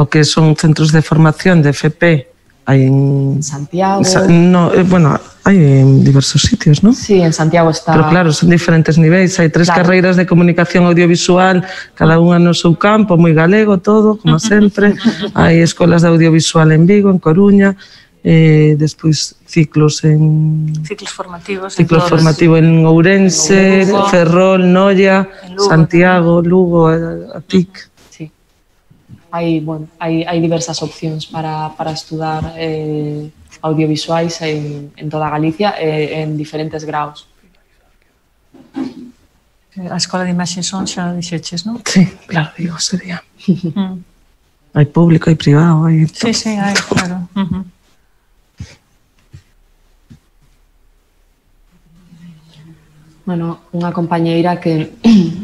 o que son centros de formación de F P. Hai en Santiago. No, eh, bueno, hai en diversos sitios, ¿no? Sí, en Santiago está. Pero claro, son diferentes niveis. Hai tres claro. carreiras de comunicación audiovisual, cada unha no seu campo, moi galego todo, como sempre. Hai escolas de audiovisual en Vigo, en Coruña, eh, despois ciclos en... Ciclos formativos. Ciclos formativos en Ourense, en Lugo, Ferrol, Noia, Lugo, Santiago, también. Lugo, a, a T I C. Hai, bueno, hai, hai diversas opcións para, para estudar eh, audiovisuais en, en toda Galicia eh, en diferentes graus. A Escola de Imaxe Son xa dixeches, non? Sí, claro, digo, sería. Mm. Hai público, hai privado, hai... Sí, sí, hai, claro. Uh-huh. Bueno, unha compañeira que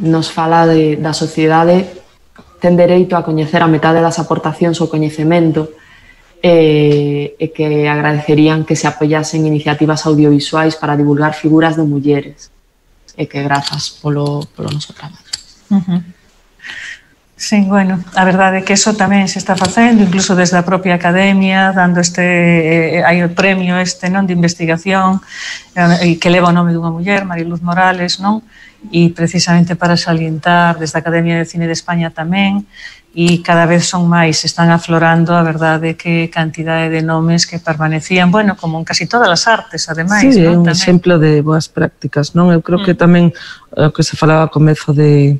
nos fala de, da sociedade ten dereito a coñecer a metade das aportacións ao coñecemento e, e que agradecerían que se apoyasen iniciativas audiovisuais para divulgar figuras de mulleres e que grazas polo, polo noso traballo. Uh-huh. Sí, bueno, a verdade é que eso tamén se está facendo, incluso desde a propia academia, dando este, eh, hai o premio este, non, de investigación eh, que leva o nome dunha muller, Mariluz Morales, non? E precisamente para salientar desde a Academia de Cine de España tamén, e cada vez son máis, están aflorando a verdade que cantidade de nomes que permanecían, bueno, como en casi todas as artes, ademais. Sí, é non? un tamén. Exemplo de boas prácticas, non? Eu creo mm. que tamén o que se falaba ao comezo de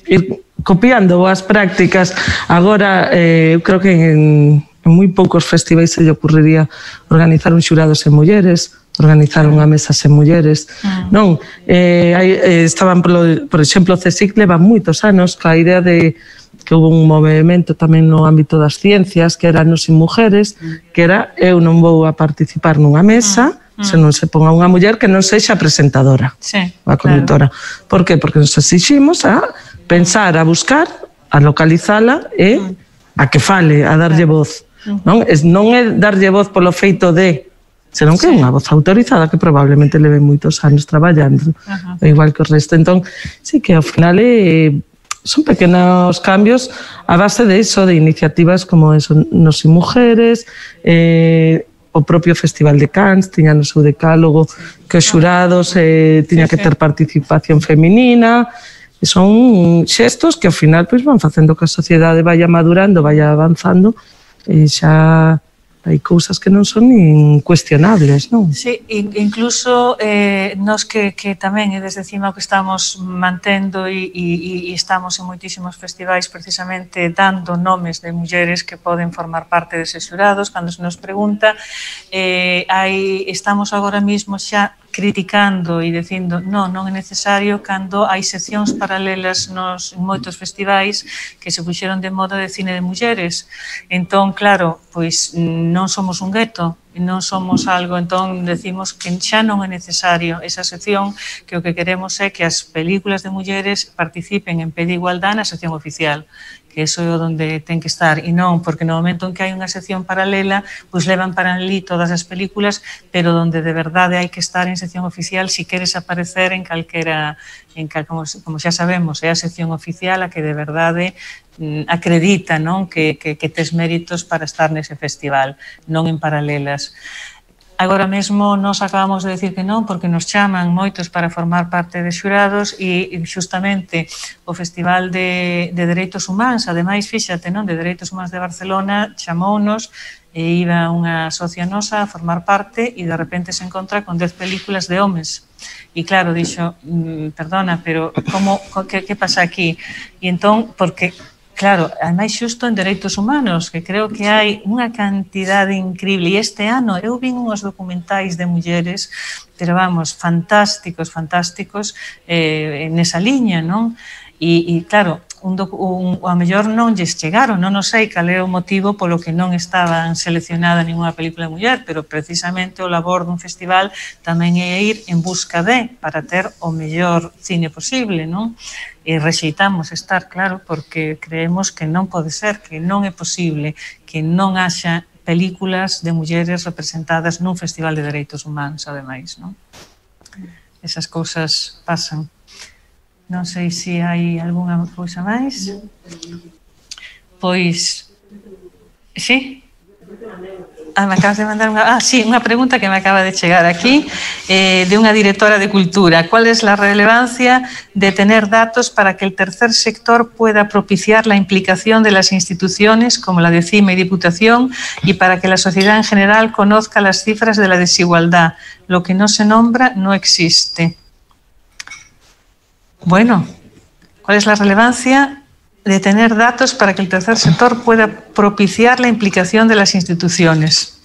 ir copiando boas prácticas, agora eh, eu creo que en, en moi poucos festivais se lle ocurriría organizar un xurado sen mulleres, organizar unha mesa sen mulleres, mm. non? Eh, hai, eh, estaban, por, por exemplo, o CSIC leva moitos anos ca idea de que houve un movimento tamén no ámbito das ciencias que era nos sin mujeres, mm. que era eu non vou a participar nunha mesa mm. se non se ponga unha muller que non sexa presentadora, sí, a conductora. Claro. Por que? Porque nos exiximos a pensar, a buscar, a localizala e mm. a que fale, a darlle voz. Mm. Non? Es, non é darlle voz polo feito de senón que é unha voz autorizada que probablemente leve moitos anos traballando, uh-huh. igual que o resto. Entón, sí que ao final eh, son pequenos cambios a base de iso, de iniciativas como eso, Nos y Mujeres, eh, o propio Festival de Cannes tiña no seu decálogo que os xurados eh, tiña que ter participación feminina, e son xestos que ao final pois, van facendo que a sociedade vaya madurando, vaya avanzando, e xa hai cousas que non son nin cuestionables, non? Sí, incluso eh, nos que, que tamén é desde cima o que estamos mantendo e, e, e estamos en moitísimos festivais precisamente dando nomes de mulleres que poden formar parte deses xurados. Cando se nos pregunta, eh, hai, estamos agora mismo xa criticando e dicindo non, non é necesario cando hai seccións paralelas nos moitos festivais que se puxeron de moda de cine de mulleres. Entón, claro, pois non somos un gueto, non somos algo, entón decimos que xa non é necesario esa sección, que o que queremos é que as películas de mulleres participen en pé de igualdade na sección oficial, que eso é onde ten que estar, e non porque no momento en que hai unha sección paralela, pois levan para ali todas as películas, pero onde de verdade hai que estar en sección oficial si queres aparecer en calquera, en cal, como, como xa sabemos, é a sección oficial a que de verdade mm, acredita, non, que, que, que tes méritos para estar nese festival, non en paralelas. Agora mesmo nos acabamos de decir que non, porque nos chaman moitos para formar parte de xurados e justamente o Festival de, de Dereitos Humanos, ademais, fíxate, non, de Dereitos Humanos de Barcelona, chamounos e iba unha socia nosa a formar parte e de repente se encontra con dez películas de homes. E claro, dixo, perdona, pero como, que, que pasa aquí? E entón, porque... Claro, ademais xusto en Dereitos Humanos, que creo que hai unha cantidade increíble. E este ano eu vin uns documentais de mulleres, pero vamos, fantásticos, fantásticos, eh, nesa liña, non? E, e claro, un, un, a mellor non lles chegaron, non o sei cal é o motivo polo que non estaban seleccionada ninguna película de muller, pero precisamente o labor dun festival tamén é ir en busca de, para ter o mellor cine posible, non? E rexeitamos estar, claro, porque creemos que non pode ser, que non é posible que non haxa películas de mulleres representadas nun festival de dereitos humanos, ademais, non? Esas cousas pasan. Non sei se hai algunha cousa máis. Pois, sí? Ah, me acabas de mandar unha... Ah, sí, unha pregunta que me acaba de chegar aquí eh, de unha directora de Cultura. ¿Cuál es la relevancia de tener datos para que el tercer sector pueda propiciar la implicación de las instituciones como la de CIMA y Diputación y para que la sociedad en general conozca las cifras de la desigualdad? Lo que no se nombra no existe. Bueno, ¿cuál es la relevancia de tener datos para que el tercer sector pueda propiciar la implicación de las instituciones?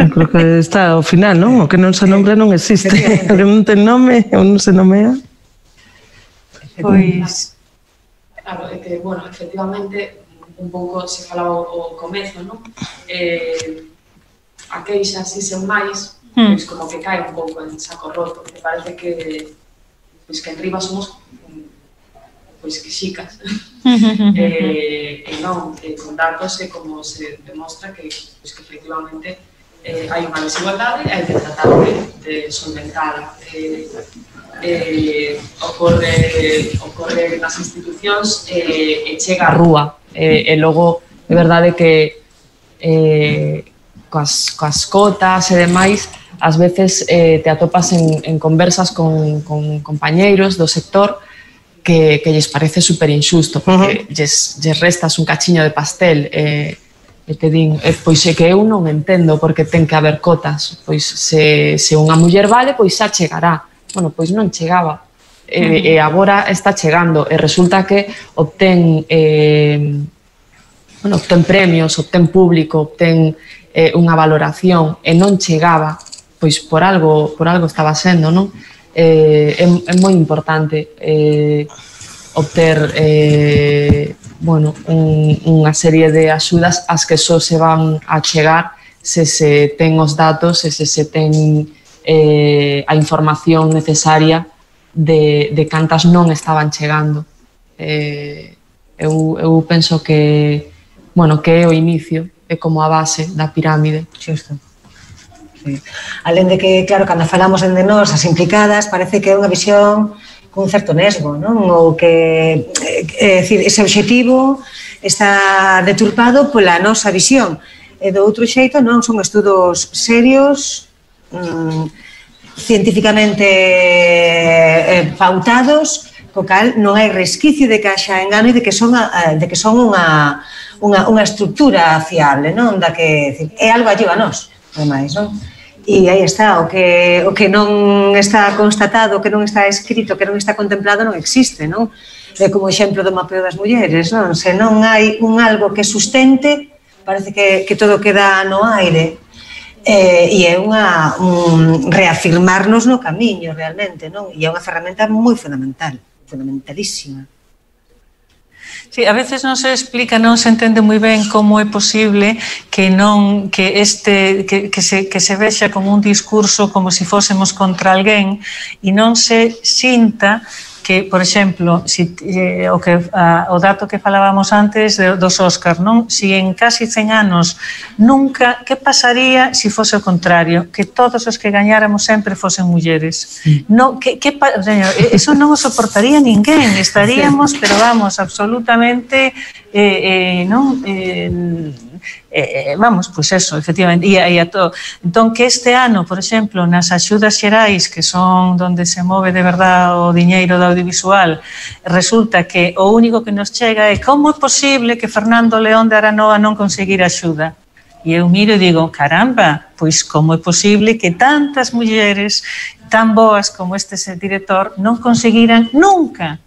Eu creo que está ao final, non? O que non se nombra non existe. O que non ten nome ou non se nomea. Pois... Claro, é que, bueno, efectivamente, un pouco se falaba o comezo, non? Eh, a queixa, si sen máis, pois como que cae un pouco en saco roto. Me parece que pois que en riba somos pois que xicas. eh, e non, eh, con datos é como se demostra que, pois, que efectivamente eh, hai unha desigualdade e hai que tratar de, de solventala. Eh, eh, ocorre, ocorre nas institucións eh, e chega a rúa. Eh, e logo, é verdade que eh, coas, coas cotas e demais, ás veces eh, te atopas en, en conversas con, con compañeiros do sector que, que lles parece super injusto, porque uh -huh. lles, lles restas un cachiño de pastel e, e te din, e, pois é que eu non entendo porque ten que haber cotas, pois se, se unha muller vale, pois xa chegará. Bueno, pois non chegaba, e, uh -huh. e agora está chegando, e resulta que obtén, eh, bueno, obtén premios, obtén público, obtén eh, unha valoración, e non chegaba, pois por algo, por algo estaba sendo, non? Eh, é, é moi importante eh, obter eh, bueno, un, unha serie de axudas as que só se van a chegar se se ten os datos e se se ten eh, a información necesaria de, de cantas non estaban chegando. Eh, eu, eu penso que, bueno, que é o inicio, é como a base da pirámide. Xusto. Sí. Alén de que, claro, cando falamos de nós, as implicadas, parece que é unha visión con un certo nesgo, non? Ou que, é dicir, ese obxectivo está deturpado pola nosa visión. E do outro xeito non son estudos serios, mmm, científicamente eh, pautados, co cal non hai resquicio de que haxa engano e de que son, a, de que son unha, unha, unha estructura fiable, non? Da que é algo allí a nós, ademais, non? E aí está, o que, o que non está constatado, o que non está escrito, o que non está contemplado non existe, non? É como o exemplo do mapeo das mulleres, non? Se non hai un algo que sustente, parece que, que todo queda no aire. Eh, e é unha, un reafirmarnos no camiño, realmente, non? E é unha ferramenta moi fundamental, fundamentalísima. Sí, a veces non se explica, non se entende moi ben como é posible que non que este que, que se que se vexa como un discurso como se si fósemos contra alguén e non se sinta que, por exemplo, si, eh, o, que, a, o dato que falábamos antes de, dos Óscar, non? Si en casi cen anos nunca, que pasaría se si fose o contrario? Que todos os que gañáramos sempre fosen mulleres. Sí. No, que, que, eso non o soportaría ninguén, estaríamos, pero vamos, absolutamente, eh, eh, non? Eh, Eh, vamos, pois pues eso, efectivamente, e, e a todo. Entón, que este ano, por exemplo, nas axudas xerais, que son onde se move de verdad o diñeiro do audiovisual, resulta que o único que nos chega é como é posible que Fernando León de Aranoa non conseguir axuda. E eu miro e digo, caramba, pois como é posible que tantas mulleres tan boas como este director non conseguiran nunca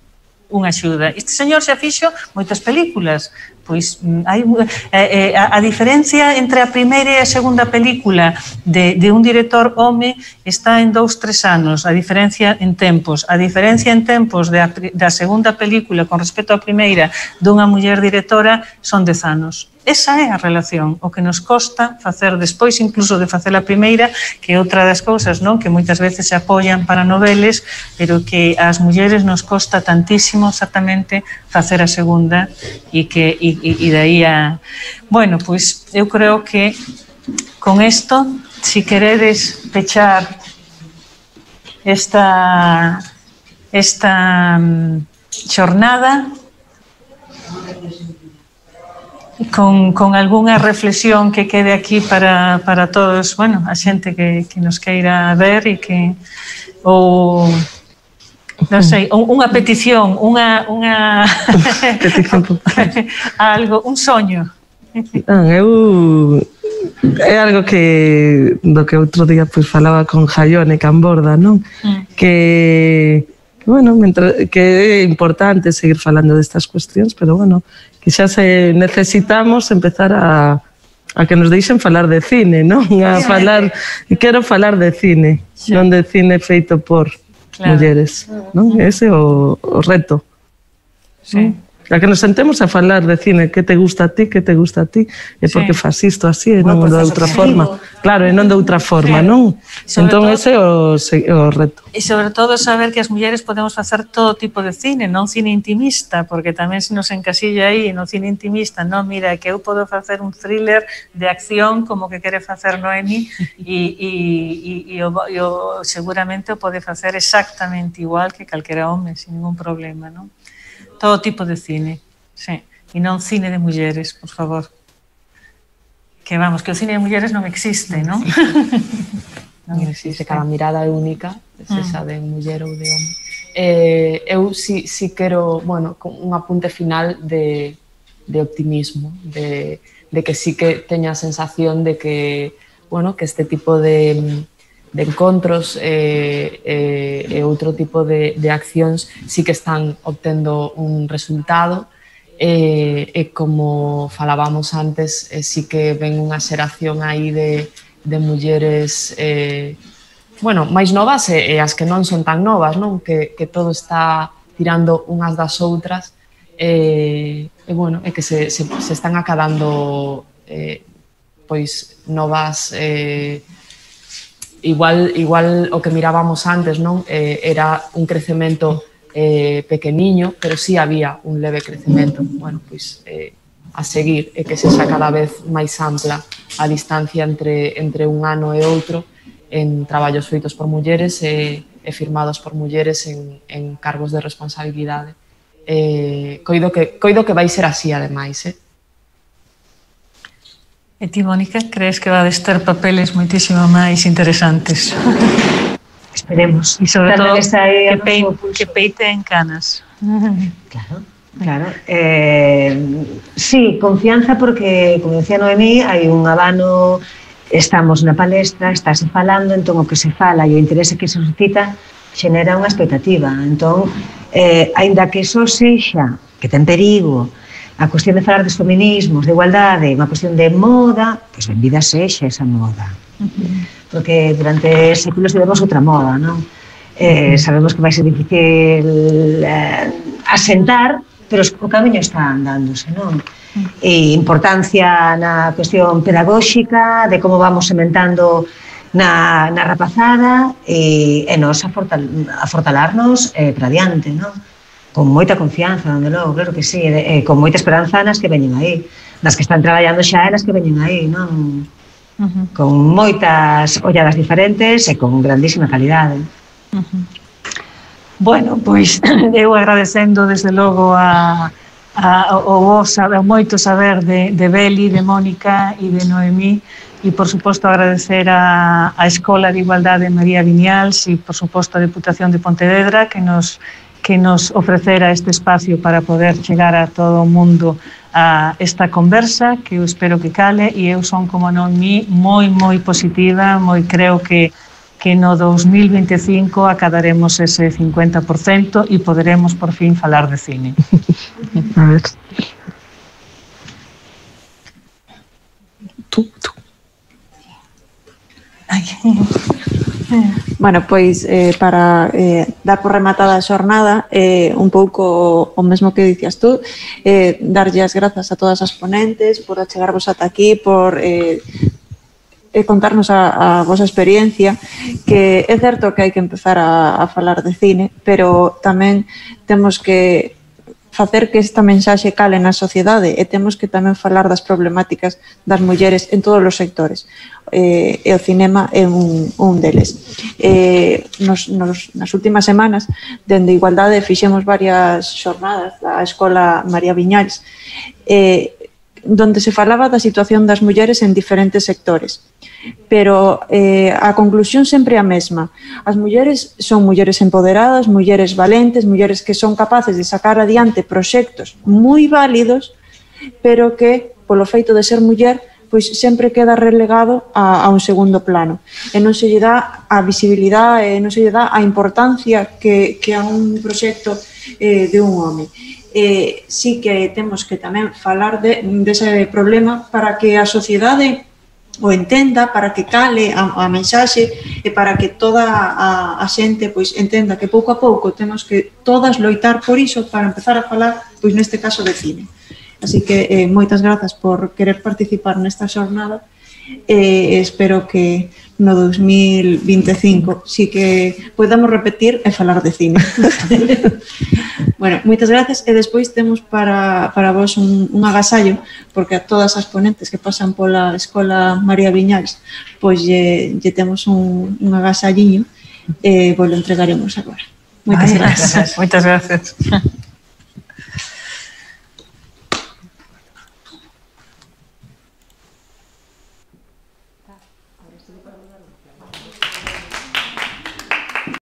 unha axuda. Este señor xa fixo moitas películas. Pois hai, eh, a, a diferencia entre a primeira e a segunda película de, de un director home está en dous, tres anos, a diferencia en tempos. A diferencia en tempos de a, da segunda película con respecto á primeira dunha muller directora son dez anos. Esa é a relación, o que nos costa facer despois incluso de facer a primeira, que é outra das cousas, non? Que moitas veces se apoian para noveles, pero que ás mulleres nos costa tantísimo exactamente facer a segunda e que e, e de aí a... Bueno, pois eu creo que con isto, si queredes pechar esta esta xornada con, con algunha reflexión que quede aquí para, para todos, bueno, a xente que, que nos queira ver e que ou non sei, unha petición, unha unha petición algo, un soño. Non, eu é algo que do que outro día pois falaba con Jaione Camborda, non? Mm. Que bueno, mentre, que é importante seguir falando destas cuestións, pero bueno, que xa se necesitamos empezar a, a que nos deixen falar de cine, non? A falar, quero falar de cine, sí. Non de cine feito por claro. Mulleres, non? Ese é o, o reto. Sí. ¿No? A que nos sentemos a falar de cine, que te gusta a ti, que te gusta a ti, e porque sí. Fas isto así e non de outra forma. Claro, e non de outra forma, non? Entón ese é o, o reto. E sobre todo saber que as mulleres podemos facer todo tipo de cine, non cine intimista, porque tamén se nos encasilla aí no cine intimista, non, mira, que eu podo facer un thriller de acción como que quere facer Noemi e, e, e, e, o, e o, seguramente o pode facer exactamente igual que calquera home, sin ningún problema, non? Todo tipo de cine, sí. E non cine de mulleres, por favor. Que vamos, que o cine de mulleres non existe, non? Non existe, cada mirada é única, se xa de muller ou de home. Eh, eu si, si quero, bueno, un apunte final de, de optimismo, de, de que sí que teña a sensación de que, bueno, que este tipo de... de encontros e eh, eh, outro tipo de, de accións sí que están obtendo un resultado e, e como falábamos antes, eh, sí que ven unha xeración aí de, de mulleres eh, bueno, máis novas e, e as que non son tan novas, non? Que, que todo está tirando unhas das outras e, e, bueno, e que se, se, se están acadando eh, pois novas eh, Igual, igual o que mirábamos antes, non? Eh, era un crecemento eh, pequeniño, pero sí había un leve crecemento. Bueno, pois eh, a seguir e que sexa cada vez máis ampla a distancia entre, entre un ano e outro en traballos feitos por mulleres e, e firmados por mulleres en, en cargos de responsabilidade. Eh, coido, que, coido que vai ser así, ademais, eh? E ti, Mónica, crees que vades ter papeles moitísimo máis interesantes? Esperemos. E sobre Tamén todo está aí que, a pei, noso pulso. que peiten canas. Claro, claro. Eh, sí, confianza porque, como decía Noemí, hai un abano, estamos na palestra, estáse falando, entón o que se fala e o interese que se suscita xenera unha expectativa. Entón, eh, aínda que só sexa, que ten perigo, a cuestión de falar dos feminismos, de igualdade, unha cuestión de moda, pois benvida sexa esa moda. Porque durante séculos tivemos outra moda, non? Eh, sabemos que vai ser difícil eh, asentar, pero o camiño está andándose, non? E importancia na cuestión pedagóxica, de como vamos sementando na, na rapazada e, e nos afortal, afortalarnos eh, para diante, non? Con moita confianza, onde logo, claro que sí, e, e con moita esperanza nas que veñen aí, nas que están traballando xa e nas que veñen aí, non? Uh-huh. Con moitas olladas diferentes e con grandísima calidade. Uh-huh. Bueno, pois eu agradecendo desde logo a, a, o vos, o moito saber de, de Beli, de Mónica e de Noemí, e por suposto agradecer a, a Escola de Igualdade María Viñals e por suposto a Deputación de Pontevedra que nos que nos ofrecera este espacio para poder chegar a todo o mundo a esta conversa, que eu espero que cale, e eu son, como non mi, moi, moi positiva, moi creo que, que no dos mil veinticinco acadaremos ese cincuenta por cento e poderemos por fin falar de cine. A ver. Tú, tú. Ai. Bueno, pois eh, para eh, dar por rematada a xornada eh, un pouco o mesmo que dicías tú, eh, darlle as grazas a todas as ponentes por achegarvos ata aquí, por eh, eh, contarnos a, a vosa experiencia, que é certo que hai que empezar a, a falar de cine, pero tamén temos que facer que esta mensaxe cale na sociedade e temos que tamén falar das problemáticas das mulleres en todos os sectores. Eh, e o cinema é un, un deles. Eh, nos, nos, nas últimas semanas, dende Igualdade, fixemos varias xornadas da Escola María Viñals, eh, donde se falaba da situación das mulleres en diferentes sectores. Pero eh, a conclusión sempre a mesma. As mulleres son mulleres empoderadas, mulleres valentes, mulleres que son capaces de sacar adiante proxectos moi válidos, pero que, polo feito de ser muller, pois sempre queda relegado a, a un segundo plano. E non se lle dá a visibilidade, e non se lle dá a importancia que, que a un proxecto eh, de un home. Eh, sí que temos que tamén falar de, dese problema para que a sociedade o entenda, para que cale a, a mensaxe e para que toda a, a xente pois entenda que pouco a pouco temos que todas loitar por iso para empezar a falar, pois neste caso de cine. Así que eh, moitas grazas por querer participar nesta xornada e eh, espero que no dos mil veinticinco sí que podamos repetir e falar de cine. Bueno, moitas gracias e despois temos para, para vos un, un agasallo, porque a todas as ponentes que pasan pola Escola María Viñals pois lle, lle temos un, un agasalliño e vos lo entregaremos agora. Moitas Ay, gracias. Moitas gracias.